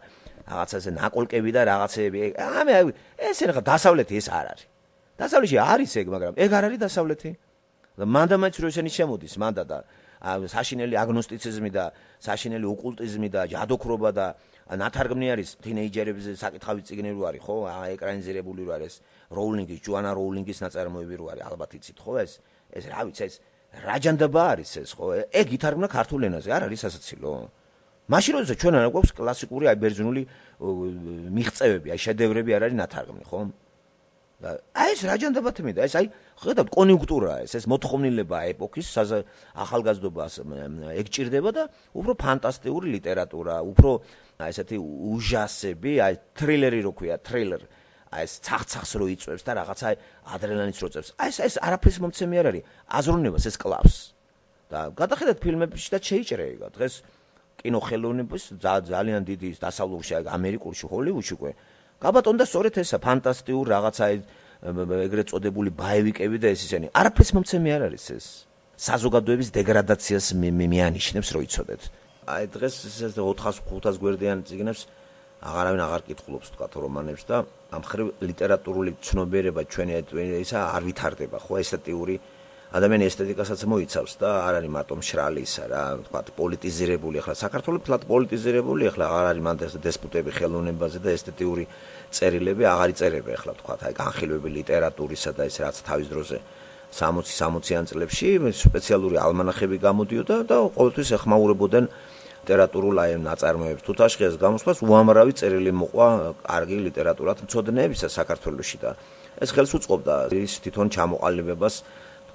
რაღაცა ესე ნაკოლკები და რაღაცეები. ამე ეს რა დასავლეთი ეს არ არის. დასავლეთში არის ეგ, მაგრამ ეგ არ არის დასავლეთი. მან და მაინც რო ისინი შემოდის, მან და საშინელი აგნოსტიციზმი და საშინელი ოკულტიზმი და ჯადოქრობა და ნათარგმნი არის თინეიჯერებზე საკითხავი წიგნი რო არის, ხო? ეკრანიზირებული რო არის როულინგის, ჯოანა როულინგის ნაწარმოები რო არის, ალბათ იცით, ხო? ეს ეს რა ვიცი, ეს რაჯანდაბა არის ეს, ხო? ეგ ითარგმნა ქართულ ენაზე, არ არის სასაცილო. მაშინ როცა ჩვენ არ გვაქვს კლასიკური აი ბერძნული მიღწევები, აი შედევრები არ არის ნათარგმნი, ხო? და აი ეს რაჯანდაბა თმიდა, ეს აი ხედავთ კონიუნქტურაა ეს, ეს მოთხოვნილება ეპოქის ახალგაზრდობას ეგ ჭირდება და უფრო ფანტასტიკური ლიტერატურა, უფრო აი ესეთი უჟასები, აი თრილერი რო ქვია, თრილერ, აი ეს ცახცახს რო იწვევს და რაღაცა ადრენალინს რო წევს. აი ეს ეს არაფრის მომცემი არ არის, აზროვნებას ეს კლავს. და გადახედათ ფილმებში და შეიჭრე ეგა. დღეს კინოხელოვნების ძალიან დიდი დასავლურში, ამერიკულში, ჰოლივუდში უკვე გაბატონდა სწორედ ესა ფანტასტიკურ რაღაცა ეგრეთ წოდებული ბაევიკები და ეს ისენი. არაფრის მომცემი არ არის ეს. საზოგადოების დეგრადაციას მეანიშნებს რო იცოდეთ. აი დღეს ეს ოთხას ხუთას გვერდიან წიგნებს აღარავინ აღარ კითხულობს თქვა რომანებს და ამ ხრივ ლიტერატურული ცნობიერება ჩვენი ისა არ ვითარდება, ხო, ესთეტიური ადამიანის ესთეტიკასაც მოიცავს და არ არის მარტო მშრალი ისა რა, თქვა პოლიტიზირებული, ახლა საქართველოს ფლად პოლიტიზირებული, ახლა აღარ არის მანდ დესპუტები ხელოვნებაზე და ესთეტიური წერილები აღარ იწერება, ახლა თქვა აი განხილვები ლიტერატურისა და ეს რაც თავის დროზე სამოცი სამოციან წლებში სპეციალური ალმანახები გამოდიოდა და ყოველთვის ეხმაურებოდნენ ლიტერატურულ აი ნაწარმოებებს. თუ თაშხიას გამოსვლას უამრავი წერილი მოყვა კარგი ლიტერატურად მცოდნეებისა საქართველოში და ეს ხელს უწყობდა ის თვითონ ჩამოყალიბებას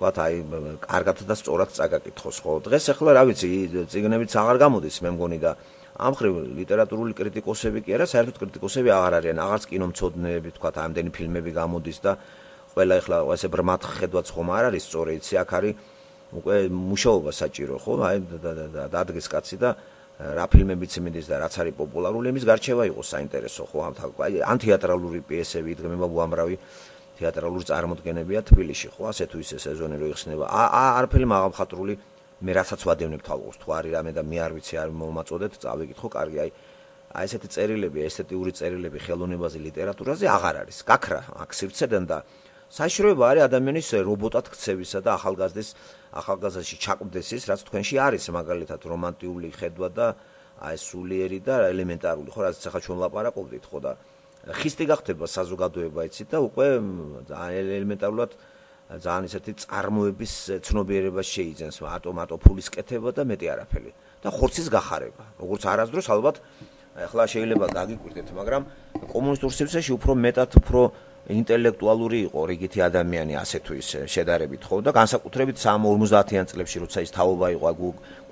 თქვათ აი კარგად და სწორად წაგაკითხოს, ხო? დღეს ახლა რა ვიცი, წიგნებიც აღარ გამოდის, მე მგონი და ამ ხრივ ლიტერატურული კრიტიკოსები კი არა, საერთოდ კრიტიკოსები აღარ არიან, აღარც კინომცოდნეები, თქვათ ამდენი ფილმები გამოდის და ყველა ახლა ესე ბრმად ხედვაც ხომ არ არის სწორი, იცი, აქ არის უკვე მუშაობა საჭირო, ხო? აი დადგეს კაცი და რა ფილმებიც მიდის და რაც არის პოპულარული, იმის გარჩევა იყოს საინტერესო, ხო? აი ან თეატრალური პიესები იდგმება უამრავი თეატრალური წარმოდგენებია თბილისში, ხო? ასე თუ ისე სეზონი რო იხსნება. არაფერი მაღალმხატვრული მე რასაც ვადევნებ თვალყურს, თუ არის რამე და მე არ ვიცი, არ მომაწოდეთ, წავიკითხო, კარგი, აი აი ესეთი წერილები, ესთეტიური წერილები ხელოვნებაზე, ლიტერატურაზე აღარ არის. გაქრა აქ სივრცედან და საშიშროება არის ადამიანის რობოტად ქცევისა და ახალგაზრდის ახალგაზრდაში ჩაკვდესის, რაც თქვენში არის, მაგალითად რომანტიული ხედვა და აი სულიერი და ელემენტარული, ხო, რაც ახლა ჩვენ ლაპარაკობდით, ხო და ხისტი გახდება საზოგადოება, იცით და უკვე ელემენტარულად ძალიან ისეთი წარმოების ცნობიერებას შეიძენს, ატომატო ფულის კეთება და მეტი არაფერი და ხორცის გახარება. როგორც არასდროს ალბათ ახლა შეიძლება გაგიკვირდეთ, მაგრამ კომუნისტურ სივრცეში უფრო მეტად უფრო ინტელექტუალური იყო რიგითი ადამიანი ასე თუ ისე შედარებით, ხო და განსაკუთრებით სამოცდაათიან წლებში როცა ის თაობა იყო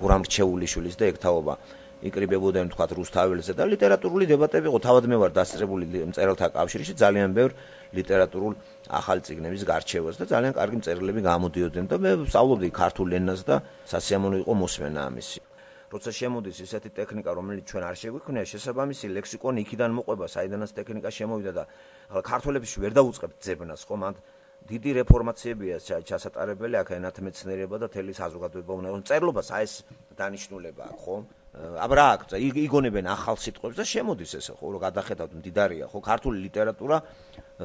გურამ რჩეულიშვილის და ეგ თაობა იკრიბებოდნენ თქვათ რუსთაველზე და ლიტერატურული დებატები იყო, თავად მე ვარ დასწრებული მწერალთა კავშირში ძალიან ბევრ ლიტერატურულ ახალი წიგნების გარჩევას და ძალიან კარგი მწერლები გამოდიოდნენ და მე ვსწავლობდი ქართულ ენას და სასიამოვნო იყო მოსმენა ამისი. როცა შემოდის ესეთი ტექნიკა, რომელიც ჩვენ არ შეგვიქმნია, შესაბამისი ლექსიკონი იქიდან მოყვება, საიდანაც ტექნიკა შემოვიდა და ახლა ქართველებში ვერ დაუწყებთ ძებნას, ხო, მანდ დიდი რეფორმაციებია ჩასატარებელი, აქ ენათმეცნიერება და თელი საზოგადოება უნდა იყოს. წერლობას აი ეს დანიშნულება აქვს, ხო? აბა რა აქვს, იგონებენ ახალ სიტყვებს და შემოდის ესე, ხო, რომ გადახედავთ მდიდარია, ხო, ქართული ლიტერატურა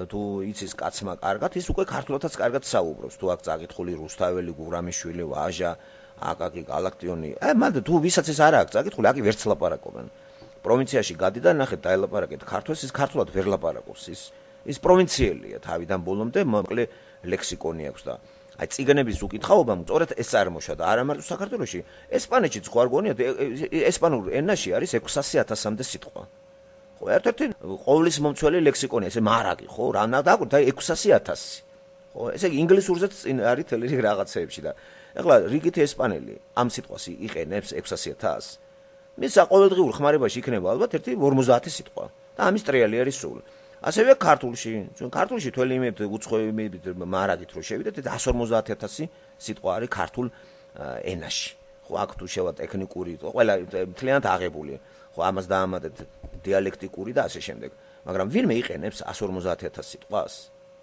თუ იცის კაცმა კარგად, ის უკვე ქართულადაც კარგად საუბრობს. თუ აქ წაკითხული რუსთაველი, გურამიშვილი, ვაჟა, აკაკი, galaktion-ი. აი, მანდ თუ ვისაც ეს არ აქვს წაკითხული, აქ ვერც ლაპარაკობენ. პროვინციაში გადი და ნახეთ, დაელაპარაკეთ ქართულს, ის ქართულად ვერ ლაპარაკობს. ის ის პროვინციელია თავიდან ბოლომდე, მოკლე ლექსიკონი აქვს და აი ციგნების უკითხაობამ სწორედ ეს წარმოშვა და არა მარტო საქართველოში, ესპანეთშიც ხო არ გონიათ ესპანურ ენაში არის ექვსასი ათასამდე სიტყვა. ხო, ერთ-ერთი ყოვლის მომცველი ლექსიკონია, ესე მარაგი, ხო, რა უნდა დააკვირდეთ, აი ექვსასი ათასი. ხო, ესე იგი ინგლისურზეც წინ არის თელი რიგი რაღაცეებში და ეხლა რიგითი ესპანელი ამ სიტყვას იყენებს ექვსასი ათასს. მის ყოველდღიურ ხმარებაში იქნება ალბათ ერთი ორმოცდაათი სიტყვა და ამის ტრიალი არის სულ. ასევე ქართულში, ჩვენ ქართულში თველი იმით უცხოებით მარაგით რო შევიდეთ, εκατს ორმოცდაათი ათასი სიტყვა არის ქართულ ენაში. ხო, აქ თუ შევა ტექნიკური, ყველა მთლიანად აღებული. ხო, ამას დაამატეთ დიალექტიკური და ასე შემდეგ. მაგრამ ვინმე იყენებს εκατს ორმოცდაათი ათასი სიტყვას?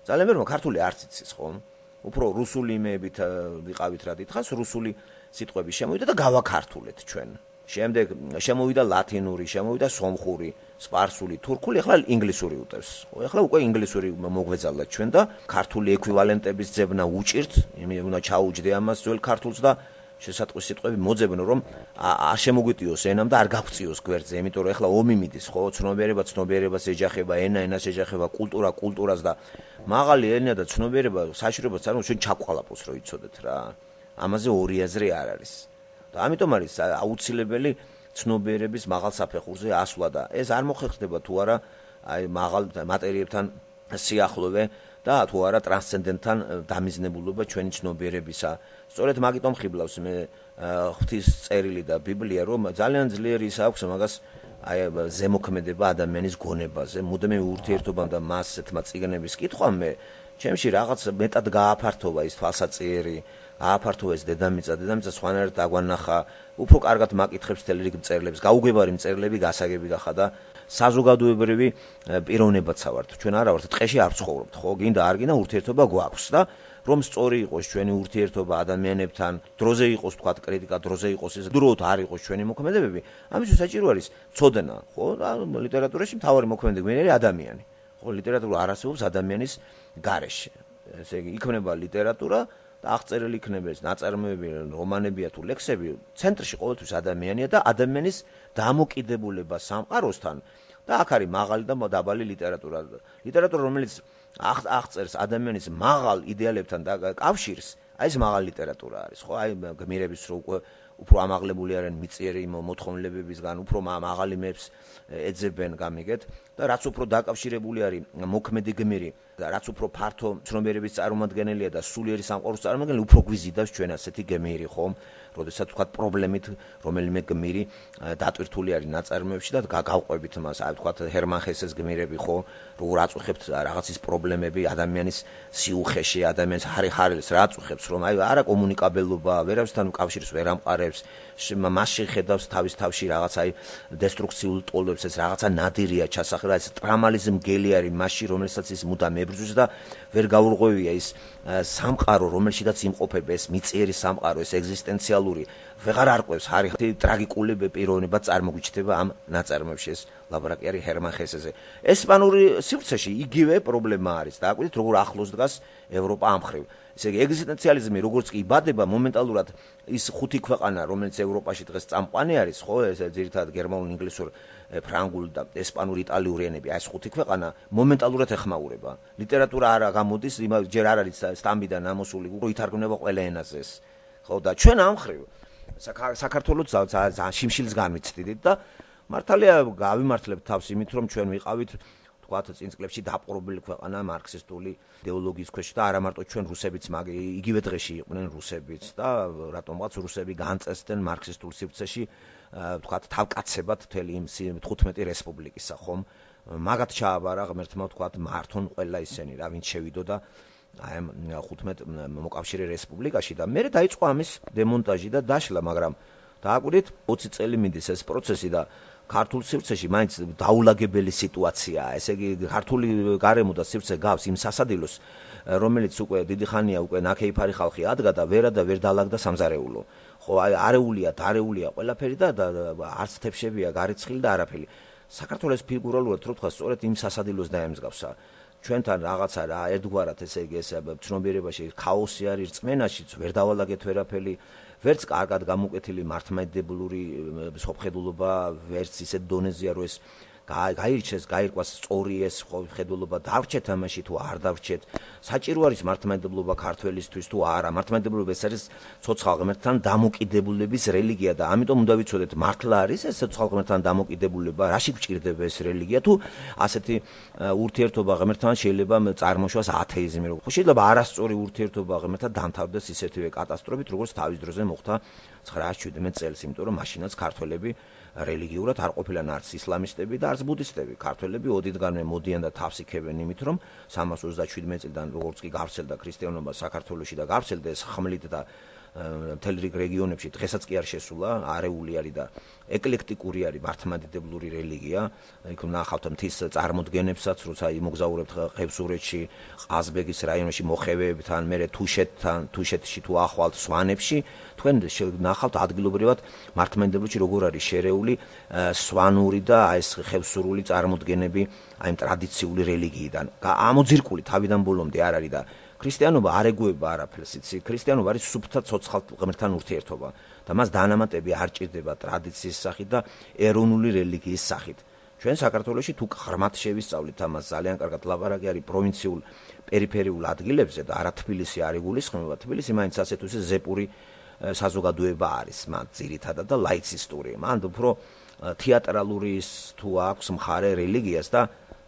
ძალიან ბევრმა ქართული არც იცის, ხო? უფრო რუსული იმეებით ვიყავით რა დიდხანს, რუსული სიტყვები შემოვიდა და გავაქართულეთ ჩვენ. შემდეგ შემოვიდა ლათინური, შემოვიდა სომხური, სპარსული, თურქული, ახლა ინგლისური უტევს. ხო, ახლა უკვე ინგლისური მოგვეძალათ ჩვენ და ქართული ეკვივალენტების ძებნა უჭირთ, იმე უნდა ჩაუჯდე ამას ძველ ქართულს და შესატყვის სიტყვები მოძებნო, რომ არ შემოგვიტიოს ენამ და არ გავწიოს გვერდზე, იმიტომ რომ ახლა ომი მიდის, ხო, ცნობიერება ცნობიერებას ეჯახება, ენა ენას ეჯახება, კულტურა კულტურას და მაღალი ენა და ცნობიერება საშიშროებას წარმოადგენს ჩვენ ჩაყვალაპოს რო იცოდეთ რა. ამაზე ორი აზრი არ არის. და ამიტომ არის აუცილებელი ცნობიერების მაღალ საფეხურზე ასვლა და ეს არ მოხერხდება თუ არა აი მაღალ მატერიებთან სიახლოვე და თუ არა ტრანსცენდენტთან დამიზნებულობა ჩვენი ცნობიერებისა. სწორედ მაგიტომ ხიბლავს მე ღვთის წერილი და ბიბლია, რომ ძალიან ძლიერი ის აქვს მაგას აი ზემოქმედება ადამიანის გონებაზე, მუდმივი ურთიერთობამ და მასეთმა წიგნების კითხვამ მე ჩემში რაღაც მეტად გააფართოვა ის თვალსაჩინო ააფართოვა ეს დედამიწა, დედამიწა სხვანაირად დაგვანახა, უფრო კარგად მაკითხებს თელ რიგ მწერლებს, გაუგებარი მწერლები გასაგები გახდა და საზოგადოებრივი პიროვნებაცა ვართ. ჩვენ არა ვართ ტყეში არ ცხოვრობთ, ხო? გინდა არ გინდა ურთიერთობა გვაქვს და რომ სწორი იყოს ჩვენი ურთიერთობა ადამიანებთან, დროზე იყოს თქვა კრიტიკა, დროზე იყოს ეს დროოთ არ იყოს ჩვენი მოქმედებები, ამისთვის საჭირო არის ცოდნა, ხო? და ლიტერატურაში მთავარი მოქმედი გმირი არის ადამიანი. ხო, ლიტერატურა არ არსებობს ადამიანის გარეშე. ესე იგი, იქმნება ლიტერატურა და აღწერილი იქნება ეს ნაწარმოები, რომანებია თუ ლექსები, ცენტრში ყოველთვის ადამიანია და ადამიანის დამოკიდებულება სამყაროსთან და აქ არის მაღალი და დაბალი ლიტერატურა. ლიტერატურა, რომელიც აღწერს ადამიანის მაღალ იდეალებთან და კავშირს, აი ეს მაღალი ლიტერატურა არის, ხო? აი გმირების რო უკვე უფრო ამაღლებული არიან მიწიერი მოთხოვნილებებისგან, უფრო მაღალი მეებს ეძებენ, გამიგეთ და რაც უფრო დაკავშირებული არის მოქმედი გმირი და რაც უფრო ფართო ცნობიერების წარმომადგენელია და სულიერი სამყაროს წარმომადგენელი, უფრო გვიზიდავს ჩვენ ასეთი გმირი, ხო? როდესაც თქვა პრობლემით რომელიმე გმირი დატვირთული არის ნაწარმოებში და გავყვებით მას, აი თქვა ჰერმან ჰესეს გმირები, ხო? როგორ აწუხებთ რაღაცის პრობლემები ადამიანის სიუხეში, ადამიანის ხარხარელს რა აწუხებს, რომ აი არა კომუნიკაბელობა, ვერავისთან კავშირს ვერ ამყარებს, მასში ხედავს თავის თავში რაღაც აი დესტრუქციულ ტოლებს, ეს რაღაცა ნადირია ჩასახლა, ეს ტრამალიზმ გელი არის მასში, რომელსაც ის მუდამ ებრძვის და ვერ გაურღვევია ის სამყარო, რომელშიც იმყოფება ეს მიწიერი სამყარო, ეს ეგზისტენციალური ვეღარ არყვევს, არის ტრაგიკული პიროვნება წარმოგვიჩნდება ამ ნაწარმოებში, ეს ლაბორატორი არის ჰერმან ჰესეზე. ესპანური სივრცეში იგივე პრობლემა არის. დააკვირდით, როგორ ახლოს დგას ევროპა ამ მხრივ. ესე იგი, ეგზისტენციალიზმი როგორც კი იბადება, მომენტალურად ის ხუთი ქვეყანა, რომელიც ევროპაში დღეს წამყვანი არის, ხო, ეს ძირითადად გერმანულ, ინგლისურ, ფრანგულ და ესპანურ, იტალიური ენები, აი ეს ხუთი ქვეყანა მომენტალურად ეხმაურება. ლიტერატურა არა გამოდის, ჯერ არ არის სტამბიდან ამოსული, უფრო ითარგმნება ყველა ენაზე ეს. ხო, და ჩვენ ამ მხრივ საქართველოს ძალიან შიმშილს განვიცდით და მართალია გავიმართლებთ თავს იმით, რომ ჩვენ ვიყავით თქვათ წინ წლებში დაპყრობილი ქვეყანა მარქსისტული იდეოლოგიის ქვეშ და არა მარტო ჩვენ რუსებიც, მაგ იგივე დღეში იყვნენ რუსებიც და რატომღაც რუსები განწესდნენ მარქსისტულ სივრცეში თქვათ თავკაცებად მთელი იმ თხუთმეტი რესპუბლიკისა, ხომ? მაგათ ჩააბარა ღმერთმა თქვათ მართონ ყველა ისენი, რა ვინც შევიდო და აი ამ ხუთმეტ მოკავშირე რესპუბლიკაში და მე დაიწყო ამის დემონტაჟი და დაშლა, მაგრამ დააკვირდით ოცი წელი მიდის ეს პროცესი და ქართულ სივრცეში მაინც დაულაგებელი სიტუაციაა. ესე იგი, ქართული გარემო და სივრცე გავს იმ სასადილოს, რომელიც უკვე დიდი ხანია უკვე ნაქეიფარი ხალხი ადგა და ვერა და ვერ დაალაგდა სამზარეულო. ხო, აი არეულია, დარეულია ყველაფერი და არც თებშებია, გარიცხილი და არაფერი. საქართველოს ფიგურალურად რო თქვა, სწორედ იმ სასადილოს დაემსგავსა. ჩვენთან რაღაცა რა ერთგვარად ესე იგი ეს ცნობიერებაში ქაოსი არის, რწმენაშიც ვერ დავალაგეთ ვერაფერი, ვერც კარგად გამოკვეთილი მართლმადიდებლური სოფხედულობა, ვერც ისეთ დონეზეა, რომ ეს გაირჩეს, გაირკვას სწორი ეს ხედულობა, დავრჩეთ ამაში თუ არ დავრჩეთ. საჭირო არის მართლმადიდებლობა ქართველისთვის თუ არა. მართლმადიდებლობა ეს არის ცოცხალ ღმერთთან დამოკიდებულების რელიგია და ამიტომ უნდა ვიცოდეთ, მართლა არის ეს ცოცხალ ღმერთთან დამოკიდებულება, რაში გვჭირდება ეს რელიგია თუ ასეთი ურთიერთობა ღმერთთან შეიძლება წარმოშვას ათეიზმი. ხო შეიძლება არასწორი ურთიერთობა ღმერთთან დამთავრდეს ისეთივე კატასტროფით, როგორც თავის დროზე მოხდა ცხრაას შვიდმეტ წელს, იმიტომ რომ მაშინაც ქართველები რელიგიურად არ ყოფილან არც ისლამისტები და არც ბუდისტები. ქართველები ოდითგანვე მოდიან და თავს იქებენ იმით, რომ სამას ოცდაშვიდმეტ წლიდან როგორც კი გავრცელდა ქრისტიანობა საქართველოში და გავრცელდა ეს ხმლით და მთელ რიგ რეგიონებში დღესაც კი არ შესულა, არეული არის და ეკლექტიკური არის მართლმადიდებლური რელიგია. იქ ნახავთ მთის წარმოდგენებსაც, როცა იმოგზაურებთ ხევსურეთში, ყაზბეგის რაიონში მოხევეებთან, მერე თუშეთთან, თუშეთში თუ ახვალთ სვანებში, თქვენ ნახავთ ადგილობრივად მართლმადიდებლოში როგორ არის შერეული სვანური და ეს ხევსურული წარმოდგენები აი ამ ტრადიციული რელიგიიდან. ამოძირკული თავიდან ბოლომდე არ არის და ქრისტიანობა არ ეგუება არაფერს, იცი? ქრისტიანობა არის სუფთა ცოცხალ ღმერთთან ურთიერთობა და მას დანამატები არ ჭირდება ტრადიციის სახით და ეროვნული რელიგიის სახით. ჩვენ საქართველოში თუ ღრმად შევისწავლით ამას, ძალიან კარგად ლაპარაკი არის პროვინციულ პერიფერიულ ადგილებზე და არა თბილისი არ იგულისხმება. თბილისი მაინც ასეთ უსე ზეპური საზოგადოება არის, მან ძირითადად და ლაიცისტური. მან უფრო თეატრალური თუ აქვს მხარე რელიგიას და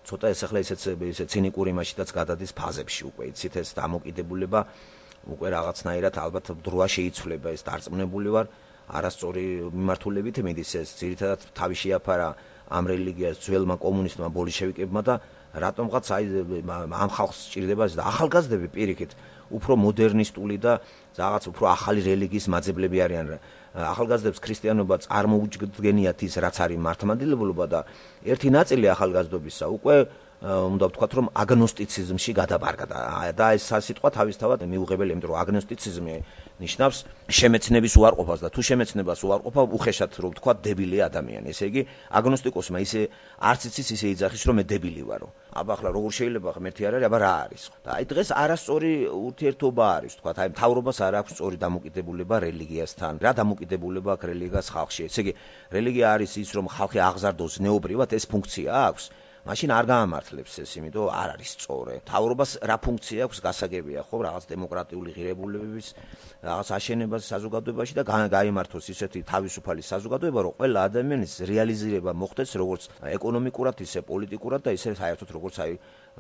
ცოტა ეს ახლა ისეთ ისე ცინიკური მასშტაბს გადადის ფაზებში უკვე იცით ეს დამოკიდებულება უკვე რაღაცნაირად ალბათ დროა შეიცვლება ეს დარწმუნებული ვარ არასწორი მიმართულებით მიდის ეს ძირითადად თავი შეაფარა ამ რელიგიას ძველმა კომუნისტმა ბოლშევიკებმა და რატომღაც აი ამ ხალხს სჭირდება და ახალგაზრდები პირიქით უფრო მოდერნისტული და რაღაც უფრო ახალი რელიგიის მაძებლები არიან ახალგაზრდებს ქრისტიანობა წარმოუდგენიათ ის რაც არის მართლმადიდებლობა და ერთი ნაწილი ახალგაზრდობისა უკვე უნდა ვთქვათ რომ აგნოსტიციზმში გადაბარგა და ეს სიტყვა თავისთავად მიუღებელი იმიტომ რომ აგნოსტიციზმი ნიშნავს შემეცნების უარყოფას და თუ შემეცნებას უარყოფა უხეშად რომ ვთქვათ დებილი ადამიანი ესე იგი აგნოსტიკოსმა ისე არც იცის ისე იძახის რომ მე დებილი ვარო აბა ახლა როგორ შეიძლება ღმერთი არ არის აბა რა არის და აი დღეს არასწორი ურთიერთობა არის ვთქვათ აი მთავრობას არ აქვს სწორი დამოკიდებულება რელიგიასთან რა დამოკიდებულება აქვს რელიგიას ხალხში ესე იგი რელიგია არის ის რომ ხალხი აღზარდოს ზნეობრივად ეს ფუნქცია აქვს მაშინ არ გაამართლებს ეს, იმიტომ არ არის სწორი. მთავრობას რა ფუნქცია აქვს გასაგებია, ხო, რაღაც დემოკრატიული ღირებულებების რაღაც აშენებას საზოგადოებაში და გაიმართოს ისეთი თავისუფალი საზოგადოება, რომ ყველა ადამიანის რეალიზება მოხდეს როგორც ეკონომიკურად, ისე პოლიტიკურად და ისე საერთოდ როგორც აი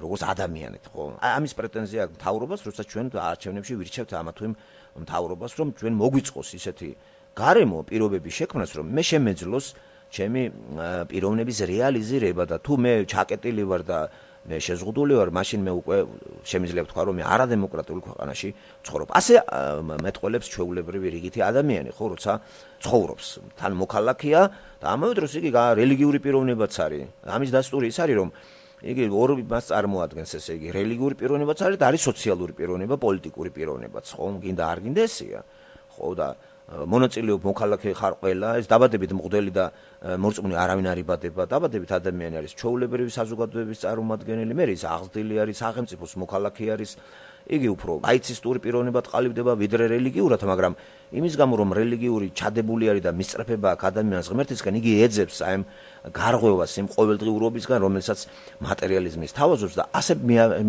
როგორც ადამიანად, ხო? ამის პრეტენზია აქვს მთავრობას, როცა ჩვენ არჩევნებში ვირჩევთ ამა თუ იმ მთავრობას, რომ ჩვენ მოგვიწყოს ისეთი გარემო პირობების შექმნას, რომ მე შემეძლოს ჩემი პიროვნების რეალიზირება და თუ მე ჩაკეტილი ვარ და მე შეზღუდული ვარ, მაშინ მე უკვე შემიძლია ვთქვა, რომ მე არადემოკრატიულ ქვეყანაში ცხოვრობ. ასე მეტყველებს ჩვეულებრივი რიგითი ადამიანი, ხო, როცა ცხოვრობს. თან მოქალაქეა და ამავე დროს იგი რელიგიური პიროვნებაც არის. ამის დასტური ის არის, რომ იგი ორ მას წარმოადგენს, ესე იგი, რელიგიური პიროვნებაც არის და არის სოციალური პიროვნება, პოლიტიკური პიროვნებაც, ხო, გინდა არ გინდა ესეა. ხო და მონაწილეობ მოქალაქე ხარ ყველა ეს დაბადებით მღვდელი და მორწმუნე არავინ არ იბადება დაბადებით ადამიანი არის ჩვეულებრივი საზოგადოების წარმომადგენელი მე ის აღზრდილი არის სახელმწიფოს მოქალაქე არის იგი უფრო აიცისტური პიროვნებად ყალიბდება ვიდრე რელიგიურად მაგრამ იმის გამო რომ რელიგიური ჩადებული არის და მისწრაფება აქ ადამიანს ღმერთისგან იგი ეძებს აი ამ გარღვევას იმ ყოველდღიურობისგან რომელსაც მატერიალიზმის თავაზობს და ასე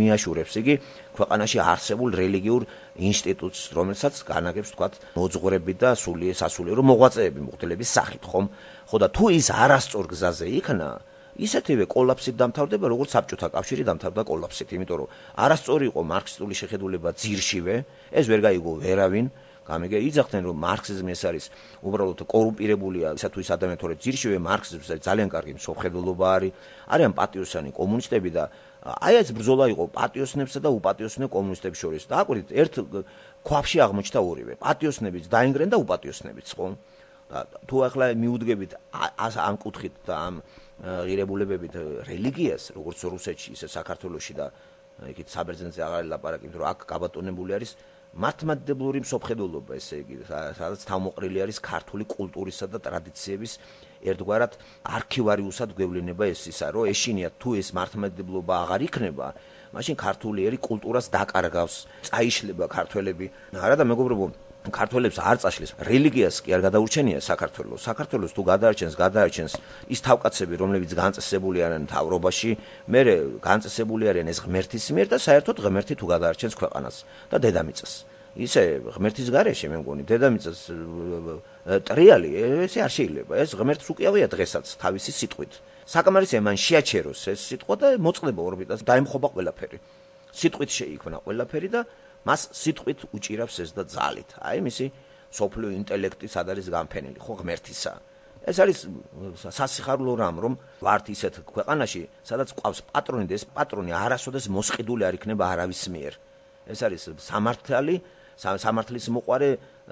მიაშურებს იგი ქვეყანაში არსებულ რელიგიურ ინსტიტუტს რომელსაც განაგებს თქვათ მოძღვრები და სული სასულიერო მოღვაწეები მღვდლების სახით ხომ ხო და თუ ის არასწორ გზაზე იქნა ისეთივე კოლაფსით დამთავრდება როგორც საბჭოთა კავშირი დამთავრდა კოლაფსით იმიტომ რომ არასწორი იყო მარქსისტული შეხედულება ძირშივე ეს ვერ გაიგო ვერავინ გამიგე იძახდნენ რომ მარქსიზმი ეს არის უბრალოდ კორუმპირებულია ისა თუ ის ადამიანი თორე ძირშივე მარქსიზმს ძალიან კარგი მსოფლმხედველობა არის არიან პატიოსანი კომუნისტები და აი ეს ბრძოლა იყო პატიოსნებსა და უპატიოსნებ კომუნისტებს შორის და აკვირდით ერთ ქვაბში აღმოჩნდა ორივე პატიოსნებიც დაინგრენ და უპატიოსნებიც ხო და თუ ახლა მიუდგებით ამ კუთხით და ამ ღირებულებებით რელიგიას როგორც რუსეთში ისე საქართველოში და იქით საბერძნეთზე აღარ ლაპარაკი იმიტომ რომ აქ გაბატონებული არის მართლმადიდებლური მსოფლმხედველობა ესე იგი სადაც თავმოყრილი არის ქართული კულტურისა და ტრადიციების ერთგვარად არქივარიუსად გვევლინება ეს ისა რომ ეშინიათ თუ ეს მართლმადიდებლობა აღარ იქნება მაშინ ქართულიერი კულტურას დაკარგავს წაიშლება ქართველები არა და მეგობრებო ქართველებს არ წაშლის რელიგიას კი არ გადაურჩენია საქართველოს. საქართველოს თუ გადაარჩენს, გადაარჩენს ის თავკაცები, რომლებიც განწესებული არიან მთავრობაში, მე განწესებული არიან ეს ღმერთის მიერ და საერთოდ ღმერთი თუ გადაარჩენს ქვეყანას და დედამიწას. ისე ღმერთის გარეშე მე მგონი დედამიწას ტრიალი ესე არ შეიძლება. ეს ღმერთს უკიავია დღესაც თავისი სიტყვით. საკამარისია მან შეაჩეროს ეს სიტყვა და მოწყდება ორბიტას, დაემხობა ყველაფერი. სიტყვით შეიქმნა ყველაფერი და მას სიტყვით უჭირავს ეს და ძალით. აი მისი სოფლიო ინტელექტი სად არის განფენილი, ხო ღმერთისა. ეს არის სასიხარულო რამ, რომ ვართ ისეთ ქვეყანაში, სადაც ყავს პატრონი და ეს პატრონი არასოდეს მოსყიდული არ იქნება არავის მიერ. ეს არის სამართალი, სამართლის მოყარე,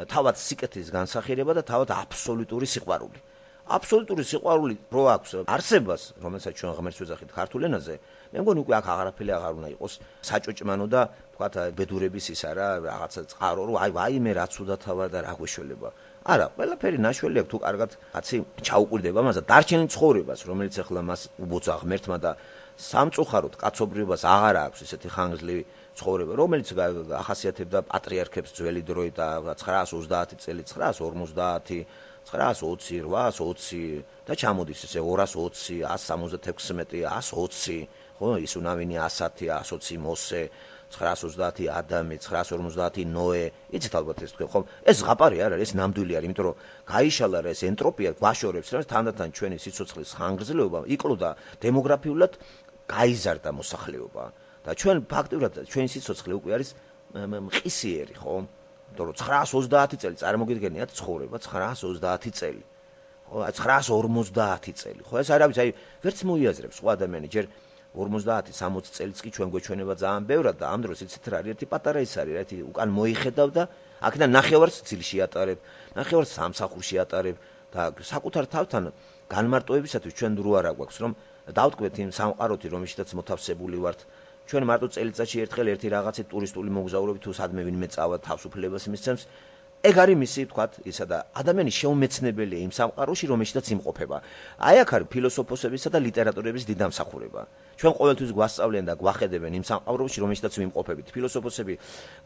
თავად სიკეთის განსახიერება და თავად აბსოლუტური სიყვარული. აბსოლუტური სიყვარული რო აქვს არსებას, რომელსაც ჩვენ ღმერთს ვეძახით ქართულ ენაზე, მე მგონი უკვე აქ აღარაფერი აღარ უნდა იყოს საჭოჭმანო და თქვათ ბედურების ისა რა რაღაცა წყარო, რომ აი ვაიმე რაც უდათა ვარ და რა გვეშველება. არა, ყველაფერი ნაშველი აქვს თუ კარგად კაცი ჩაუყვირდება მას და დარჩენილ ცხოვრებას, რომელიც ახლა მას უბოცა ღმერთმა და სამწუხაროდ კაცობრიობას აღარ აქვს ესეთი ხანგრძლივი ცხოვრება, რომელიც ახასიათებდა პატრიარქებს ძველი დროით და ცხრაას ოცდაათი წელი, ცხრაას ორმოცდაათი ცხრაას ოცი, რვაას ოცი და ჩამოდის ესე ორას ოცი, ას სამოცდათექვსმეტი, ას ოცი, ხო, ის უნავინი ასათი, ას ოცი მოსე, ცხრაას ოცდაათი ადამი, ცხრაას ორმოცდაათი ნოე, იცით ალბათ ეს თქვენ, ხო? ეს ზღაპარი არ არის, ეს ნამდვილი არის, იმიტომ რომ გაიშალა რა ეს ენტროპია გვაშორებს, რა თანდათან ჩვენი სიცოცხლის ხანგრძლივობა იკლოდა დემოგრაფიულად გაიზარდა მოსახლეობა და ჩვენ ფაქტიურად ჩვენი სიცოცხლე უკვე არის მყისიერი, ხო? იმიტომ რომ ცხრაას ოცდაათი წელი წარმოგიდგენიათ ცხოვრება ცხრაას ოცდაათი წელი. ხო, ცხრაას ორმოცდაათი წელი. ხო, ეს არავის აი ვერც მოიაზრებს სხვა ადამიანი, ჯერ ორმოცდაათი სამოცი წელიც კი ჩვენ გვეჩვენება ძალიან ბევრად და ამ დროს იცით რა არის, ერთი პატარა ის არის, რა, ერთი უკან მოიხედავ და აქედან ნახევარს ცილში ატარებ, ნახევარს სამსახურში ატარებ და საკუთარ თავთან განმარტოებისათვის ჩვენ დრო არ აქვს, რომ დავტყვეთ იმ სამყაროთი, რომელშიც მოთავსებული ვართ. ჩვენ მარტო წელიწადში ერთხელ ერთი რაღაცით ტურისტული მოგზაურობით თუ სადმე ვინმე წავა თავისუფლებას მისცემს. ეგ არის მისი, თქვათ, ისა და ადამიანის შეუმეცნებელია იმ სამყაროში, რომელშიც იმყოფება. აი აქ არის ფილოსოფოსებისა და ლიტერატორების დიდამსახურება. ჩვენ ყოველთვის გვასწავლიან და გვახედებენ იმ სამყაროში, რომელშიც ვიმყოფებით. ფილოსოფოსები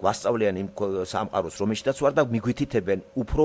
გვასწავლიან იმ სამყაროს, რომელშიც ვარ და მიგვითითებენ უფრო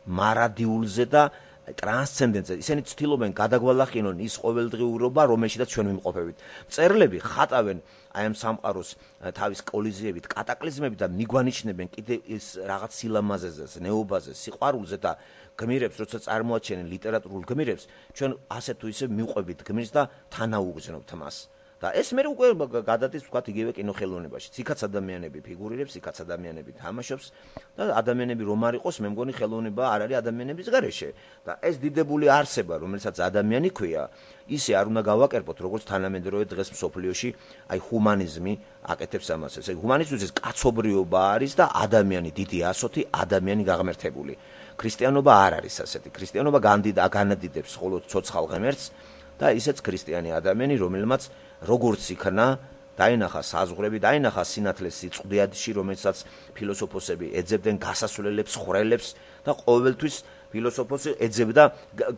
მარადიულზე და ტრანსცენდენტზე. ისინი ცდილობენ გადაგვალახინონ ის ყოველდღიურობა, რომელშიც ჩვენ ვიმყოფებით. მწერლები ხატავენ აი ამ სამყაროს თავის კოლიზიებით, კატაკლიზმებით და მიგვანიშნებენ კიდე ის რაღაც სილამაზეზე, ნეობაზე, სიყვარულზე და გმირებს, როცა წარმოაჩენენ ლიტერატურულ გმირებს, ჩვენ ასე თუ ისე მივყვებით გმირს და თანაუგზნობთ მას. და ეს მე უკვე გადადის ვთქვათ იგივე კინოხელოვნებაში. იქაც ადამიანები ფიგურირებს, იქაც ადამიანები თამაშობს და ადამიანები რომ არ იყოს, მე მგონი ხელოვნება არ არის ადამიანების გარეშე. და ეს დიდებული არსება, რომელსაც ადამიანი ქვია, ისე არ უნდა გავაკერპოთ, როგორც თანამედროვე დღეს მსოფლიოში აი ჰუმანიზმი აკეთებს ამას. ესე ჰუმანიზმის კაცობრიობა არის და ადამიანი დიდი ასოთი, ადამიანი გაღმერთებული. ქრისტიანობა არ არის ასეთი. ქრისტიანობა განადიდებს მხოლოდ ცოცხალ ღმერთს და ისეც ქრისტიანი ადამიანი, რომელმაც როგორც იქნა დაინახა საზღვრები, დაინახა სინათლეს სიწყდიადში, რომელსაც ფილოსოფოსები ეძებდნენ გასასვლელებს, ხვრელებს და ყოველთვის ფილოსოფოსი ეძებდა,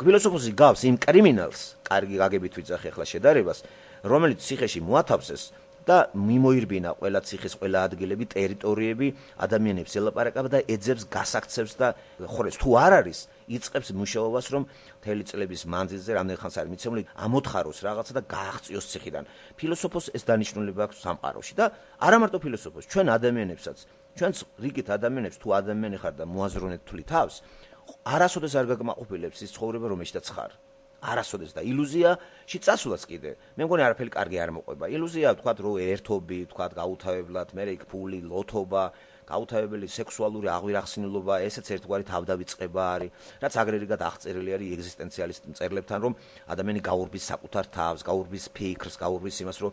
ფილოსოფოსი გავს იმ კრიმინალს, კარგი გაგებით ვიძახი ახლა შედარებას, რომელიც ციხეში მოათავსეს და მიმოირბინა ყველა ციხის, ყველა ადგილები, ტერიტორიები, ადამიანებს ელაპარაკება და ეძებს, გასაქცევს და ხვრელს. თუ არ არის, იწყებს მუშაობას, რომ მთელი წლების მანძილზე რამდენ ხანს არის მიცემული, ამოთხაროს რაღაცა და გააღწიოს ციხიდან. ფილოსოფოსს ეს დანიშნულება აქვს სამყაროში და არა მარტო ფილოსოფოსს, ჩვენ ადამიანებსაც, ჩვენც რიგით ადამიანებს თუ ადამიანი ხარ და მოაზროვნეთ თვლი თავს, არასოდეს არ გაკმაყოფილებს ის ცხოვრება, რომელშიც ხარ. არასოდეს და ილუზიაში წასვლაც კიდე. მე მგონი არაფერი კარგი არ მოყვება. ილუზია ვთქვათ, რომ ერთობი, ვთქვათ, გაუთავებლად, მე იქ ფული, ლოთობა, გაუთავებელი სექსუალური აღვირახსნილობა, ესეც ერთგვარი თავდავიწყება არის, რაც აგრეგატად აღწერილი არის ეგზისტენციალისტ მწერლებთან, რომ ადამიანი გაურბის საკუთარ თავს, გაურბის ფიქრს, გაურბის იმას, რომ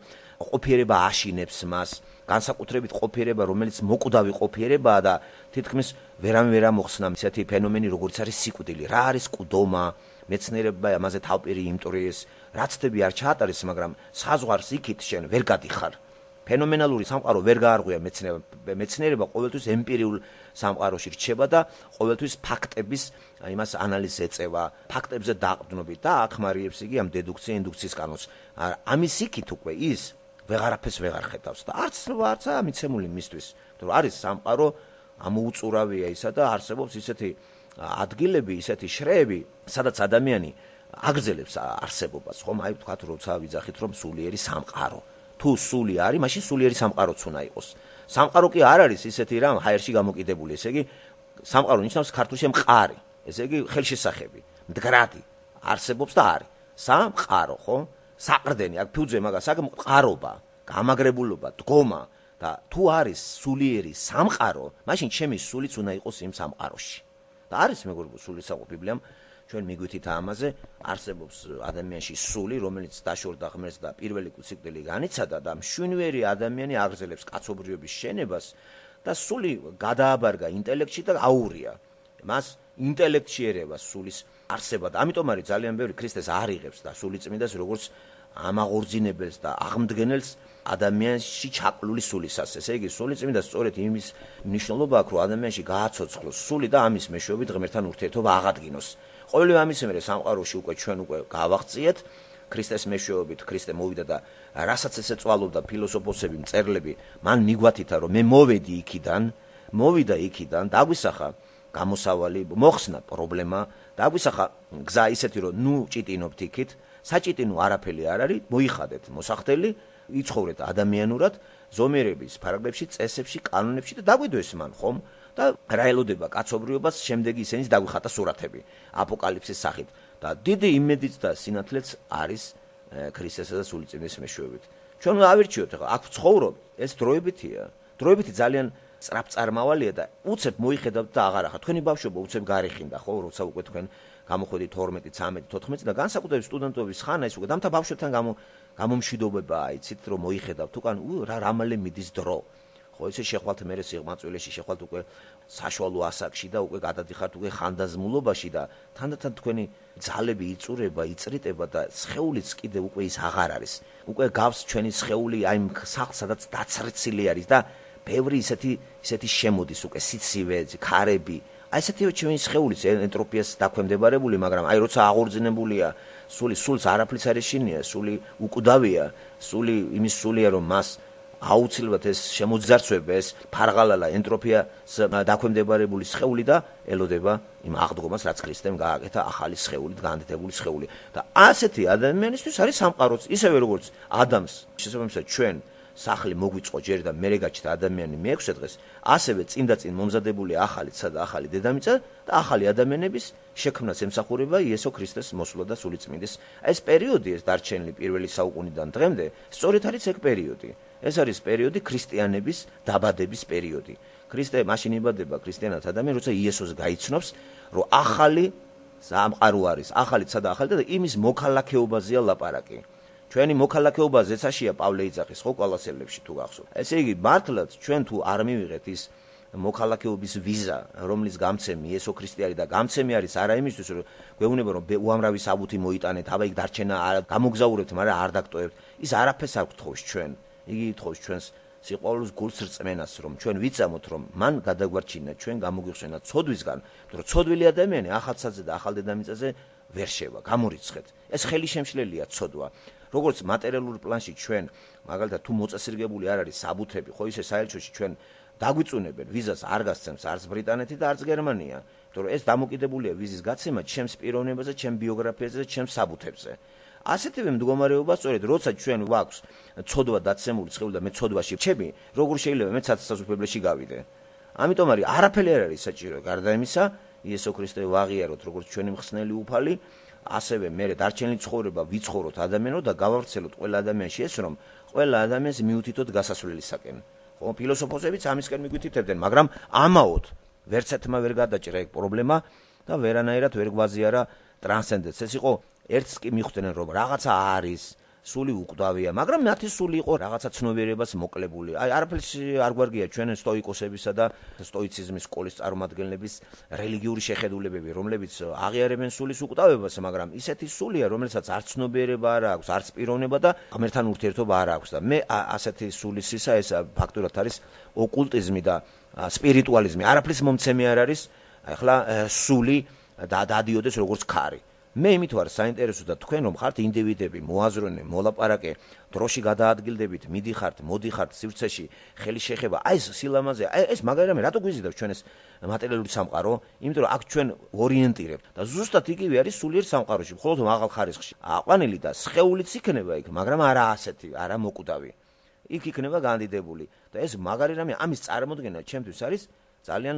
ყოფიერება აშინებს მას, განსაკუთრებით ყოფიერება, რომელიც მოკვდავი ყოფიერებაა და თითქმის ვერამე ვერ მოხსნა ისეთი ფენომენი, როგორც არის სიკვდილი. რა არის მკვდომა? მეცნიერება ამაზე თავპირი იმტვრიეს, რაც თები არ ჩაატარეს, მაგრამ საზღვარს იქით შენ ვერ გადიხარ. ფენომენალური სამყარო ვერ გაარღვია მეცნიერება, მეცნიერება ყოველთვის ემპირიულ სამყაროში რჩება და ყოველთვის ფაქტების იმას ანალიზს ეწევა, ფაქტებზე დაყრდნობით და ახმარიებს იგი ამ დედუქცია ინდუქციის კანონს. ამის იქით უკვე ის ვეღარაფერს ვეღარ ხედავს და არც არც მიცემული მისთვის, რომ არის სამყარო ამოუწურავია ისა და არსებობს ისეთი ადგილები, ისეთი შრეები, სადაც ადამიანი აგრძელებს არსებობას, ხომ? აი ვთქვათ, როცა ვიძახით, რომ სულიერი სამყარო. თუ სული არის, მაშინ სულიერი სამყაროც უნდა იყოს. სამყარო კი არ არის ისეთი რამ ჰაერში გამოკიდებული, ესე იგი სამყარო ნიშნავს ქართულში მყარი, ესე იგი ხელშესახები, მდგრადი, არსებობს და არის. სამყარო, ხო? საყრდენი, აქ ფუძე მაგას, აქ მყარობა, გამაგრებულობა, დგომა და თუ არის სულიერი სამყარო, მაშინ ჩემი სულიც უნდა იყოს იმ სამყაროში. და არის მეგობრებო, სულის საყო ბიბლიამ ჩვენ მიგვითით ამაზე, არსებობს ადამიანში სული, რომელიც დაშორდა ღმერთს და პირველი სიკვდილი განიცადა და მშვენიერი ადამიანი აგრძელებს კაცობრიობის შენებას და სული გადააბარგა ინტელექტში და აურია. მას ინტელექტში ერევა სულის არსება და ამიტომ არის ძალიან ბევრი ქრისტეს არ იღებს და სულიწმინდას როგორც ამაღორძინებელს და აღმდგენელს ადამიანში ჩაყლული სულისას. ესე იგი, სულიწმინდა სწორედ იმის მნიშვნელობა აქვს, რომ ადამიანში გააცოცხლოს სული და ამის მეშვეობით ღმერთთან ურთიერთობა აღადგინოს. ყოველივე ამის მერე სამყაროში უკვე ჩვენ უკვე გავაღწიეთ ქრისტეს მეშვეობით, ქრისტე მოვიდა და რასაც ესე წვალობდა ფილოსოფოსები, მწერლები, მან მიგვათითა, რომ მე მოვედი იქიდან, მოვიდა იქიდან, დაგვისახა გამოსავალი, მოხსნა პრობლემა, დაგვისახა გზა ისეთი, რომ ნუ ჭიტინობთ იქით, საჭიტინო არაფერი არ არის, მოიხადეთ მოსახდელი, იცხოვრეთ ადამიანურად, ზომიერების ფარგლებში, წესებში, კანონებში და დაგვიდოს მან, ხომ? და რა ელოდება კაცობრიობას, შემდეგი ისენის დაგვიხატა სურათები აპოკალიფსის სახით და დიდი იმედიც და სინათლეც არის ქრისტესა და სულიწმინდის მეშვეობით. ჩვენ ავირჩიოთ ახლა აქ ცხოვრობ, ეს დროებითია. დროებითი ძალიან სწრაფწარმავალია და უცებ მოიხედავთ და აღარ ახლა თქვენი ბავშვობა უცებ გარიხინდა, ხო, როცა უკვე თქვენ გამოხვედით თორმეტი, ცამეტი, თოთხმეტი და განსაკუთრებით სტუდენტობის ხანა ის უკვე დამთა ბავშვებთან გამო გამომშვიდობებაა, იცით, რომ მოიხედავთ უკან რა რამალე მიდის დრო. ხო, ესე შეხვალთ მერე სიღმაწვილეში, შეხვალთ უკვე საშუალო ასაკში და უკვე გადადიხართ უკვე ხანდაზმულობაში და თანდათან თქვენი ძალები იწურება, იწრიტება და სხეულიც კიდე უკვე ის აღარ არის. უკვე გავს ჩვენი სხეული აი იმ სახლს, სადაც დაცრცილი არის და ბევრი ისეთი ისეთი შემოდის უკვე სიცივე, ქარები. აი ესეთივე ჩვენი სხეულის ენტროპიას დაქვემდებარებული, მაგრამ აი როცა აღორძინებულია სული, სულს არაფრის არ ეშინია, სული უკვდავია, სული იმის სულია, რომ მას აუცილებლად ეს შემოძარცვება, ეს ფარღალალა ენტროპიას დაქვემდებარებული სხეული და ელოდება იმ აღდგომას, რაც ქრისტემ გააკეთა ახალი სხეულით, განდიდებული სხეული. და ასეთი ადამიანისთვის არის სამყაროც, ისევე როგორც ადამს, შესაბამისად ჩვენ სახლი მოგვიწყო ჯერ და მერე გაჩნდა ადამიანი მეექვსე დღეს, ასევე წინ და წინ მომზადებული ახალი ცა და ახალი დედამიწა და ახალი ადამიანების შექმნას ემსახურება იესო ქრისტეს მოსვლა და სულიწმინდის. ეს პერიოდი, ეს დარჩენილი პირველი საუკუნიდან დღემდე, სწორედ არის ეგ პერიოდი. ეს არის პერიოდი ქრისტიანების დაბადების პერიოდი. ქრისტე მაშინ იბადება ქრისტიანად ადამიანი, როცა იესოს გაიცნობს, რომ ახალი სამყარო არის, ახალი ცა და ახალი და იმის მოქალაქეობაზეა ლაპარაკი. ჩვენი მოქალაქეობა ზეცაშია პავლე იძახის, ხო, კოლოსელებში თუ გახსოვთ. ესე იგი, მართლაც ჩვენ თუ არ მივიღეთ ის მოქალაქეობის ვიზა, რომლის გამცემი იესო ქრისტე არის და გამცემი არის არა იმისთვის, რომ გვეუბნება, რომ უამრავი საბუთი მოიტანეთ, აბა იქ დარჩენა გამოგზაურებთ, მაგრამ არ დაგტოვებთ. ის არაფერს არ გთხოვს ჩვენ. იგი ითხოვს ჩვენს სიყვარულს, გულს რწმენას, რომ ჩვენ ვიცამოთ, რომ მან გადაგვარჩინა ჩვენ გამოგვიხსენა ცოდვისგან, რომ ცოდვილი ადამიანი ახალცაზე და ახალ დედამიწაზე ვერ შევა, გამორიცხეთ. ეს ხელი შემშლელია ცოდვა. როგორც მატერიალურ პლანში ჩვენ, მაგალითად, თუ მოწესრიგებული არ არის საბუთები, ხო ისე საელჩოში ჩვენ დაგვიწუნებენ ვიზას არ გასცემს არც ბრიტანეთი და არც გერმანია, იმიტომ რომ ეს დამოკიდებულია ვიზის გაცემა ჩემს პიროვნებაზე, ჩემს ბიოგრაფიაზე და ჩემს საბუთებზე. ასეთივე მდგომარეობა სწორედ როცა ჩვენ გვაქვს ცოდვა დაცემული სხეული და მე ცოდვაში ვჩები, როგორ შეიძლება მე საცხოვრებლში გავიდე. ამიტომ არის არაფერი არ არის საჭირო გარდა იმისა, იესო ქრისტე ვაღიაროთ როგორც ჩვენი მხსნელი უფალი, ასევე მე დარჩენილი ცხოვრება ვიცხოვროთ ადამიანო და გავავრცელოთ ყველა ადამიანში ეს, რომ ყველა ადამიანს მიუთითოთ გასასვლელისაკენ. ხო, ფილოსოფოსებიც ამისკენ მიგვითითებდნენ, მაგრამ ამაოდ ვერცერთმა ვერ გადაჭრა ეგ პრობლემა და ვერანაირად ვერ გვაზიარა ტრანსცენდენტს. ეს იყო ერთს კი მიხვდნენ, რომ რაღაცა არის, სული უკვდავია, მაგრამ მათი სული იყო რაღაცა ცნობიერებას მოკლებული. აი არაფერს არ გვარგია ჩვენ სტოიკოსებისა და სტოიციზმის სკოლის წარმომადგენლების რელიგიური შეხედულებები, რომლებიც აღიარებენ სულის უკვდავებას, მაგრამ ისეთი სულია, რომელსაც არც ცნობიერება არ აქვს, არც პიროვნება და ღმერთთან ურთიერთობა არ აქვს და მე ასეთი სულის ისა ეს ფაქტურად არის ოკულტიზმი და სპირიტუალიზმი. არაფრის მომცემი არ არის, ახლა სული და დადიოდეს როგორც ქარი. მე იმით ვარ საინტერესო და თქვენ რომ ხართ ინდივიდები, მოაზროვნე, მოლაპარაკე, დროში გადაადგილდებით, მიდიხართ, მოდიხართ სივრცეში, ხელი შეხება, აი ეს სილამაზე, აი ეს მაგარი რამე, რატო გვიზიდებს ჩვენ ეს მატერიალური სამყარო? იმიტომ რომ აქ ჩვენ ორიენტირებთ და ზუსტად იგივე არის სულიერ სამყაროში, მხოლოდ მაღალ ხარისხში. აყვანილი და სხეულიც იქნება იქ, მაგრამ არა ასეთი, არა მოკვდავი. იქ იქნება განდიდებული და ეს მაგარი რამე, ამის წარმოდგენა ჩემთვის არის ძალიან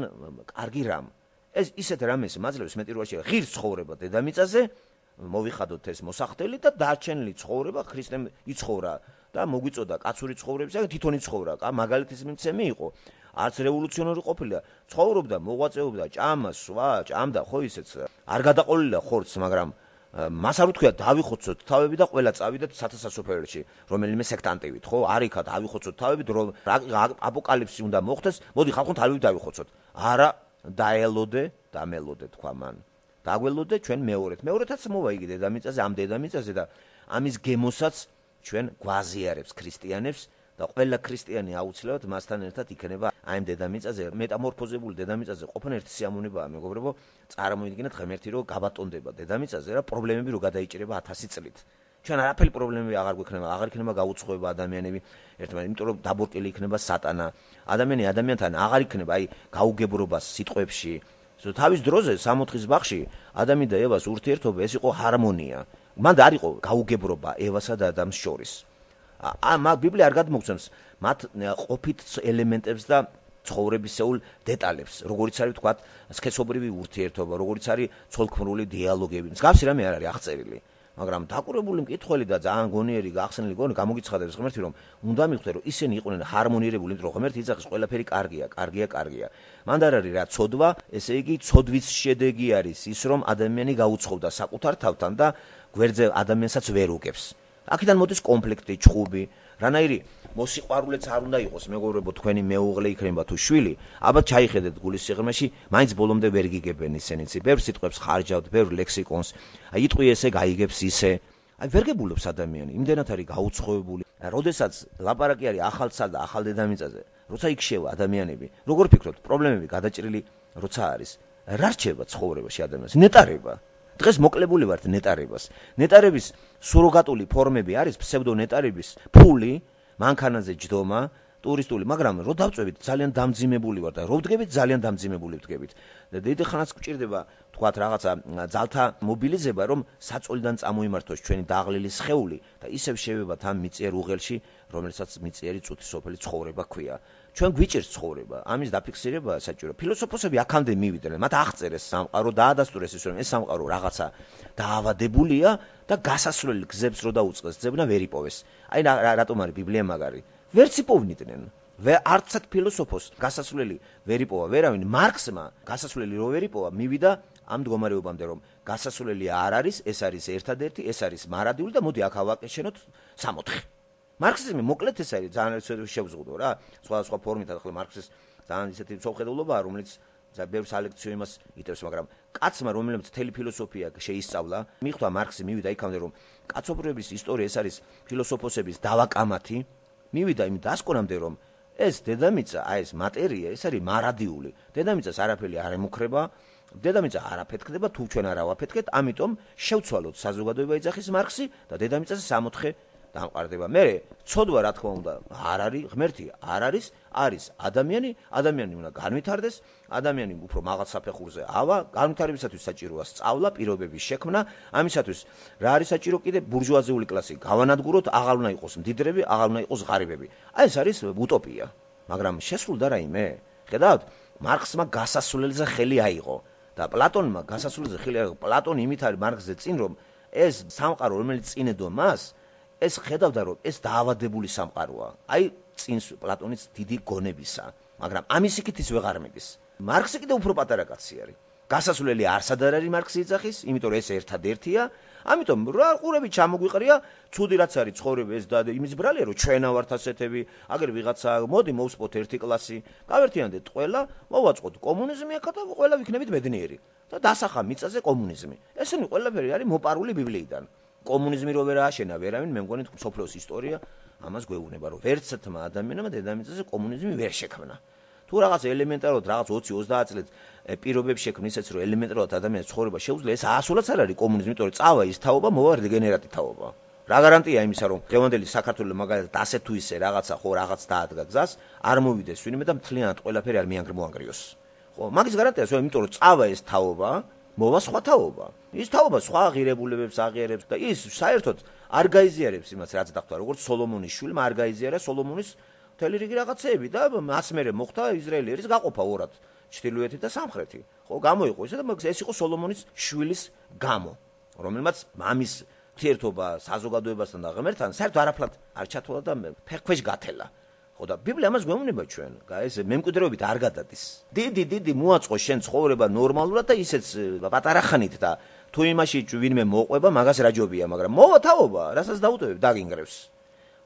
კარგი რამ. ეს ისეთ რამეს მაძლევს მეტირვაში ღირს ცხოვრება დედამიწაზე, მოვიხადოთ ეს მოსახდელი და დარჩენილი ცხოვრება ქრისტემ იცხოვრა და მოგვიწოდა კაცური ცხოვრებისა, თვითონ იცხოვრა, მაგალითის მიცემი იყო. არც რევოლუციონერი ყოფილა, ცხოვრობდა, მოღვაწეობდა, ჭამა, სვა, ჭამდა, ხო ისეც. არ გადაყოლილა ხორცს, მაგრამ მას არ უთქვია დავიხოცოთ თავები და ყველა წავიდეთ სათასასოფერში, რომელიმე სექტანტივით, ხო? არ იქა დავიხოცოთ თავები, რომ აპოკალიფსი უნდა მოხდეს, მოდი ხალხო თავები დავიხოცოთ. არა, დაელოდე, დამელოდე თქვა მან. დაგველოდე ჩვენ მეორეთ. მეორეთაც მოვა იგი დედამიწაზე, ამ დედამიწაზე და ამის გემოსაც ჩვენ გვაზიარებს ქრისტიანებს და ყველა ქრისტიანი აუცილებლად მასთან ერთად იქნება აი ამ დედამიწაზე, მეტამორფოზებული დედამიწაზე ყოფნა ერთი სიამოვნებაა, მეგობრებო, წარმოიდგინეთ ღმერთი რომ გაბატონდება დედამიწაზე რა პრობლემები რო გადაიჭირება ათასი წლით. ჩვენ არაფერი პრობლემები აღარ გვექნება, აღარ იქნება გაუცხოება ადამიანები ერთმანეთს, იმიტომ რომ დაბორტილი იქნება სატანა. ადამიანი ადამიანთან აღარ იქნება აი გაუგებრობა სიტყვებში. თავის დროზე სამოთხის ბაღში ადამი და ევას ურთიერთობა ეს იყო ჰარმონია. მან არ იყო გაუგებრობა ევასა და ადამიანს შორის. ა ბიბლია არ გადმოგცემს მათ ყოფით ელემენტებს და ცხოვრებისეულ დეტალებს, როგორიც არის თქვა სქესობრივი ურთიერთობა, როგორიც არის ცოლქმრული დიალოგები. მსგავსი რამე არ არის აღწერილი. მაგრამ დაკურებული მკითხველი და ძალიან გონიერი გახსნილი გონი გამოგიცხადებს ღმერთი რომ უნდა მიხვდე რომ ისინი იყვნენ ჰარმონირებული, იმიტომ რომ ღმერთი იძახის ყველაფერი კარგია, კარგია, კარგია. მან არ არის რა ცოდვა, ესე იგი ცოდვის შედეგი არის ის რომ ადამიანი გაუცხოვდა საკუთარ თავთან და გვერდზე ადამიანსაც ვერ უგებს. აქედან მოდის კონფლიქტი, ჩხუბი, რანაირი მოსიყვარულეც არ უნდა იყოს, მეგობრებო, თქვენი მეუღლე იქნება თუ შვილი, აბა ჩაიხედეთ გულის სიღრმეში, მაინც ბოლომდე ვერ გიგებენ ისინიც. ბევრ სიტყვებს ხარჯავთ, ბევრ ლექსიკონს. აი იტყვი ესე, გაიგებს ისე. აი ვერ გებულობს ადამიანი, იმდენად არის გაუცხოებული. როდესაც ლაპარაკი არის ახალსა და ახალ დედამიწაზე, როცა იქ შევა ადამიანები, როგორ ფიქრობთ, პრობლემები გადაჭრილი როცა არის, რა რჩება ცხოვრებაში ადამიანს? ნეტარება. დღეს მოკლებული ვართ ნეტარებას. ნეტარების სუროგატული ფორმები არის ფსევდონეტარების ფული, მანქანაზე ჯდომა, ტურისტული, მაგრამ რო დავწევით ძალიან დამძიმებული ვარ და რო ვდგებით ძალიან დამძიმებული ვდგებით. და დიდი ხანაც გვჭირდება თქვათ რაღაცა ძალთა მობილიზება, რომ საწოლიდან წამოიმართოს ჩვენი დაღლილი სხეული და ისევ შევებათ ამ მიწიერ უღელში, რომელსაც მიწიერი წუთი სოფელი ცხოვრება ქვია. ჩვენ გვიჭირს ცხოვრება, ამის დაფიქსირება საჭირო. ფილოსოფოსები აქამდე მივიდნენ, მათ აღწერეს სამყარო, დაადასტურეს ის რომ ეს სამყარო რაღაცა დაავადებულია და გასასვლელი გზებს რო დაუწყეს, ძებნა ვერ იპოვეს. აი რატომ არის ბიბლია მაგარი? ვერც იპოვნიდნენ. არცად ფილოსოფოს გასასვლელი ვერ იპოვა ვერავინ. მარქსმა გასასვლელი რო ვერ იპოვა, მივიდა ამ მდგომარეობამდე, რომ გასასვლელი არ არის, ეს არის ერთადერთი, ეს არის მარადიული და მოდი აქ ავაკეშენოთ სამოთხე. მარქსიზმი მოკლედ ეს არის, ძალიან შევზღუდო რა, სხვადასხვა ფორმით, ახლა მარქსის ძალიან ისეთი მწოხედულობაა, რომელიც ბევრ სალექციო იმას იტევს, მაგრამ კაცმა, რომელმაც მთელი ფილოსოფია შეისწავლა, მიხვდა მარქსი, მივიდა იქამდე, რომ კაცობრიობის ისტორია ეს არის ფილოსოფოსების დავაკამათი, მივიდა იმ დასკვნამდე, რომ ეს დედამიწა, აი ეს მატერია, ეს არის მარადიული. დედამიწას არაფერი არ ემუქრება, დედამიწა არ აფეთქდება, თუ ჩვენ არ ავაფეთქეთ, ამიტომ შევცვალოთ საზოგადოება იძახის მარქსი და დედამიწაზე სამოთხე დამყარდება. მე ცოდვა რა თქმა უნდა არ არის, ღმერთი არ არის, არის ადამიანი, ადამიანი უნდა განვითარდეს, ადამიანი უფრო მაღალ საფეხურზე ავა, განვითარებისათვის საჭიროა სწავლა, პირობების შექმნა, ამისათვის რა არის საჭირო კიდე ბურჟუაზიული კლასი გავანადგუროთ, აღარ უნდა იყოს მდიდრები, აღარ უნდა იყოს ღარიბები. აი ეს არის უტოპია, მაგრამ შესრულდა რაიმე. ხედავთ, მარქსმა გასასვლელზე ხელი აიღო და პლატონმა გასასვლელზე ხელი აიღო. პლატონი იმით არის მარქსზე წინ, რომ ეს სამყარო, რომელიც წინედო მას ეს ხედავდა რომ ეს დაავადებული სამყაროა. აი წინს პლატონის დიდი გონებისა, მაგრამ ამის იქით ის ვეღარ მიდის. მარქსი კიდე უფრო პატარა კაცი არის. გასასვლელი არსად არ არის მარქსი იძახის, იმიტომ რომ ეს ერთადერთია, ამიტომ რა ყურები ჩამოგვიყრია, ცუდი რაც არის ცხოვრება ეს და იმის ბრალია რომ ჩვენა ვართ ასეთები, აგერ ვიღაცა მოდი მოვსპოთ ერთი კლასი, გავერთიანდეთ ყველა, მოვაწყოთ კომუნიზმი ახლა და ყველა ვიქნებით ბედნიერი და დასახა მიწაზე კომუნიზმი. ესენი ყველაფერი არის მოპარული ბიბლიიდან. კომუნიზმი რო ვერ ააშენა ვერავინ, მე მგონი სოფლოს ისტორია ამას გვეუბნება, რომ ვერცერთმა ადამიანმა დედამიწაზე კომუნიზმი ვერ შექმნა. თუ თუ რაღაც ელემენტარულად რაღაც ოცი ოცდაათ წლით პირობებს შექმნის ისეც რომ ელემენტარულად ადამიანის ცხოვრება შეუძლია, ეს ასულაც არ არის კომუნიზმი, იმიტომ რომ წავა ის თაობა, მოვა რეგენერატი თაობა. რა გარანტია იმისა, რომ დღევანდელი საქართველოს მაგალითად ასე თუ ისე რაღაცა ხო რაღაც დაადგა გზას, არ მოვიდეს ვინმე და მთლიანად ყველაფერი არ მიანგრმოანგრიოს. ხო, მაგის გარანტიას ვარ, იმიტომ რომ წავა ეს თაობა, მოვა სხვა თაობა. ის თაობა სხვა ღირებულებებს აღიარებს და ის საერთოდ არ გაიზიარებს იმას, რაც დახვდა, როგორც სოლომონის შვილმა არ გაიზიარა სოლომონის მთელი რიგი რაღაცეები და მას მერე მოხდა ისრაელის გაყოფა ორად, ჩრდილოეთი და სამხრეთი. ხო, გამოიყო ისე და ეს იყო სოლომონის შვილის გამო, რომელმაც მამის ურთიერთობა საზოგადოებასთან და ღმერთთან საერთოდ არაფრად არ ჩათვალა და ფეხქვეშ გათელა. ხო და ბიბლია ამას გვეუბნება ჩვენ, ეს მემკვიდრეობით არ გადადის. დიდი დიდი მოაწყო შენ ცხოვრება ნორმალურად და ისეც პატარა ხანით და თუ იმაში ვინმე მოყვება, მაგას რაჯობია, მაგრამ მოვა თაობა, რასაც დაუტოვებ, დაგინგრევს.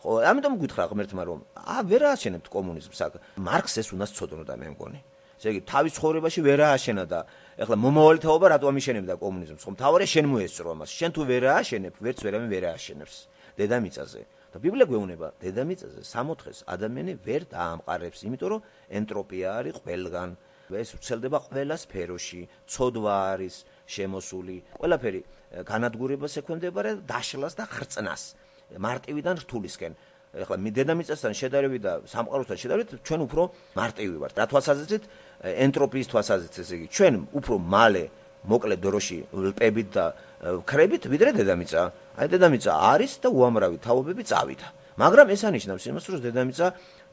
ხო, ამიტომ გითხრა ღმერთმა რომ ა ვერ ააშენებთ კომუნიზმს აქ. მარქს ეს უნდა სწოდნოდა მე მგონი. ესე იგი თავის ცხოვრებაში ვერ ააშენა და ეხლა მომავალი თაობა რატო ამიშენებდა კომუნიზმს? ხო, მთავარია შენ მოესწრო ამას. შენ თუ ვერ ააშენებ, ვერც ვერავინ ვერ ააშენებს დედამიწაზე. და ბიბლია გვეუბნება, დედამიწაზე სამოთხეს ადამიანი ვერ დაამყარებს, იმიტომ რომ ენტროპია არის ყველგან. ეს ვრცელდება ყველა სფეროში, ცოდვა არის შემოსული, ყველაფერი განადგურებას ექვემდებარა დაშლას და ხრწნას, მარტივიდან რთულისკენ. ეხლა დედამიწასთან შედარებით და სამყაროსთან შედარებით ჩვენ უფრო მარტივი ვართ. რა თვალსაზრისით? ენტროპიის თვალსაზრისით, ესე იგი, ჩვენ უფრო მალე მოკლე დროში ვლპებით და ვქრებით, ვიდრე დედამიწა. აი დედამიწა არის და უამრავი თაობები წავიდა. მაგრამ ეს ანიშნავს იმას, რომ დედამიწა,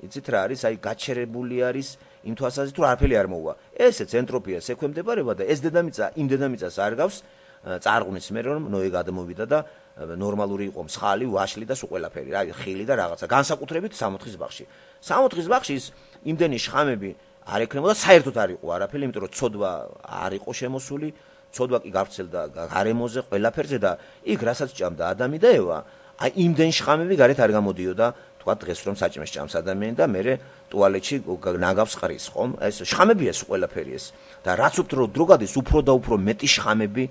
იცით რა არის, აი გაჩერებული არის იმ თვალსაზრისით, რომ არაფერი არ მოუვა. ესეც ენტროპიას ექვემდებარება და ეს დედამიწა იმ დედამიწას არ გავს წარღვნის მერე რომ ნოე გადმოვიდა და ნორმალური იყო მსხალი, ვაშლი და სულ ყველაფერი, რა ხილი და რაღაცა. განსაკუთრებით სამოთხის ბაღში. სამოთხის ბაღში ის იმდენი შხამები არ ექნებოდა, საერთოდ არ იყო არაფერი, იმიტომ რომ ცოდვა არ იყო შემოსული, ცოდვა კი გავრცელდა გარემოზე, ყველაფერზე და იქ რასაც ჭამდა ადამი და ევა, აი იმდენ შხამები გარეთ არ გამოდიოდა, თქვა დღეს რომ საჭმეს ჭამს ადამიანი და მერე ტუალეტში ნაგავს ყრის, ხომ? ეს შხამებია სულ ყველაფერი ეს. და რაც უფრო დრო გადის, უფრო და უფრო მეტი შხამები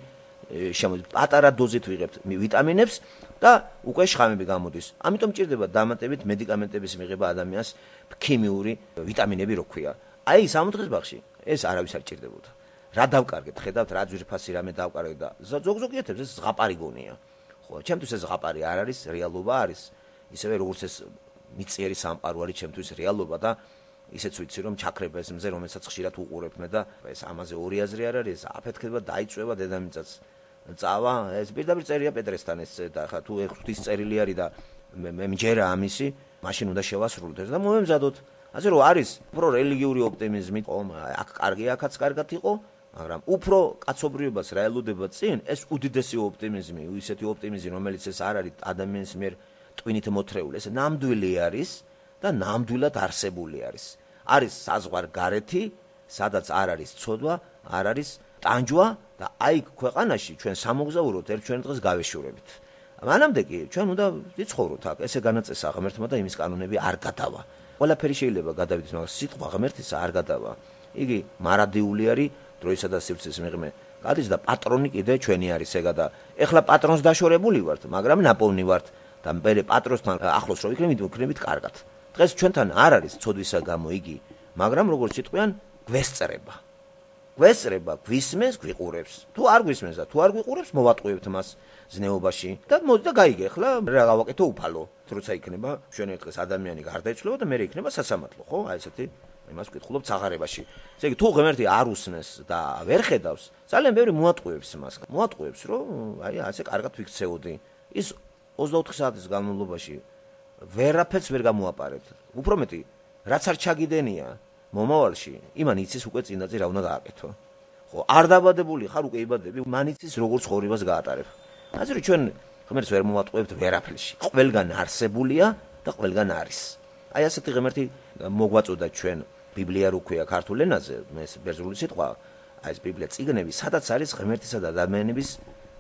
შემოდის. პატარა დოზით ვიღებთ ვიტამინებს და უკვე შხამები გამოდის. ამიტომ ჭირდება დამატებით მედიკამენტების მიღება ადამიანს ქიმიური ვიტამინები რო ქვია. აი სამოთხის ბაღში ეს არავის არ ჭირდებოდა. რა დავკარგეთ, ხედავთ რა ძვირფასი რამე დავკარგეთ და ზოგ-ზოგიერთებს ეს ზღაპარი გონია. ხო, ჩემთვის ეს ზღაპარი არ არის, რეალობა არის. ისევე როგორც ეს მიწიერი სამყარო არის ჩემთვის რეალობა და ისეც ვიცი რომ ჩაქრება ეს მზე, რომელსაც ხშირად უყურებ მე და ეს ამაზე ორი აზრი არ არის, აფეთქება, დაიწვევა დედამიწაც. წავა, ეს პირდაპირ წერია პეტრესთან ეს და ხა თუ ღვთის წერილი არის და მე მჯერა ამისი, მაშინ უნდა შევასრულოთ ეს და მომემზადოთ. ასე რომ არის უფრო რელიგიური ოპტიმიზმი, ხომ, აქ კარგი, აქაც კარგად იყო, მაგრამ უფრო კაცობრიობას რა ელოდება წინ, ეს უდიდესი ოპტიმიზმი, ისეთი ოპტიმიზმი, რომელიც ეს არ არის ადამიანის მიერ ტვინით მოთრეული, ეს ნამდვილი არის და ნამდვილად არსებული არის. არის საზღვარგარეთი, სადაც არ არის ცოდვა, არ არის ტანჯვა და აი ქვეყანაში ჩვენ სამოგზაუროთ ერთ ჩვენ დღეს გავეშურებით. მანამდე კი ჩვენ უნდა ვიცხოვროთ აქ, ესე განაწესა ღმერთმა და იმის კანონები არ გადავა. ყველაფერი შეიძლება გადავიდეს, მაგრამ სიტყვა ღმერთისა არ გადავა. იგი მარადიული არის დროისა და სივრცის მიღმე. გადის და პატრონი კიდე ჩვენი არის ეგა და ეხლა პატრონს დაშორებული ვართ, მაგრამ ნაპოვნი ვართ და მე პატრონსთან ახლოს რო ვიქნებით, ვიქნებით კარგად. დღეს ჩვენთან არ არის ცოდვისა გამო იგი, მაგრამ როგორც სიტყვიან, გვესწრება. გვესწრება, გვისმენს, გვიყურებს. თუ არ გვისმენს და თუ არ გვიყურებს, მოვატყუებთ მას ზნეობაში და მოდი და გაიგე, ახლა რა გავაკეთო უფალო. როცა იქნება ჩვენ ერთ დღეს ადამიანი გარდაიცვლება და მე იქნება სასამართლო, ხო? აი ესეთი იმას ვკითხულობთ საღარებაში. ესე იგი, თუ ღმერთი არ უსმენს და ვერ ხედავს, ძალიან ბევრი მოატყუებს მას. მოატყუებს, რომ აი ასე კარგად ვიქცეოდი. ის ოცდაოთხი საათის განმავლობაში ვერაფერს ვერ გამოაპარებთ. უფრო მეტი, რაც არ ჩაგიდენია მომავალში, იმან იცის უკვე წინდაზე რა უნდა გააკეთო. ხო, არ დაბადებული ხარ, უკვე იბადები, მან იცის როგორ ცხოვრებას გაატარებ. ასე რომ ჩვენ ღმერთს ვერ მოვატყუებთ ვერაფერში. ყველგან არსებულია და ყველგან არის. აი ასეთი ღმერთი მოგვაწოდა ჩვენ ბიბლია რო ქვია ქართულ ენაზე, ეს ბერძნული სიტყვა, აი ეს ბიბლია წიგნები, სადაც არის ღმერთისა და ადამიანების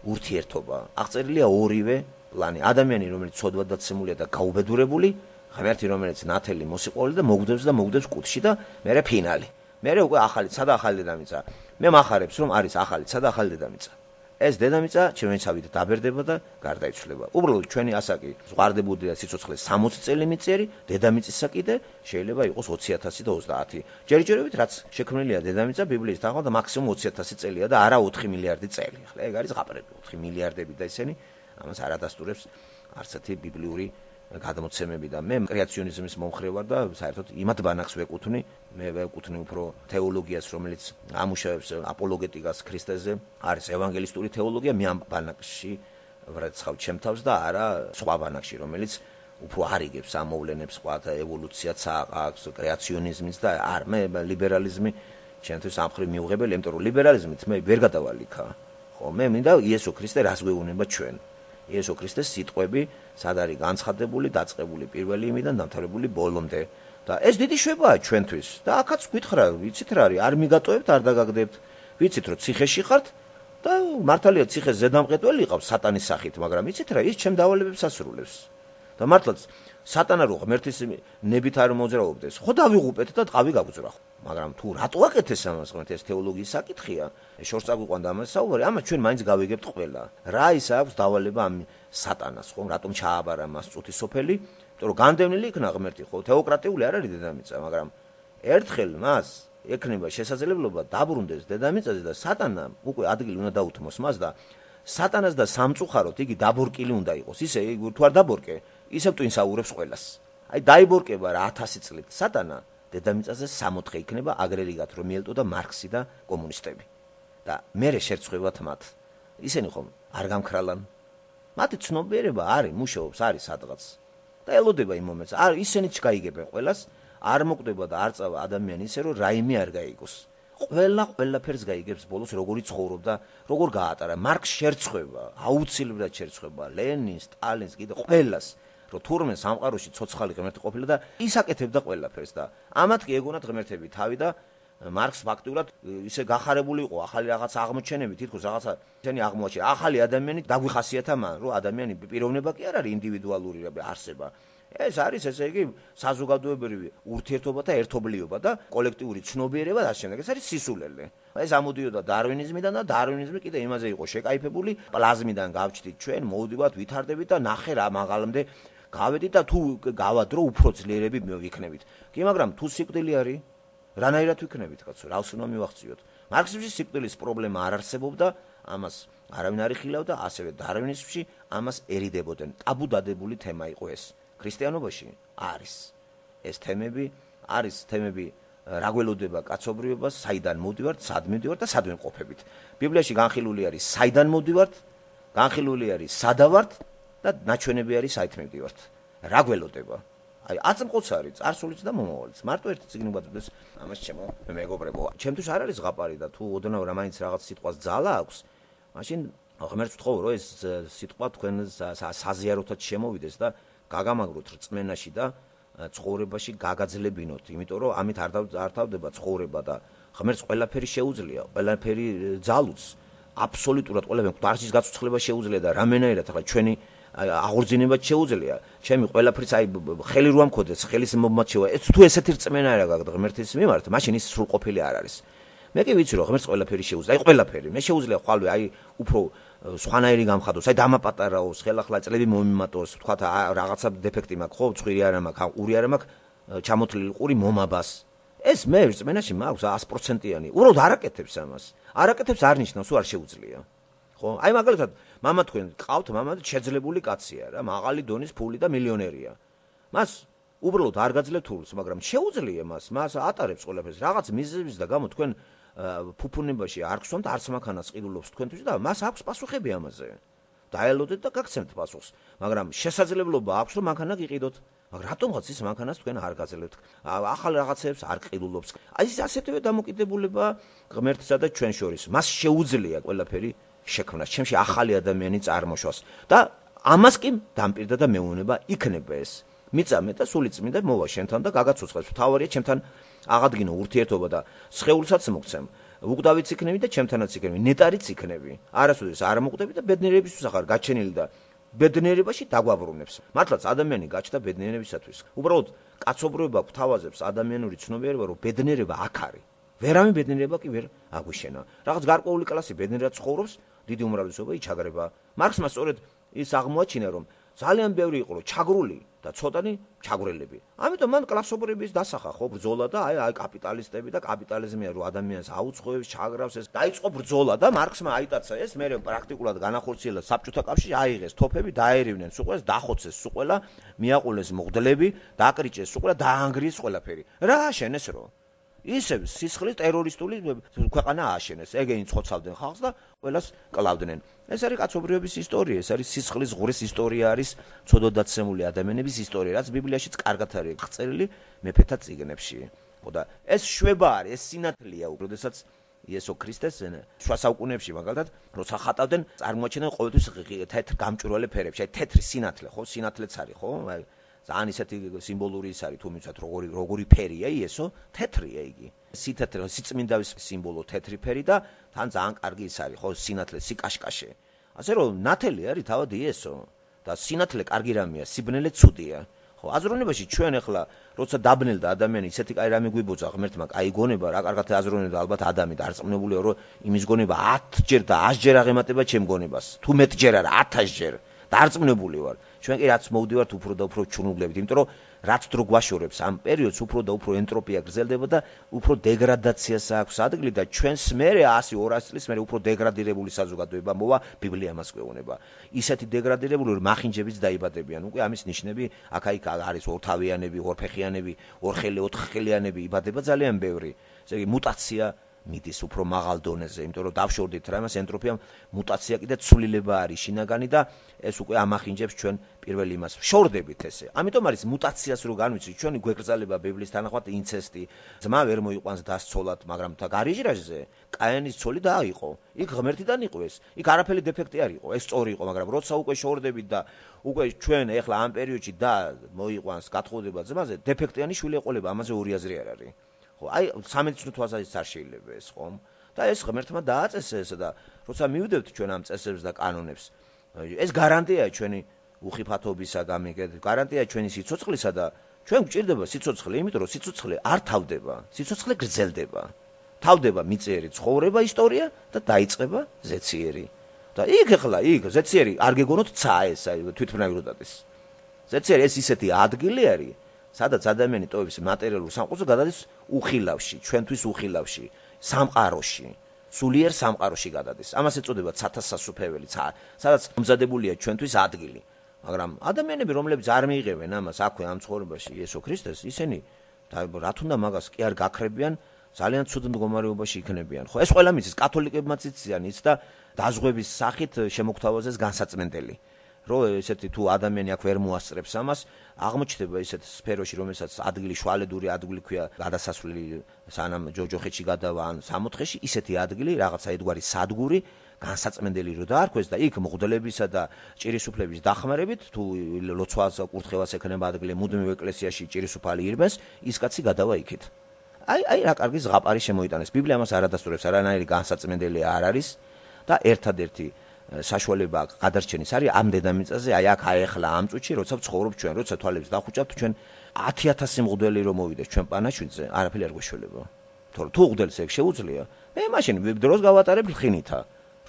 ურთიერთობა. აღწერილია ორივე პლანი. ადამიანი, რომელიც ცოდვად დაცემულია და გაუბედურებული, ღმერთი, რომელიც ნათელი მოსიყვარული და მოგდებს და მოგდებს კუთხში და მერე ფინალი. მერე უკვე ახალი, სადა ახალი დედამიწა. მე მახარებს რომ არის ახალი, სადა ახალი დედამიწა. ეს დედამიწა ჩემენცავით დაბერდება და გარდაიცვლება. უბრალოდ ჩვენი ასაკი ზღვარდებოდი და სიცოცხლე სამოცი წელი მიწერი, დედამიწისა კიდე შეიძლება იყოს ოცი ათასი და ოცდაათი. ჯერჯერობით რაც შექმნილია დედამიწა ბიბლიის თანახმად მაქსიმუმ ოცი ათასი წელია და არა ოთხი მილიარდი წელი. ახლა ეგ არის ზღაპრები, ოთხი მილიარდები და ისინი ამას არ ადასტურებს არც ერთი ბიბლიური გადმოცემები და მე კრეაციონიზმის მომხრე ვარ და საერთოდ იმათ ბანაკს ვეკუთვნი, მე ვეკუთვნი უფრო თეოლოგიას, რომელიც ამუშავებს აპოლოგეტიკას ქრისტეზე, არის ევანგელისტური თეოლოგია, მე ამ ბანაკში ვრეცხავ ჩემ თავს და არა სხვა ბანაკში, რომელიც უფრო არიგებს ამ მოვლენებს, სხვა ევოლუციაც აქვს, კრეაციონიზმიც და არ მე ლიბერალიზმი ჩემთვის ამხრივ მიუღებელი, იმიტომ რომ ლიბერალიზმით მე ვერ გადავალ იქა. ხო, მე მინდა იესო ქრისტე რას გვეუბნება ჩვენ. იესო ქრისტეს სიტყვები სად არის განცხადებული, დაწყებული პირველი იმიდან დამთავრებული ბოლომდე. და ეს დიდი შვებაა ჩვენთვის. და აქაც გითხრა, ვიცით რა არის, არ მიგატოვებთ, არ დაგაგდებთ. ვიცით რომ ციხეში ხართ და მართალია ციხეს ზედამყეტველი ყავს სატანის სახით, მაგრამ ვიცით რა, ის ჩემ დავალებებს ასრულებს. და მართლაც სატანა რო ღმერთის ნებით არ მოძრაობდეს, ხო დავიღუპეთ და ტყავი გაგძრა. მაგრამ თუ რატო აკეთეს ამას ღმერთი, ეს თეოლოგიის საკითხია. შორს წაგვიყვანდა ამას საუბარი, ამას ჩვენ მაინც გავიგებთ ყველა. რა ის აქვს დავალება ამ სატანას, ხო, რატომ ჩააბარა მას წუთის სოფელი? იმიტომ რომ განდევნილი იქნა ღმერთი, ხო, თეოკრატიული არ არის დედამიწა, მაგრამ ერთხელ მას ექნება შესაძლებლობა დაბრუნდეს დედამიწაზე და სატანა უკვე ადგილი უნდა დაუთმოს მას და სატანას და სამწუხაროდ იგი დაბორკილი უნდა იყოს. ისე თუ არ დაბორკე, ისევ ტვინსაურებს ყველას. აი დაიბორკება რა ათასი წლით სატანა დედამიწაზე სამოთხე იქნება აგრერიგად რომ მიელტოდა მარქსი და კომუნისტები. და მერე შერცხვევათ მათ. ისინი ხომ არ გამქრალან. მათი ცნობიერება არის, მუშაობს, არის სადღაც. და ელოდება იმ მომენტს. არ ისინიც გაიგებენ ყველას, არ მოკვდება და არ წავა ადამიანი ისე რომ რაიმე არ გაიგოს. ყველა ყველაფერს გაიგებს ბოლოს როგორი ცხოვრობდა, როგორ გაატარა. მარქს შერცხვება, აუცილებლად შერცხვება, ლენინს, სტალინს, კიდე ყველას. რომ თურმე სამყაროში ცოცხალი ღმერთი ყოფილა და ის აკეთებდა ყველაფერს და ამათ კი ეგონათ ღმერთები თავი და მარქს ფაქტურად ისე გახარებული იყო ახალი რაღაც აღმოჩენები, თითქოს რაღაცა ისინი აღმოაჩინა. ახალი ადამიანი დაგვიხასიათა მან, რომ ადამიანი პიროვნება კი არ არის ინდივიდუალური არსება. ეს არის ესე იგი საზოგადოებრივი ურთიერთობა და ერთობლიობა და კოლექტიური ცნობიერება და ამავდროულად ეს არის სისულელე. ეს ამოდიოდა დარვინიზმიდან და დარვინიზმი კიდე იმაზე იყო შეკაიფებული, პლაზმიდან გავჩდით ჩვენ, მოვდივართ, ვითარდებით და ნახე რა მაღალამდე გავედით და თუ გავადრო უფრო ძლიერები ვიქნებით. კი, მაგრამ თუ სიკვდილი არის, რანაირად ვიქნებით, კაცო, რას უნდა მივახციოთ? მარქსიზმში სიკვდილის პრობლემა არ არსებობდა, ამას არავინ არ იხილავდა, ასევე დარვინიზმში ამას ერიდებოდნენ. ტაბუ დადებული თემა იყო ეს. ქრისტიანობაში არის ეს თემები, არის თემები რა გველოდება კაცობრიობას, საიდან მოვდივართ, სად მივდივართ და სად ვიმყოფებით. ბიბლიაში განხილული არის საიდან მოვდივართ, განხილული არის სადავართ და ნაჩვენები არის საით მივდივართ. რა გველოდება? აი აწმყოც არის, წარსულიც და მომავალიც. მარტო ერთი წიგნი გვაძლევს ამას ჩემო მეგობრებო. ჩემთვის არ არის ზღაპარი და თუ ოდნავ რა მაინც რაღაც სიტყვას ძალა აქვს, მაშინ ღმერთს ვთხოვ რომ ეს სიტყვა თქვენ საზიაროთად შემოვიდეს და გაგამაგროთ რწმენაში და ცხოვრებაში გაგაძლებინოთ, იმიტომ რომ ამით არ დავდება ცხოვრება და ღმერთს ყველაფერი შეუძლია, ყველაფერი ძალუც, აბსოლუტურად ყველაფერი დარჩის გაცოცხლება შეუძლია და რამენაირად ახლა ჩვენი აღორძინებაც შეუძლია. ჩემი ყველაფერს აი ხელი რო ამქოდეს, ხელის მომაჩევა. ეს თუ ესეთი რწმენა არა გაქვს ღმერთის მიმართ, მაშინ ის სრულყოფილი არ არის. მე კი ვიცი რომ ღმერთს ყველაფერი შეუძლია, აი ყველაფერი. მე შეუძლია ხვალვე აი უფრო სხვანაირი გამხადოს, აი დამაპატარაოს, ხელახლა წლები მომიმატოს, თქვა რაღაცა დეფექტი მაქვს, ხო, ცხვირი არა მაქვს, ყური არა მაქვს, ჩამოთლილი ყური მომაბას. ეს მე რწმენაში მაქვს ათი პროცენტიანი. უბრალოდ არ აკეთებს ამას. არ აკეთებს არ ნიშნავს, რომ არ შეუძლია. ხო? აი მაგალითად, მამა თქვენ ყავთ, მამა შეძლებული კაცია რა, მაღალი დონის ფული და მილიონერია. მას უბრალოდ არ გაძლევთ თულს, მაგრამ შეუძლია მას, მას ატარებს ყველაფერს. რაღაც მიზეზების და გამო თქვენ ფუფუნებაში არ გსვამთ, არც მანქანას ყიდულობს თქვენთვის და მას აქვს პასუხები ამაზე. დაელოდეთ და გაგცემთ პასუხს, მაგრამ შესაძლებლობა აქვს რომ მანქანა გიყიდოთ. მაგრამ რატომღაც ის მანქანას თქვენ არ გაძლევთ? ახალ რაღაცებს არ ყიდულობს. აი ეს ასეთივე დამოკიდებულება ღმერთსა და ჩვენ შორის. მას შეუძლია ყველაფერი შექმნას, ჩემში ახალი ადამიანი წარმოშვას და ამას კი დამპირდა და მეუნება იქნება ეს. მიწამე და სულიწმიდა მოვა შენთან და გაგაცოცხლებს. თავარია ჩემთან აღადგინო ურთიერთობა და სხეულსაც მოგცემ. უკვდავიც იქნები და ჩემთანაც იქნები, ნეტარიც იქნები. არასოდეს არ მოკვდები და ბედნიერებისთვის ახარ გაჩენილი და ბედნიერებაში დაგვაბრუნებს. მართლაც ადამიანი გაჩნდა ბედნიერებისათვის. უბრალოდ კაცობრიობა გვთავაზებს ადამიანური ცნობიერება, რომ ბედნიერება აქ არის. ვერავინ ბედნიერება კი ვერ აგვიშენა. რაღაც გარკვეული კლასი ბედნიერად ცხოვრობს დიდი უმრავლესობა იჩაგრება. მარქსმა სწორედ ის აღმოაჩინა, რომ ძალიან ბევრი იყო ჩაგრული და ცოტანი ჩაგვრელები. ამიტომ მან კლასობრივების დასახა ხო ბრძოლა და აი აი კაპიტალისტები და კაპიტალიზმია რომ ადამიანს აუწყოებს, ჩაგრავს ეს. დაიწყო ბრძოლა და მარქსმა აიტაცა ეს, მე პრაქტიკულად განახორციელა საბჭოთა კავშირში, აიღეს თოფები, დაერივნენ სულ ყველას, დახოცეს სულ ყველა, მიაყოლეს მღვდლები, დაკრიჭეს სულ ყველა, დაანგრიეს ყველაფერი. რა აშენეს რო? ისევ სისხლის ტერორისტული ქვეყანა ააშენეს. ეგენი ცხოცავდნენ ხალხს და ყველას კლავდნენ. ეს არის კაცობრიობის ისტორია, ეს არის სისხლის ღურის ისტორია, არის ცოდოდაცემული ადამიანების ისტორია, რაც ბიბლიაშიც კარგად არის აღწერილი მეფეთა წიგნებში. ხო და ეს შვება არის, ეს სინათლეა, როდესაც იესო ქრისტეს შუა საუკუნეებში მაგალითად როცა ხატავდნენ, წარმოაჩენენ ყოველთვის თეთრ გამჭვირვალე ფერებში, აი თეთრი სინათლე, ხო, სინათლეც არის, ხო? აი ძალიან ისეთი სიმბოლური ის არის, თუ მიცოთ როგორი როგორი ფერია იესო, თეთრია იგი. სითეთრე, სიწმინდავის სიმბოლო თეთრი ფერი და თან ძალიან კარგი ის არის, ხო, სინათლე, სიკაშკაშე. ასე რომ ნათელი არის თავად იესო და სინათლე კარგი რამეა, სიბნელე ცუდია. ხო, აზროვნებაში ჩვენ ახლა როცა დაბნელდა ადამიანი, ისეთი კაი რამე გვიბოძა ღმერთმა, კაი გონება, რა კარგად აზროვნებდა ალბათ ადამი და არწმუნებულია, რომ იმის გონება ათჯერ და ათჯერ აღემატება ჩემ გონებას. თუ მეტჯერ არა, ათასჯერ. დარწმუნებული ვარ. ჩვენ კი რაც მოვდივართ უფრო და უფრო ჩუნუგლებით, იმიტომ რომ რაც დრო გვაშორებს ამ პერიოდს უფრო და უფრო ენტროპია გრძელდება და უფრო დეგრადაციას აქვს ადგილი და ჩვენს მერე ათი ორასი წლის მერე უფრო დეგრადირებული საზოგადოება მოვა, ბიბლია მას გვეუბნება. ისეთი დეგრადირებული რომ მახინჯებიც დაიბადებიან. უკვე ამის ნიშნები აქა-იქ არის ორთავიანები, ორფეხიანები, ორხელი, ოთხხელიანები იბადება ძალიან ბევრი. ესე იგი მუტაცია მიდის უფრო მაღალ დონეზე, იმიტომ რომ დავშორდით რა იმას ენტროპია მუტაცია კიდე ცვლილება არის შინაგანი და ეს უკვე ამახინჯებს ჩვენ პირველ იმას. შორდებით ესე. ამიტომ არის მუტაციას რო განვიცით, ჩვენი გვეკრძალება ბიბლიის თანახმად ინცესტი. ძმა ვერ მოიყვანს დასცოლად, მაგრამ თა გარიჟრაჟზე კაენის ცოლი დააიყო. იქ ღმერთიდან იყო ეს. იქ არაფერი დეფექტი არ იყო, ეს სწორი იყო, მაგრამ როცა უკვე შორდებით და უკვე ჩვენ ეხლა ამ პერიოდში და მოიყვანს გათხოვდება ძმაზე, დეფექტიანი შვილი ეყოლება, ამაზე ორი აზრი არ არის. აი სამედიცინო თვალსაზრისით არ შეიძლება ეს ხომ და ეს ღმერთმა დააწესა ეს და როცა მივიდევთ ჩვენ ამ წესებს და კანონებს ეს გარანტია ჩვენი უხიფათობისა გამიგეთ გარანტია ჩვენი სიცოცხლისა და ჩვენ გვჭირდება სიცოცხლე იმიტომ რომ სიცოცხლე არ თავდება სიცოცხლე გრძელდება თავდება მიწიერი ცხოვრება ისტორია და დაიწყება ზეციერი და იქ ახლა იქ ზეციერი არ გეგონოთ ცა ეს აი თვითმფრინავირობადეს ზეციერი ეს ისეთი ადგილი არის სადაც ადამიანი ტოვებს მატერიალურ სამყაროზე გადადის უხილავში, ჩვენთვის უხილავში, სამყაროში, სულიერ სამყაროში გადადის. ამას ეწოდება ცათასასუფეველი, სადაც მომზადებულია ჩვენთვის ადგილი. მაგრამ ადამიანები, რომლებიც არ მიიღებენ ამას აქვე ამ ცხოვრებაში იესო ქრისტეს, ისინი რა თუნდა მაგას კი არ გაქრებიან, ძალიან ცუდ მდგომარეობაში იქნებიან. ხო, ეს ყველა მიცის, კათოლიკებმაც იციან ის და დაზღვევის სახით შემოგთავაზეს განსაწმენდელი. რო ესეთი თუ ადამიანი აქ ვერ მოასწრებს ამას, აღმოჩნდება ესეთ სფეროში, რომელსაც ადგილი შუალედური ადგილი ქვია, გადასასვლელი სანამ ჯოჯოხეთში გადავა ან სამოთხეში, ისეთი ადგილი, რაღაცა ერთგვარი სადგური, განსაწმენდელი რო დაარქვეს და იქ მღვდლებისა და ჭირისუფლების დახმარებით, თუ ლოცვას, კურთხევას ექნება ადგილი, მუდმივ ეკლესიაში ჭირისუფალი ირბენს, ის კაცი გადავა იქით. აი, აი რა კარგი ზღაპარი შემოიტანეს. ბიბლია ამას არ ადასტურებს, არანაირი განსაწმენდელი არ არის და ერთადერთი საშუალება გადარჩენის არის ამ დედამიწაზე, აი აქ აეხლა ამ წუთში, როცა ვცხოვრობ ჩვენ, როცა თვალებს დავხუჭავთ ჩვენ ათი ათასი მღვდელი რომ მოვიდეს ჩვენ პანაშვიდზე, არაფერი არ გვეშველება. თორე თუ მღვდელს ეგ შეუძლია, მე მაშინ დროს გავატარებ ხინითა.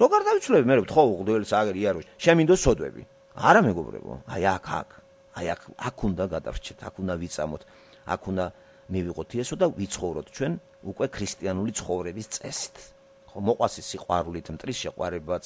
როგორ დავიცვლები მე ვთხოვ მღვდელს აგერ იაროს, შემინდოს სოდვები. არა მეგობრებო, აი აქ აქ, აი აქ აქ უნდა გადავრჩეთ, აქ უნდა ვიწამოთ, აქ უნდა მივიღოთ იესო და ვიცხოვროთ ჩვენ უკვე ქრისტიანული ცხოვრების წესით. მოყვასი სიყვარულით, მტრის შეყვარებაც,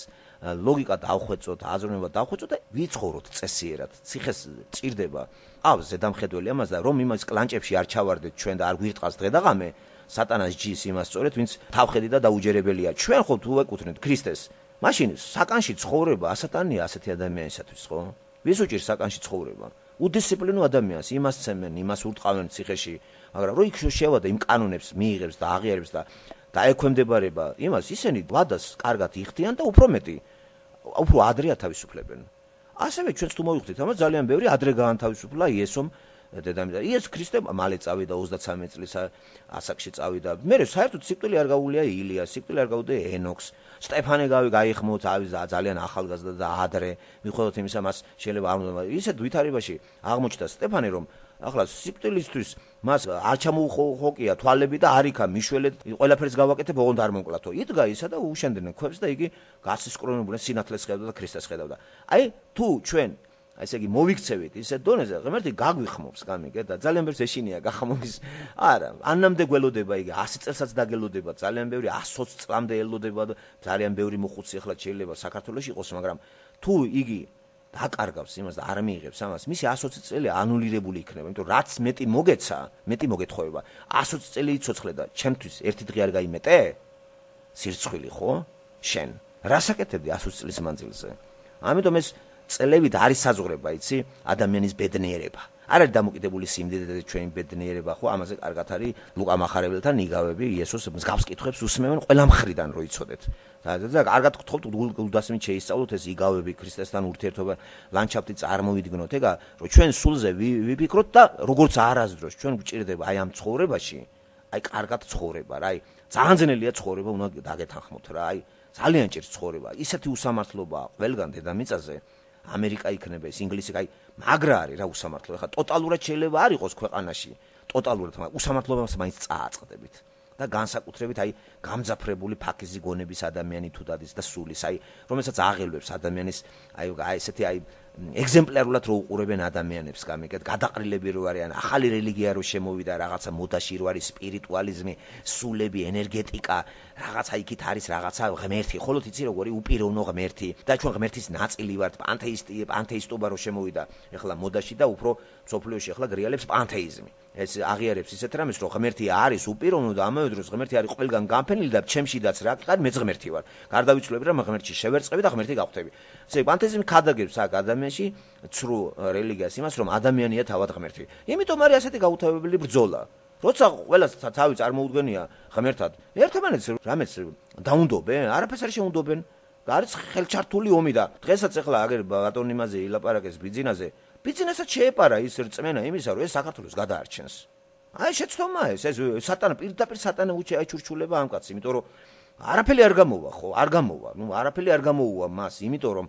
ლოგიკა დავხვეწოთ, აზროვნება დავხვეწოთ და ვიცხოვროთ წესიერად. ციხეს ჭირდება. ყავს ზედამხედველი ამას და რომ იმას კლანჭებში არ ჩავარდეთ ჩვენ და არ გვირტყავს დღე და ღამე, სატანას ჯის იმას სწორედ, ვინც თავხედი და დაუჯერებელია. ჩვენ ხო თუ ვეკუთვნით ქრისტეს, მაშინ საკანში ცხოვრება ასატანია ასეთი ადამიანისათვის, ხო? ვის უჭირს საკანში ცხოვრება? უდისციპლინო ადამიანს, იმას ცემენ, იმას ურტყავენ ციხეში, მაგრამ რო იქ შევადა იმ კანონებს მიიღებს და აღიარებს და და ექვემდებარება იმას ისინი ვადას კარგად იხდიან და უფრო მეტი უფრო ადრე ათავისუფლებენ. ასევე ჩვენც თუ მოვიხდით ამას ძალიან ბევრი ადრე გაანთავისუფლა იესომ დედამიწაზე. იესო ქრისტე მალე წავიდა ოცდაცამეტ წლის ასაკში წავიდა. მე საერთოდ სიკვდილი არ გაუვლია ილიას, სიკვდილი არ გაუვლია ენოქს. სტეფანე გაიხმოთ ძალიან ახალგაზრდა და ადრე მიხედავთ იმისა მას შეიძლება არ უნდა ისეთ ვითარებაში აღმოჩნდა სტეფანე რომ ახლა სიკვდილისთვის მას არ ჩამოუხოკია თვალები და არ იქა მიშველეთ ყველაფერს გავაკეთებ ოღონდ არ მომკლათო. იდგა ისა და უშენდნენ ქვებს და იგი გასისკრონებულა სინათლეს ხედავდა და ქრისტეს ხედავდა. აი თუ ჩვენ აი ესე იგი მოვიქცევით ისეთ დონეზე, ღმერთი გაგვიხმობს გამიგე და ძალიან ბევრს ეშინია გახმობის. არა, ანამდე გველოდება იგი ასი წელსაც დაგელოდება, ძალიან ბევრი ათი წლამდე ელოდება და ძალიან ბევრი მოხუცი ახლა შეიძლება საქართველოში იყოს, მაგრამ თუ იგი დაკარგავს იმას და არ მიიღებს ამას, მისი ათი წელი ანულირებული იქნება, იმიტომ რომ რაც მეტი მოგეცა, მეტი მოგეთხოვება. ათი წელი იცოცხლე და ჩემთვის ერთი დღე არ გაიმეტე? სირცხვილი ხო? შენ რა საკეთებდი ათი წლის მანძილზე? ამიტომ ეს წლებით არის საზღვრება, იცი, ადამიანის ბედნიერება. არ არის დამოკიდებული სიმდიდრე და ჩვენი ბედნიერება, ხო, ამაზე კარგად არის ლუკა მახარებელთან იგავები, იესოს მსგავს კითხვებს უსმევენ ყველა მხრიდან, რო იცოდეთ. და კარგად გთხოვთ გულდასმით შეისწავლოთ ეს იგავები, ქრისტესთან ურთიერთობა, ლანდშაფტი წარმოვიდგინოთ, ეგა, რომ ჩვენ სულზე ვიფიქროთ და როგორც არასდროს ჩვენ გვჭირდება აი ამ ცხოვრებაში, აი კარგად ცხოვრება რა, აი ძალიან ძნელია ცხოვრება, უნდა დაგეთანხმოთ რა, აი ძალიან ჭირს ცხოვრება. ისეთი უსამართლობაა ყველგან დედამიწაზე. ამერიკა იქნება ეს ინგლისი, აი მაგრა არის რა უსამართლო. ხა ტოტალურად შეიძლება არ იყოს ქვეყანაში, ტოტალურად, მაგრამ უსამართლობას მაინც წააწყდებით. და განსაკუთრებით აი გამძაფრებული ფაქიზი გონების ადამიანი თუ დადის და სულის, აი რომელსაც აღელვებს ადამიანის აი აი ესეთი აი ეგზემპლარულად რო უყურებენ ადამიანებს, გამიგეთ, გადაყრილები რო არიან, ახალი რელიგია რო შემოვიდა, რაღაცა მოდაში რო არის სპირიტუალიზმი, სულები, ენერგეტიკა, რაღაცა იქით არის რაღაცა ღმერთი, ხოლო იცი როგორი უპიროვნო ღმერთი და ჩვენ ღმერთის ნაწილი ვართ, პანთეისტი, პანთეისტობა რო შემოვიდა ახლა მოდაში და უფრო სოფლიოში ახლა გრიალებს პანთეიზმი. ეს აღიარებს ისეთ რამეს, რომ ღმერთი არის უპიროვნო და ამავე დროს ღმერთი არის ყველგან განფენილი და ჩემშიდაც რა ყარ მეც ღმერთი ვარ. გარდავიცვლები რომ ღმერთში შევერწყები და ღმერთი გავხდები. ესე პანთეიზმი ქადაგებს აქ ადამიანში ცრუ რელიგიას იმას, რომ ადამიანია თავად ღმერთი. იმიტომ არის ასეთი გაუთავებელი ბრძოლა. როცა ყველას თავი წარმოუდგენია ღმერთად, ერთმანეთს რამეც დაუნდობენ, არაფერს არ შეუნდობენ. არის ხელჩართული ომი და დღესაც ახლა აგერ ბატონი იმაზე ილაპარაკეს ბიძინაზე. ბიძინასაც შეეპარა ის რწმენა იმისა, რომ ეს საქართველოს გადაარჩენს. აი შეცდომა ეს, ეს სატანა პირდაპირ სატანა უჩაიჩურჩულება ამ კაცს, იმიტომ რომ არაფერი არ გამოვა ხო, არ გამოვა. ნუ არაფერი არ გამოუვა მას, იმიტომ რომ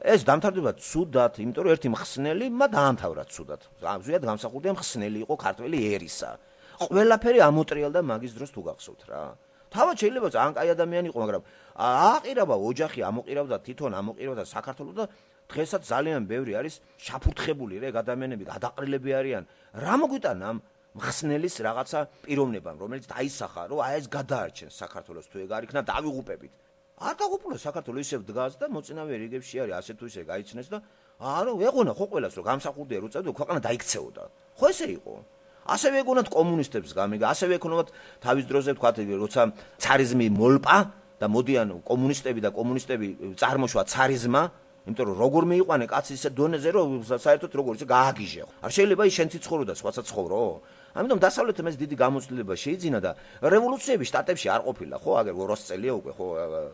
ეს დამთავრდება ცუდად, იმიტომ რომ ერთი მხსნელი მა დაამთავრა ცუდად. ზუსტად გამსახურდია მხსნელი იყო ქართველი ერისა. ყველაფერი ამოტრიალდა მაგის დროს თუ გახსოვთ რა. თავად შეიძლება ძალიან კაი ადამიანი იყო, მაგრამ ააყირავდა ოჯახი, ამოყირავდა თვითონ, ამოყირავდა საქართველოს და დღესაც ძალიან ბევრი არის შაფურთხებული რეგ ადამიანები, გადაყრილები არიან. რა მოგვიტანა ამ მხსნელის რაღაცა პიროვნებამ, რომელიც დაისახა, რომ აი ეს გადაარჩენს საქართველოს, თუ ეგ არ იქნა დავიღუპებით. არ დაღუპულა საქართველოს, ისევ დგას და მოწინავე რიგებში არის, ასე თუ ისე გაიცნეს და არა, ეღონა ხო ყველას, რომ გამსახურდია რო წავიდა, ქვეყანა დაიქცეოდა. ხო ესე იყო. ასევე ეგონათ კომუნისტებს გამიგა, ასევე ეკონომათ თავის დროზე თქვათ, როცა ცარიზმი მოლპა და მოდიან კომუნისტები და კომუნისტები წარმოშვა ცარიზმა, იმიტომ რომ როგორ მიიყვანე კაცი ისე დონეზე, რომ საერთოდ როგორ ისე გააგიჟე. არ შეიძლება ის შენც იცხოვრო და სხვასაც ცხოვრო. ამიტომ დასავლეთმა ეს დიდი გამოცდილება შეიძინა და რევოლუციები შტატებში არ ყოფილა, ხო, აგერ ორასი წელია უკვე, ხო,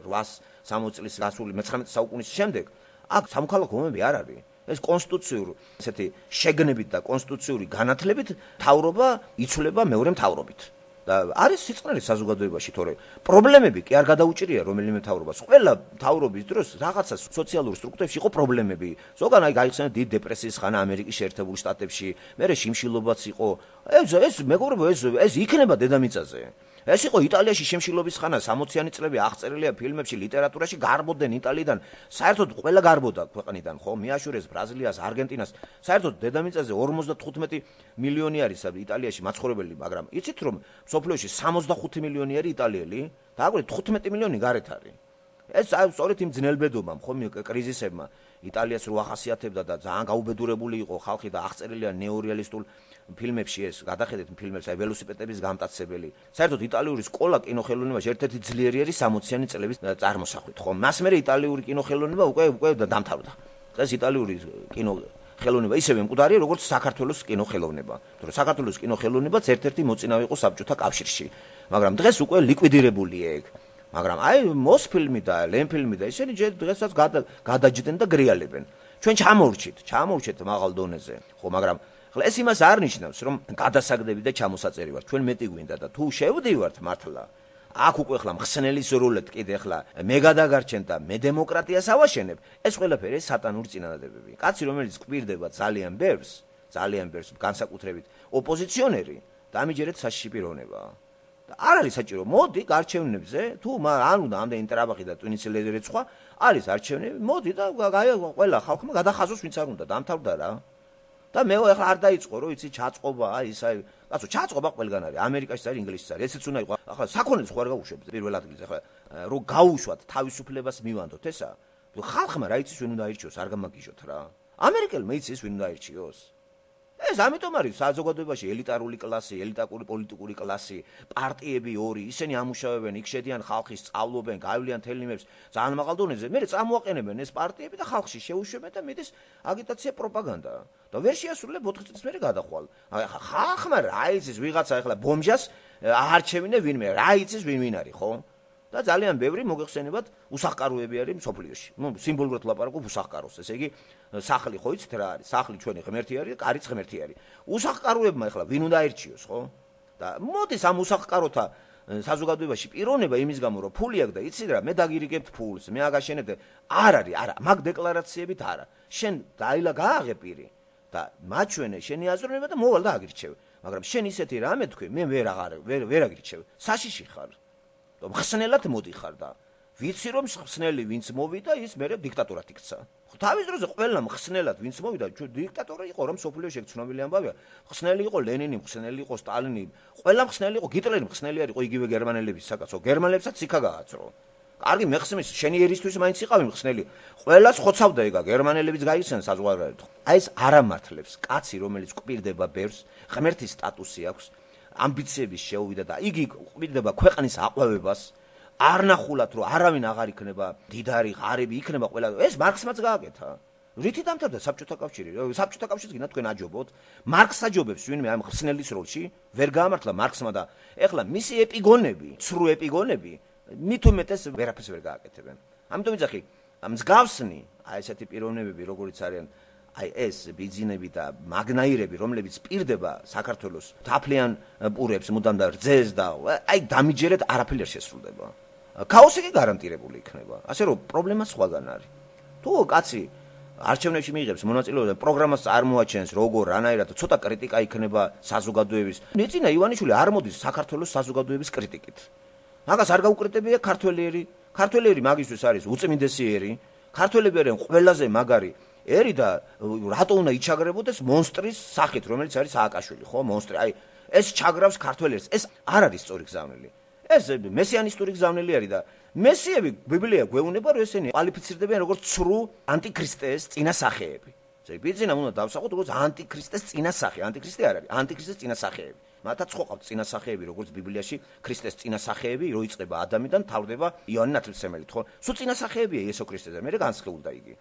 რვაას სამოცი წლის გასული მეცხრამეტე საუკუნის შემდეგ. აქ სამოქალაქო ომები არ არის. ეს კონსტიტუციური ესეთი შეგნებით და კონსტიტუციური განათლებით თავრობა იცვლება მეორე მთავრობით. და არის სიწყნარი საზოგადოებაში, თორე პრობლემები კი არ გადაუჭირია რომელიმე მთავრობას. ყველა მთავრობის დროს რაღაცა სოციალურ სტრუქტურებში იყო პრობლემები. ზოგან აი გაიხსენა დიდ დეპრესიის ხანა ამერიკის შეერთებულ შტატებში, მერე შიმშილობაც იყო. ეს ეს მეგობრებო, ეს ეს იქნება დედამიწაზე. ეს იყო იტალიაში შემშილობის ხანა, სამოციანი წლები აღწერილია ფილმებში, ლიტერატურაში, გარბოდნენ იტალიიდან. საერთოდ ყველა გარბოდა ქვეყნიდან, ხო? მიაშურეს ბრაზილიას, არგენტინას. საერთოდ დედამიწაზე ორმოცდათხუთმეტი მილიონი არის იტალიაში მაცხოვრებელი, მაგრამ იცით რომ სოფლიოში სამოცდახუთი მილიონი არის იტალიელი? დააკვირდით თხუთმეტი მილიონი გარეთ არის. ეს სწორედ იმ ძნელბედობამ, ხო, კრიზისებმა იტალიას რო ახასიათებდა და ძალიან გაუბედურებული იყო ხალხი და აღწერილია ნეორეალისტულ ფილმებში ეს გადახედეთ ფილმებს, აი ველოსიპედების გამტაცებელი. საერთოდ იტალიური სკოლა კინოხელოვნებაში ერთ-ერთი ძლიერი არის სამოციანი წლების წარმოსახვით, ხო? მას მერე იტალიური კინოხელოვნება უკვე უკვე დამთავრდა. დღეს იტალიური კინოხელოვნება ისევე მკვდარია, როგორც საქართველოს კინოხელოვნება. თორე საქართველოს კინოხელოვნებაც ერთ-ერთი მოწინავე იყო საბჭოთა კავშირში. მაგრამ დღეს უკვე ლიკვიდირებულია ეგ. მაგრამ აი მოსფილმი და ლენფილმი და ისინი დღესაც გადაჯდნენ და გრიალებენ. ჩვენ ჩამოვრჩით, ჩამოვრჩით მაღალ დონეზე, ხო, მაგრამ ხლა ეს იმას არ ნიშნავს, რომ გადასაგდები და ჩამოსაწერი ვართ. ჩვენ მეტი გვინდა და თუ შევდივართ მართლა, აქ უკვე ხლა მხსნელის როლეთ კიდე ხლა მე გადაგარჩენ და მე დემოკრატიას ავაშენებ, ეს ყველაფერი სატანური წინადადებები. კაცი რომელიც კვირდება ძალიან ბევრს, ძალიან ბევრს განსაკუთრებით ოპოზიციონერი დამიჯერეთ საშიში პიროვნებაა. და არ არის საჭირო, მოდი გარჩევნებზე, თუ ან უნდა ამდენი ტრაბახი და ტვინიცი ლედერიც სხვა, არის არჩევნები, მოდი და ყველა ხალხმა გადახაზოს ვინც არ უნდა, დამთავრდა რა. და მე ახლა არ დაიწყო, რომ იცი ჩაწყობა, აი ის აი, კაცო, ჩაწყობა ყველგან არის, ამერიკაშიც არის, ინგლისშიც არის, ესეც უნდა იყოს. ახლა საქონელს ხო არ გაუშვებთ პირველ ადგილზე, ახლა რომ გაუშვათ თავისუფლებას მივანდოთ ესა. ხალხმა რა იცის ვინ უნდა აირჩიოს, არ გამაგიჟოთ რა. ამერიკელმა იცის ვინ უნდა აირჩიოს. ეს ამიტომ არის საზოგადოებაში ელიტარული კლასი, ელიტარული პოლიტიკური კლასი, პარტიები ორი, ისინი ამუშავებენ, იქ შედიან ხალხი, სწავლობენ, გაივლიან თელიმებს, ძალიან მაღალ დონეზე. მე წამოაყენებენ ეს პარტიები და ხალხში შეუშვებენ და მიდის აგიტაცია, პროპაგანდა. და ვერ შეასრულებ ოთხი წლის მერე გადახვალ. აი ხალხმა რა იცის ვიღაცა ახლა ბომჟას აარჩევინე ვინმე, რა იცის ვინ ვინ არის, ხო? და ძალიან ბევრი მოგეხსენებათ უსახკაროები არის მსოფლიოში. ნუ სიმბოლურად ლაპარაკობ უსახკაროს, ესე იგი სახლი ხო იცით რა არის? სახლი ჩვენი ღმერთი არის და კარიც ღმერთი არის. უსახკაროებმა ახლა ვინ უნდა აირჩიოს, ხო? და მოდის ამ უსახკაროთა საზოგადოებაში პიროვნება იმის გამო რომ ფული აქვს და იცით რა, მე დაგირიგებთ ფულს, მე აგაშენებ არ არის, არა, მაგ დეკლარაციებით არა. შენ დაილა გააღე პირი და მაჩვენე შენი აზროვნება და მოვალ და აგირჩევ. მაგრამ შენ ისეთი რამე თქვი, მე ვერ აღარ ვერ ვერ აგირჩევ. საშიში ხარ. მხსნელად მოდიხარ და ვიცი რომ მხსნელი ვინც მოვიდა ის მერე დიქტატორად იქცა. თავის დროზე ყველა მხსნელად ვინც მოვიდა დიქტატორი იყო რომ სოფლიოში ცნობილი ამბავია. მხსნელი იყო ლენინი, მხსნელი იყო სტალინი, ყველა მხსნელი იყო, გიტლერი მხსნელი იყო იგივე გერმანელების საკაცო. გერმანელებსაც სიქა გააცრო. კარგი მეხსნის შენი ერისთვის მაინც იყავი მხსნელი. ყველას ხოცავდა ეგა გერმანელებიც გაიხსენ საზღვარგარეთ. აი ეს არამართლებს კაცი რომელიც კვირდება ბევრს, ღმერთის სტატუსი აქვს. ამბიციების შეუვიდა და იგი ყვირდება ქვეყნის აყვავებას არ ნახულად რომ არავინ აღარ იქნება დიდარი ღარიბი იქნება ყველა ეს მარქსმაც გააკეთა რითი დამთავრდა საბჭოთა კავშირი საბჭოთა კავშირს გინდა თქვენ აჯობოთ მარქსს აჯობებს ვინმე ამ ხსნელის როლში ვერ გაამართლა მარქსმა და ეხლა მისი ეპიგონები ცრუ ეპიგონები მით უმეტეს ვერაფერს ვერ გააკეთებენ ამიტომ ვიძახი მსგავსნი აი ესეთი პიროვნებები როგორიც არიან აი ეს ბიძინები და მაგნაირები რომლებიც პირდება საქართველოს თაფლიან პურებს მუდამ და რძეს და აი დამიჯერეთ არაფერი არ შესრულდება ქაოსი კი გარანტირებული იქნება ასე რომ პრობლემა სხვაგან არის თუ კაცი არჩევნებში მიიღებს მონაწილეობა და პროგრამას წარმოაჩენს როგორ რანაირად ცოტა კრიტიკა იქნება საზოგადოების ნეწინა ივანიშვილი არ მოდის საქართველოს საზოგადოების კრიტიკით მაგას არ გაუკრიტებია ქართველიერი ქართველიერი მაგისთვის არის უწმინდესი ერი ქართველები არიან ყველაზე მაგარი ერი და რატო უნდა იჩაგრებოდეს მონსტრის სახით რომელიც არის სააკაშვილი ხო მონსტრი აი ეს ჩაგრავს ქართველებს ეს არ არის სწორი გზავნილი ეს მესიანისტური გზავნილი არის და მესიები ბიბლია გვეუბნება რომ ესენი კვალიფიცირდებიან როგორც ცრუ ანტიქრისტეს წინასახეები ესე ბიძინა უნდა დავსახოთ როგორც ანტიქრისტეს წინასახე ანტიქრისტე არ არის ანტიქრისტეს წინასახეები მათაც ხო ყავთ წინასახეები როგორც ბიბლიაში ქრისტეს წინასახეები რო იწყება ადამიანიდან თავდება იონი ნათლისმცემელით ხო სულ წინასახეებია იესო ქრისტეზე მე განსხეულდა იგი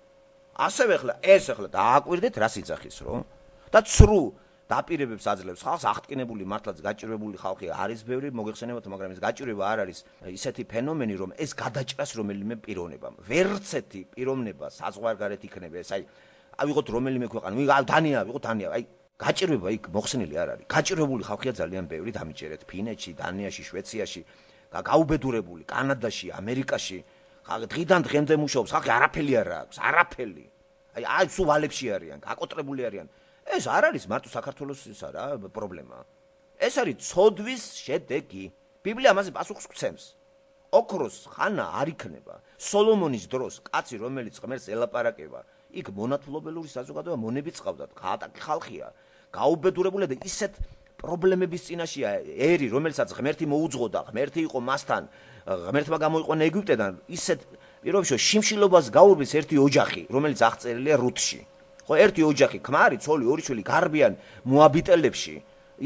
ასევე ახლა ეს ახლა დააკვირდეთ რა სიძახის რო და ცრუ დაპირებებს აძლევს ხალხს აღტკინებული მართლაც გაჭირვებული ხალხი არის ბევრი მოგეხსენებათ მაგრამ ეს გაჭირვება არ არის ისეთი ფენომენი რომ ეს გადაჭრას რომელიმე პიროვნებამ ვერცეთი პიროვნება საზღვარგარეთ იქნება ეს აი ავიღოთ რომელიმე ქვეყანა ვიღა დანია ვიღოთ დანია აი გაჭირვება იქ მოხსნილი არ არის გაჭირვებული ხალხია ძალიან ბევრი დამიჯერეთ ფინეთში დანიაში შვეციაში გაუბედურებული კანადაში ამერიკაში დღიდან დღემდე მუშაობს ხალხი არაფერი არ აქვს არაფერი აი აი სულ ვალებში არიან გაკოტრებული არიან ეს არ არის მარტო საქართველოსისა რა პრობლემა ეს არის ცოდვის შედეგი ბიბლია ამაზე პასუხს გვცემს ოქროს ხანა არ იქნება სოლომონის დროს კაცი რომელიც ღმერთს ელაპარაკება იქ მონათლობელური საზოგადოება მონებიც ყავდათ გაატაკი ხალხია გაუბედურებული და ისეთ პრობლემების წინაშია ერი რომელსაც ღმერთი მოუძღოდა ღმერთი იყო მასთან ღმერთმა გამოიყვანა ეგვიპტედან ისეთ პირობებში შიმშილობას გაურბის ერთი ოჯახი რომელიც აღწერილია რუთში ხო ერთი ოჯახი ქმარი ცოლი ორი შვილი გარბიან მოაბიტელებში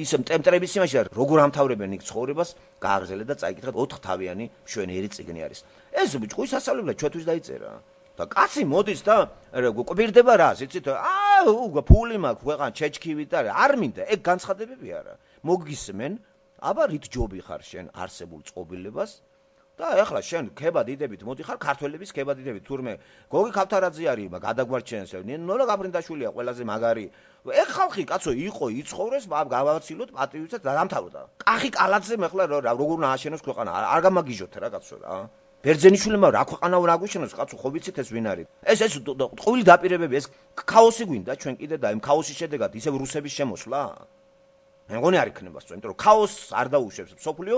ის მტემტრების იმაში როგორ ამთავრებენ იქ ცხოვრებას გააგრძელეთ და წაიკითხეთ ოთხთავიანი მშვენიერი წიგნი არის ეს ჭკუის ასწავლებლად ჩვენთვის დაიწერა და კაცი მოდის და კვირდება რას იცით აა ფული მაქვს ქვეყან ჩეჩქივით და არ მინდა ეგ განცხადებები არა მოგისმენ აბა რით ჯობი ხარ შენ არსებულ წყობილებას და ეხლა შენ ქებადიდებით მოდიხარ ქართველების ქებადიდებით თურმე გოგი ქავთარაძე არის გადაგვარჩენს ნოლა გაფრინდაშვილია ყველაზე მაგარი ეგ ხალხი კაცო იყო იცხოვრეს გავაცილოთ პატრიოტსაც და დამთავრდა კახი კალაძემ ეხლა როგორ უნდა აშენოს ქვეყანა არ გამაგიჟოთ რა კაცო რა ბერძენიშვილმა რა ქვეყანაო რა გვიშენოს, კაცო, ხო ვიცით ეს ვინ არის? ეს ეს ტყუილი დაპირებები, ეს ქაოსი გვინდა ჩვენ კიდე და იმ ქაოსის შედეგად ისევ რუსების შემოსვლა? მე მგონი არ იქნება სწორი, იმიტომ რომ ქაოსს არ დაუშვებს მსოფლიო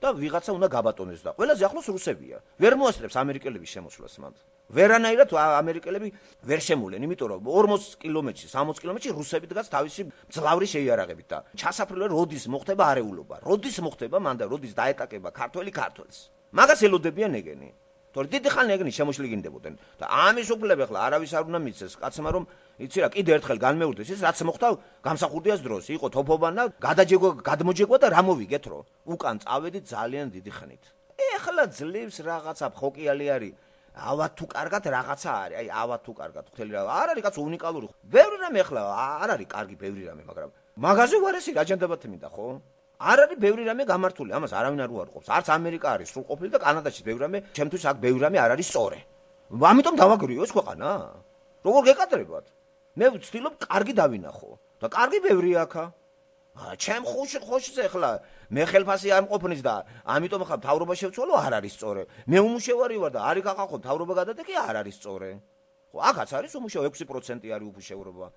და ვიღაცა უნდა გაბატონდეს და ყველაზე ახლოს რუსებია. ვერ მოასწრებს ამერიკელების შემოსვლას მათ. ვერანაირად ამერიკელები ვერ შემულენ, იმიტომ რომ ორმოც კილომეტრში, სამოც კილომეტრში რუსები დგას თავისი მძლავრი შეიარაღებით და ჩასაფრთხილე როდის მოხდება არეულობა, როდის მოხდება მან და როდის დაეტაკება ქართველი ქართველს. მაგას ელოდებიან ეგენი. თორე დიდი ხანი ეგენი შემოშლი გინდებოდნენ და ამის უფლება ახლა არავის არ უნდა მიცეს კაცმა რომ იცი რა კიდე ერთხელ განმეორდეს ის რაც მოხდა გამსახურდიას დროს იყო თოფობანა გადაჯეგვა გადმოჯეგვა და რა მოვიგეთ რო უკან წავედი ძალიან დიდი ხნით. ეხლა ძლივს რაღაცა ხოკიალი არის ავა თუ კარგად რაღაცა არის აი ავა თუ კარგად ხელი რა არ არის კაცო უნიკალური ბევრი რამე ახლა არ არის კარგი ბევრი რამე მაგრამ მაგაზე ვარესი აჯანდაბათი მინდა ხო არ არის ბევრი რამე გამართული ამას არავინ არ უარყოფს არც ამერიკა არის სრულყოფილი და კანადაში ბევრი რამე ჩემთვის აქ ბევრი რამე არ არის სწორი ამიტომ დავაგრიო ეს ქვეყანა როგორ გეკადრებათ მე ვცდილობ კარგი დავინახო და კარგი ბევრი აქა ჩემ ხუში ხოშზე ახლა მე ხელფასი არ მყოფნის და ამიტომ ახლა მთავრობა შევცვალო არ არის სწორი მე უმუშევარი ვარ და არის ახლა მთავრობა გადადეკი არ არის სწორი ხო აქაც არის უმუშევა ექვსი პროცენტი არის უმუშევრობა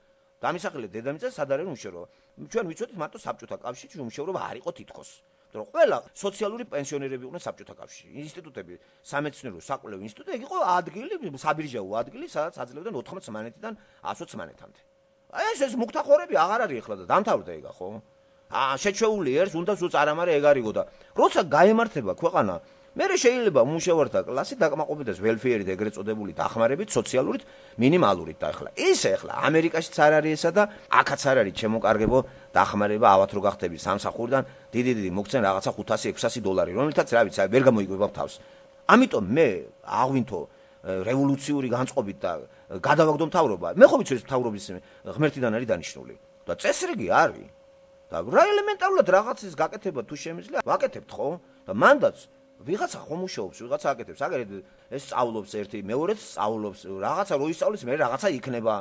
დამისახელე დედამიწა სად არის უმუშევრობა ჩვენ ვიცოდით მარტო საბჭოთა კავშირში უმუშევრობა არ იყო თითქოს რომ ყველა სოციალური პენსიონერები იყვნენ საბჭოთა კავშირში ინსტიტუტები სამეცნიერო საკვლევ ინსტიტუტი ეგ იყო ადგილი საბირჟაო ადგილი სადაც აძლევდნენ ოთხმოც მანეთიდან ათოც მანეთამდე აი ეს ეს მუქთახორები აღარ არის ახლა და დამთავრდა ეგა ხო აა შეჩეული ერს უნდა სულ წარამარე ეგ არისო და როცა გაემართება ქვეყანა მე შეიძლება უმუშევართა კლასი დაკმაყოფილდეს ველფეერით ეგრეთ წოდებული დახმარებით სოციალურით მინიმალურით და ახლა ისე ახლა ამერიკაშიც არ არის ესა და აქაც არ არის შემოკარგებო დახმარება ავათ რო გახდები სამსახურიდან დიდი დიდი მოგცენ რაღაცა ხუთასი ექვსასი დოლარი რომელთაც რა ვიცი ვერ გამოიგებავ თავს ამიტომ მე აღვინთო რევოლუციური განწყობით და გადავაგდო მთავრობა მე ხო ვიცი ეს მთავრობის ღმერთიდან არის დანიშნული და წესრიგი არის და რა ელემენტარულად რაღაცის გაკეთება თუ შემიძლია ვაკეთებთ ხო და მანდაც ვიღაცა ხომ მუშაობს ვიღაცა აკეთებს აგერეთ ეს სწავლობს ერთი მეორეც სწავლობს რაღაცა რო ისწავლის მე რაღაცა იქნება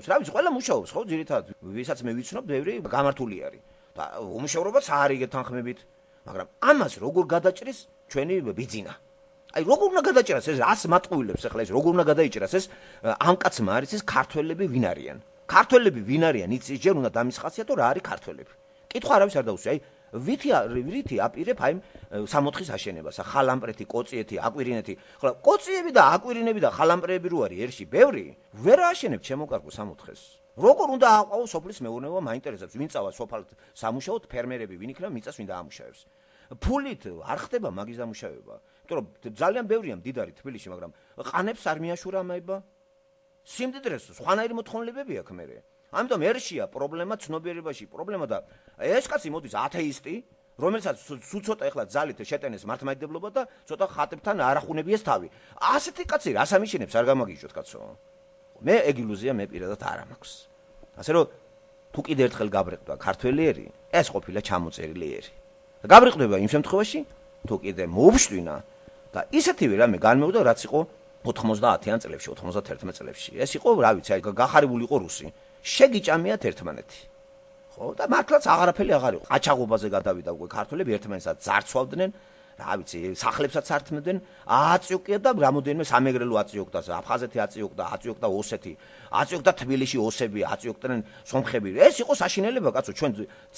რა ვიცი ყველა მუშაობს ხო ძირითადად ვისაც მე ვიცნობ ბევრი გამართული არის და უმუშევრობაც არ იგეთ თანხმებით მაგრამ ამას როგორ გადაჭრის ჩვენი ბიძინა აი როგორ უნდა გადაჭრას ეს რას მატყუილებს ახლა ეს როგორ უნდა გადაიჭრას ეს ამ კაცმა არის ეს ქართველები ვინ არიან ქართველები ვინ არიან იცის ჯერ უნდა დამისხაციათო რა არის ქართველები კითხვა არავის არ დაუსვი აი ვითი ვითი აპირებ აი სამოთხის აშენებას ხალამპრეთი კოციეთი აკვირინეთი ხო კოციები და აკვირინები და ხალამპრეები რო არის ერში ბევრი ვერ აშენებ ჩემო კარგო სამოთხეს როგორ უნდა აყვაო სოფლის მეურნეობა მაინტერესებს ვინ წავა სოფალ სამუშაოდ ფერმერები ვინ იქნება მიწას ვინ დაამუშავებს ფულით არ ხდება მაგის დამუშავება იმიტომ რომ ძალიან ბევრია მდიდარი თბილისში მაგრამ ყანებს არ მიაშურა მაება სიმდიდრეს სხვანაირი მოთხოვნილებები აქვს მე ამიტომ ერშია პრობლემა ცნობიერებაში პრობლემა და ეს კაცი მოდის ათეისტი რომელსაც სულ ცოტა ეხლა ძალით შეტენეს მართლმადიდებლობა და ცოტა ხატებთან არახუნებიეს თავი ასეთი კაცი რას ამიშენებს არ გამაგიჟოთ კაცო მე ეგ ილუზია მე პირადად არ მაქვს ასე რომ თუ კიდე ერთხელ გაბრეყდა ქართველი ერი ეს ყოფილა ჩამოწერილი ერი გაბრეყდება იმ შემთხვევაში თუ კიდე მოუშვინა და ისეთივე რამე განმეუდა რაც იყო ოთხმოცდაათიან წლებში ოთხმოცდაათერთმეტ წლებში ეს იყო რა ვიცი აი გახარებული იყო რუსი შეგიჭამიათ ერთმანეთი ხო და მართლაც აღარაფერი აღარ იყო ყაჩაღობაზე გადავიდა უკვე ქართველები ერთმანეთსაც ძარცვავდნენ რა ვიცი სახლებსაც ართმევდნენ აწიოკია და რამოდენიმე სამეგრელო აწიოკდა აფხაზეთი აწიოკდა აწიოკდა ოსეთი აწიოკდა თბილისში ოსები აწიოკდნენ სომხები ეს იყო საშინელება კაცო ჩვენ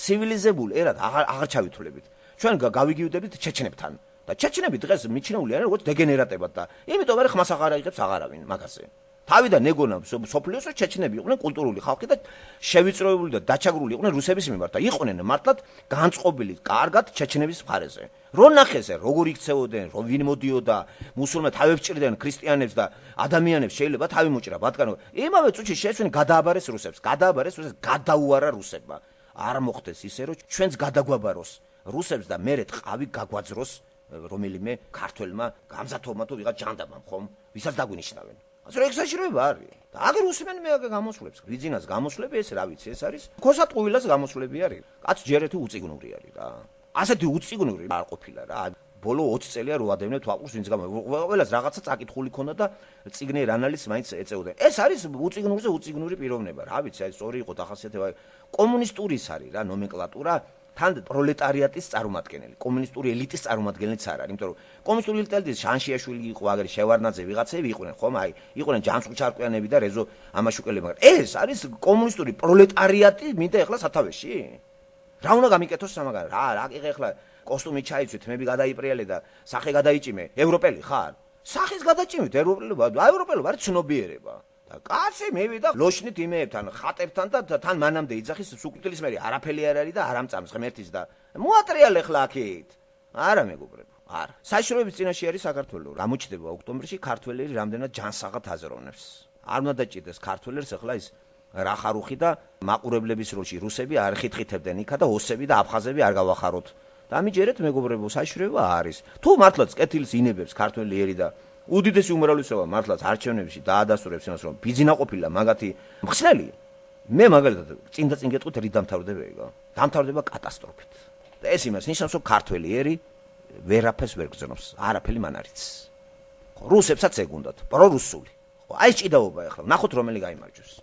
ცივილიზებული ერად აღარ აღარ ჩავითვლებით ჩვენ გავიგივდებით ჩეჩნებთან და ჩეჩნები დღეს მიჩნეული არიან როგორც დეგენერატებად და იმიტომ არის ხმას აღარ აიღებს აღარავინ მაგაზე თავიდან ეგონა სოფლიოს ჩეჩნები იყვნენ კულტურული ხალხი და შევიწროებული და დაჩაგრული იყვნენ რუსების მიმართ და იყვნენ მართლად განწყობილი კარგად ჩეჩნების მხარეზე რო ნახეს როგორ იქცეოდნენ რო ვინ მოდიოდა მუსულმანები თავებს ჭრიდნენ ქრისტიანებს და ადამიანებს შეიძლება თავი მოჭრა ბატკანო იმავე წუთში შეეცვნენ გადააბარეს რუსებს გადააბარეს რუსებს გადაუარა რუსებმა არ მოხდეს ისე რომ ჩვენც გადაგვაბაროს რუსებს და მერე ტყავი გაგვაძროს რომელიმე ქართველმა გამზათოვმა თუ ვიღაც ჯანდაბამ ხომ ვისაც დაგვინიშნავენ ასე რომ ექსაჟირება არის და აგერ უსმენ მე აგერ გამოსვლებს ბიძინას გამოსვლები ეს რა ვიცი ეს არის ქოსატყუილას გამოსვლები არის კაც ჯერეთი უწიგნური არის რა ასეთი უწიგნური არ ყოფილა რა ბოლო ოცი წელია რო ადევნე თვალყურს ვინც გამო ყველას რაღაცა წაკითხული ქონდა და წიგნიერ ანალიზს მაინც ეწეოდა ეს არის უწიგნურზე უწიგნური პიროვნება რა ვიცი აი სწორი იყო დახასიათება კომუნისტურის არის რა ნომენკლატურა თან პროლეტარიატის წარმომადგენელი, კომუნისტური ელიტის წარმომადგენელიც არ არის, იმიტომ რომ კომუნისტური ელიტის შანშიაშვილი იყო, აგერ შევარდნაძე ვიღაცები იყვნენ, ხომ? აი, იყვნენ ჯანსუღ-ჩარკვიანები და რეზო ამაშუკელები, მაგრამ ეს არის კომუნისტური პროლეტარიატი, მინდა ეხლა სათავეში? რა უნდა გამიკეთოს სამაგარ? რა, რა კი ეხლა კოსტუმი ჩაიცვით, თმები გადაიპრიალე და სახე გადაიჭიმე, ევროპელი ხარ? სახის გადაჭიმით, ევროპელობა, ევროპელობა არის ცნობიერება. და კაცი მივიდა ლოშნით იმეებთან, ხატებთან და თან მანამდე იძახის სუკვდილის მერი არაფერი არ არის და არ ამწამს ღმერთის და მოატრიალ ეხლა აქეთ. არა მეგობრებო, არა. საშიშროების წინაშე არის საქართველო. გამოჩნდება ოქტომბერში ქართველები რამდენად ჯანსაღად აზროვნებს. არ უნდა დაჭირდეს ქართველებს ეხლა ის რახარუხი და მაყურებლების როლში რუსები არ ხითხითებდნენ იქა და ოსები და აფხაზები არ გავახაროთ. და ამიჯერეთ მეგობრებო, საშიშროება არის. თუ მართლაც კეთილის ინებებს ქართველი ერი და უდიდესი უმრავლესობა მართლაც არჩევნებში დაადასტურებს იმას, რომ ბიძინა ყოფილა მაგათი მხსნელი. მე მაგალითად წინ და წინ გეტყვით რით დამთავრდება ეგა. დამთავრდება კატასტროფით. და ეს იმას ნიშნავს, რომ ქართველი ერი ვერაფერს ვერ გრძნობს, არაფერი მან არ იცის. ხო, რუსებსაც ეგ უნდათ, პრორუსული. ხო, აი ჭიდაობა ახლა, ნახოთ რომელი გაიმარჯვებს.